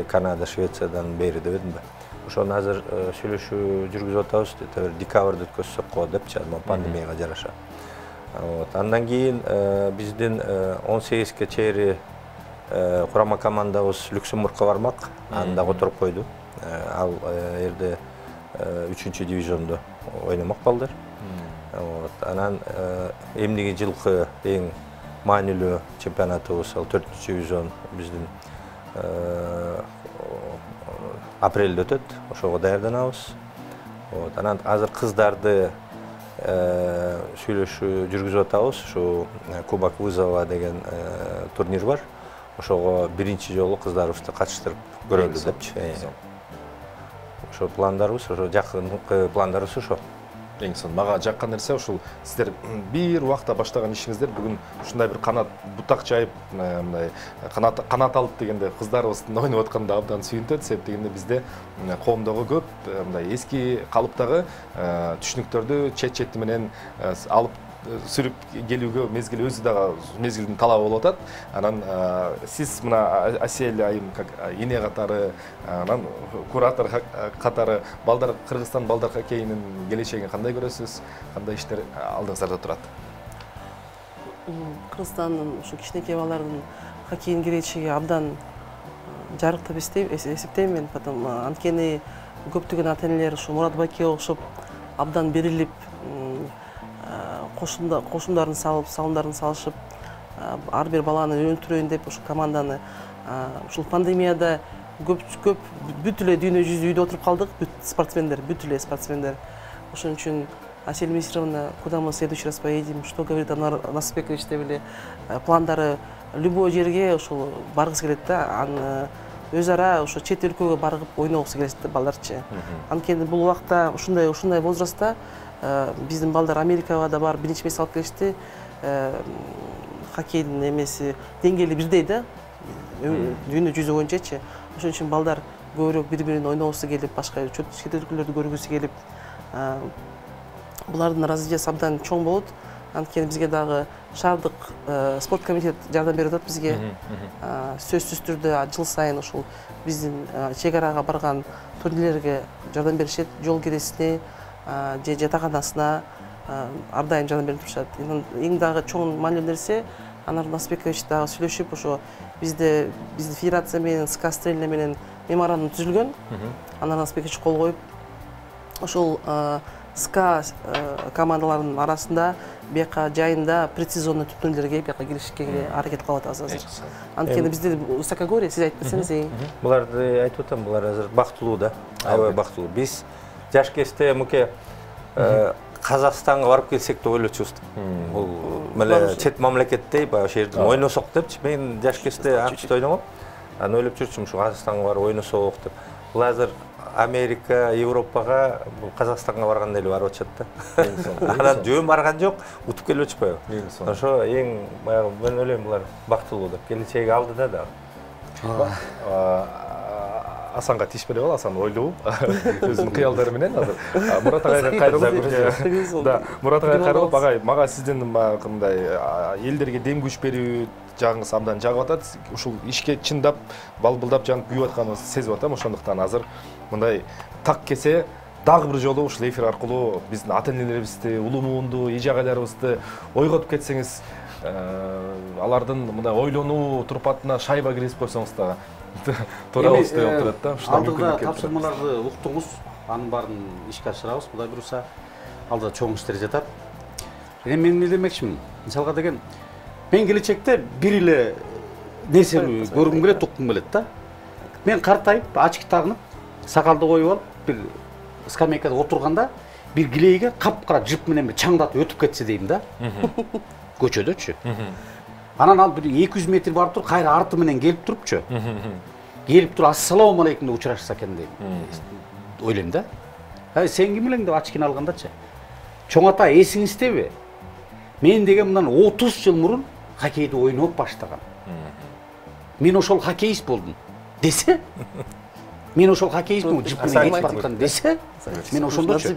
Канада, Швециядан бери деп эдимби. Ошону азыр сүйлөшүү жүргүзүп атабыз. Бир декабрда өткөзсөк го депчи, пандемияга жараша. Вот. Андан кийин биздин он сегизге чейин курама командабыз Люксембургка бармак. Анда которуп койду. Ал жерде үчүнчү дивизиондо ойномок балдар. Вот. Анан эмдиги жылкы эң маанилүү чемпионатыбыз ал төртүнчү дивизион биздин апрелде өтөт. Ошого даярданабыз. Вот. Анан азыр кыздарды сүйлөшүү жүргүзүп атабыз. Ушу Кубок вызова деген турнир бар. Ошого биринчи жолу кыздарыбызды катыштырып көрөлү депчи. Ошо пландарыбыз, ошо жакынкы пландарыбыз ошо. Эң сонун мага жаккан нерсе ушул сиздер бир убакта баштаган ишиңиздер бүгүн ушундай бир канат бутак жайып мындай канат канат алып дегенде кыздарыбыздын ойноп атканда абдан сүйүнтөт. Себеп дегенде бизде коомдогу көп мындай эски калыптагы түшүнүктөрдү чет чети менен алып сүрүп келүүгө мезгил өзү дагы мезгилдин талабы болуп атат. Анан сиз мына Асель айым как эне катары, анан куратор катары балдар Кыргызстан балдар хоккейинин келечегин кандай көрөсүз? Кандай иштер алдыңыздарда турат? Кыргызстандын ушу кичинекей балдардын хоккейдин келечеги абдан жарык деп эсептейм мен. Потом анткени көптөгөн ата-энелер ушу Мурат байке окшоп абдан берилип кошумдарын салып, салымдарын салышып, ар бир баланы өнүктүрөйүн деп ушу команданы ушул пандемияда көп көп бүт эле дүйнө жүзү үйдө отуруп калдык, бүт спортсмендер, бүт эле спортсмендер. Ошон үчүн Асель Мисировна, куда мы в следующий раз поедем, что говорит Анар Насыпбекович деп эле пландары любой жерге ушул баргысы келет да, аны өз ара ошо чет өлкөгө барып ойногусу келет да балдарчы. Анткени бул убакта ушундай ушундай возрастта биздин балдар Америкага да барып биринчи месте алып келишти. Хоккейдин эмеси деңгээли бирдей да, дүйнө жүзү боюнчачы. Ошон үчүн балдар көбүрөөк бири-бирин ойногусу келип, башка чет өлкөлөрдү көргүсү келип, булардын развитиясы абдан чоң болот. Анткени бизге дагы шаардык спорт комитет жардам берип атат бизге. Сөзсүз түрдө жыл сайын ушул биздин чек арага барган турнирлерге жардам беришет, жол киресине же жатаканасына ар дайым жардам берип турушат. Эң дагы чоң маанилүү нерсе, Анар Насыпбекович дагы сүйлөшүп, ошо бизде биздин федерация менен СКА Стрельна менен меморандум түзүлгөн. Анар Насыпбекович кол коюп, ошол СКА командаларынын арасында бияка жайында предсезонный турнирлерге бияка киришке аракет кылып атабыз азыр. Анткени бизде высокогорье, сиз айтып берсеңиз. Буларды айтып атам, булар азыр бактылуу да, аябай бактылуу. Биз жаш кезде муке Казакстанга барып келсек деп ойлочубуз. Бул меле чет мамлекеттей баягы ошол жерде ойносок депчи. Мен жаш кезде АКШда ойногом. Аны ойлоп жүрчүм, ушу Казакстанга барып ойносок деп. Бул азыр Америка, Европага, Казакстанга баргандай эле барып атышат да. Анан жөн барган жок, утуп келип атышпайбы? Ошо эң баягы мен ойлойм булар бактылуу деп. Келечеги алдыда да. Асанга тишпей бол, Асан ойлуу, өзүнүн кыялдары менен азыр. Мурат агайга кайрылып, да, Мурат агайга кайрылып, агай, мага сиздин мындай элдерге дем күч берүү жагыңыз абдан жагып атат. Ушул ишке чындап, балбылдап жанып күйүп атканыңызды сезип атам. Ошондуктан азыр мындай так кесе дагы бир жолу ушул эфир аркылуу биздин ата-энелерибизди, улуу муунду, эже агайларыбызды ойготуп кетсеңиз, алардын мындай ойлонуу турпатына шайба киргизип койсоңуз дагы турабыз деп турат да. Алдыда тапшырмаларды уктуңуз, анын баарын ишке ашырабыз. Кудай буюрса, алдыда чоң иштер жатат. Эми мен эмне демекчимин? Мисалга деген, мен келечекте бир эле нерсени көргүм келет, уккум келет да. Мен картайып, ачки тагынып, сакалды коюп алып, бир скамейкада отурганда, бир килейге капкара жип менен чаңдатып өтүп кетсе дейм да. Көчөдөчү. Анан ал бир эки жүз метр барып туруп, кайра арты менен келип турупчу. Келип туруп, ассаламу алейкум деп учурашса экен дейм. Ойлойм да. Ай, сен ким элең деп ачкини алгандачы. Чоң ата, эсиңиздеби? Мен деген мындан отуз жыл мурун хоккейди ойноп баштагам. Мен ошол хоккеист болдум. Десе, мен ошол хоккеистмин жип менен кетип бараткан десе, мен ошондочу.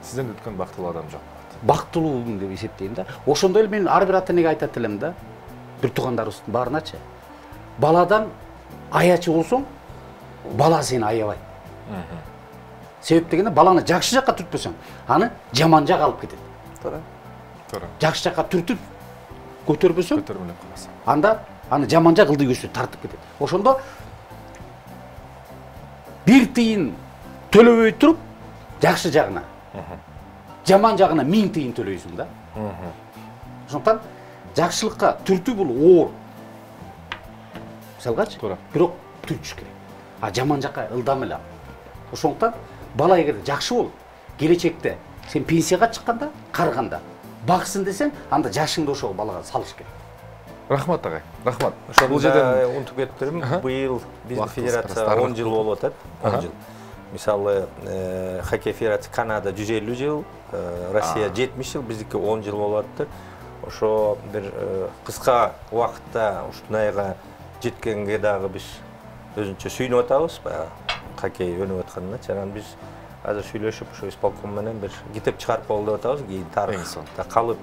Сизден өткөн бактылуу адам жок. Бактылуумун деп эсептейм да. Ошондой эле мен ар бир ата энеге айтат элем да. Бир туугандарыбыздын баарыначы. Баладан аячы болсоң, бала сени аябайт. Себеп дегенде баланы жакшы жакка түртпөсөң, аны жаман жакка алып кетет. Туура. Туура. Жакшы жакка түртүп көтөрбөсөң, көтөрмөлөп каласың. Анда аны жаман жак ылдый көчү тартып кетет. Ошондо бир тыйын төлөбөй туруп, жакшы жагына, жаман жагына миң тыйын төлөйсүң да. Ошондуктан жакшылыкка түртүү бул оор. Мисалгачы, бирок түртүш керек. А жаман жакка ылдам эле. Ошондуктан бала эгер жакшы болуп, келечекте сен пенсияга чыкканда, карыганда баксын десең, анда жашыңды ошол балага салыш керек. Рахмат агай. Рахмат. Бул жерден унутуп кетиптирмин. Быйыл биздин федерация он жыл болуп атат. он жыл. Мисалы, хоккей федерация Канада жүз элүү жыл, Россия жетимиш жыл, биздики он жыл болуп атат. Ошо бир кыска убакытта ушунайга жеткенге дагы биз өзүнчө сүйүнүп атабыз. Хоккей өнүп атканына, анан биз азыр сүйлөшүп, ошо исполком менен бир китеп чыгарып болду деп атабыз. Кийин тарыхта калып,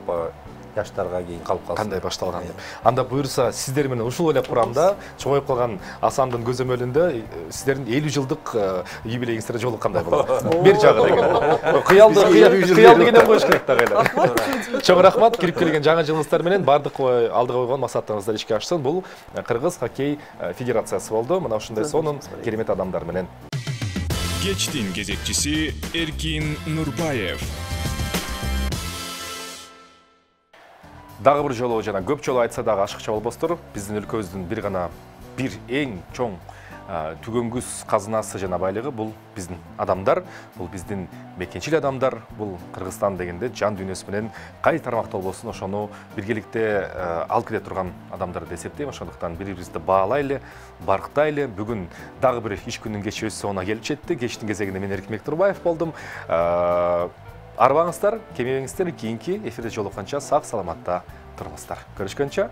жаштарга кийин калып калсын. Кандай башталган деп. Анда буюрса сиздер менен ушул ойлоп курам да, чоңоюп калган Асандын көзөмөлүндө сиздердин элүү жылдык юбилейиңиздер жолуккандай болот. Бир жагы деген. Кыялды, кыялды кенен коюш керек да кайла. Чоң рахмат, кирип келген жаңы жылыңыздар менен бардык алдыга койгон максаттарыңыздар ишке ашсын. Бул Кыргыз хоккей федерациясы болду. Мына ушундай сонун керемет адамдар менен. Кечтин кезекчиси Эркин Нурбаев. Дагы бир жолу жана көп жолу айтса дагы ашыкча болбостур. Биздин өлкөбүздүн бир гана бир эң чоң түгөнгүс казынасы жана байлыгы бул биздин адамдар, бул биздин мекенчил адамдар, бул Кыргызстан дегенде жан дүйнөсү менен кай тармакта болбосун ошону биргеликте алып келе турган адамдар деп эсептейм. Ошондуктан бири-бирибизди баалайлы, барктайлы. Бүгүн дагы бир иш күнүнүн кечи өз соңуна келип жетти. Кечтин кезегинде мен Эркин Турбаев болдум. Арбаңыздар, кемебеңиздер, кийинки эфирде жолукканча сак саламатта туруңуздар. Көрүшкөнчө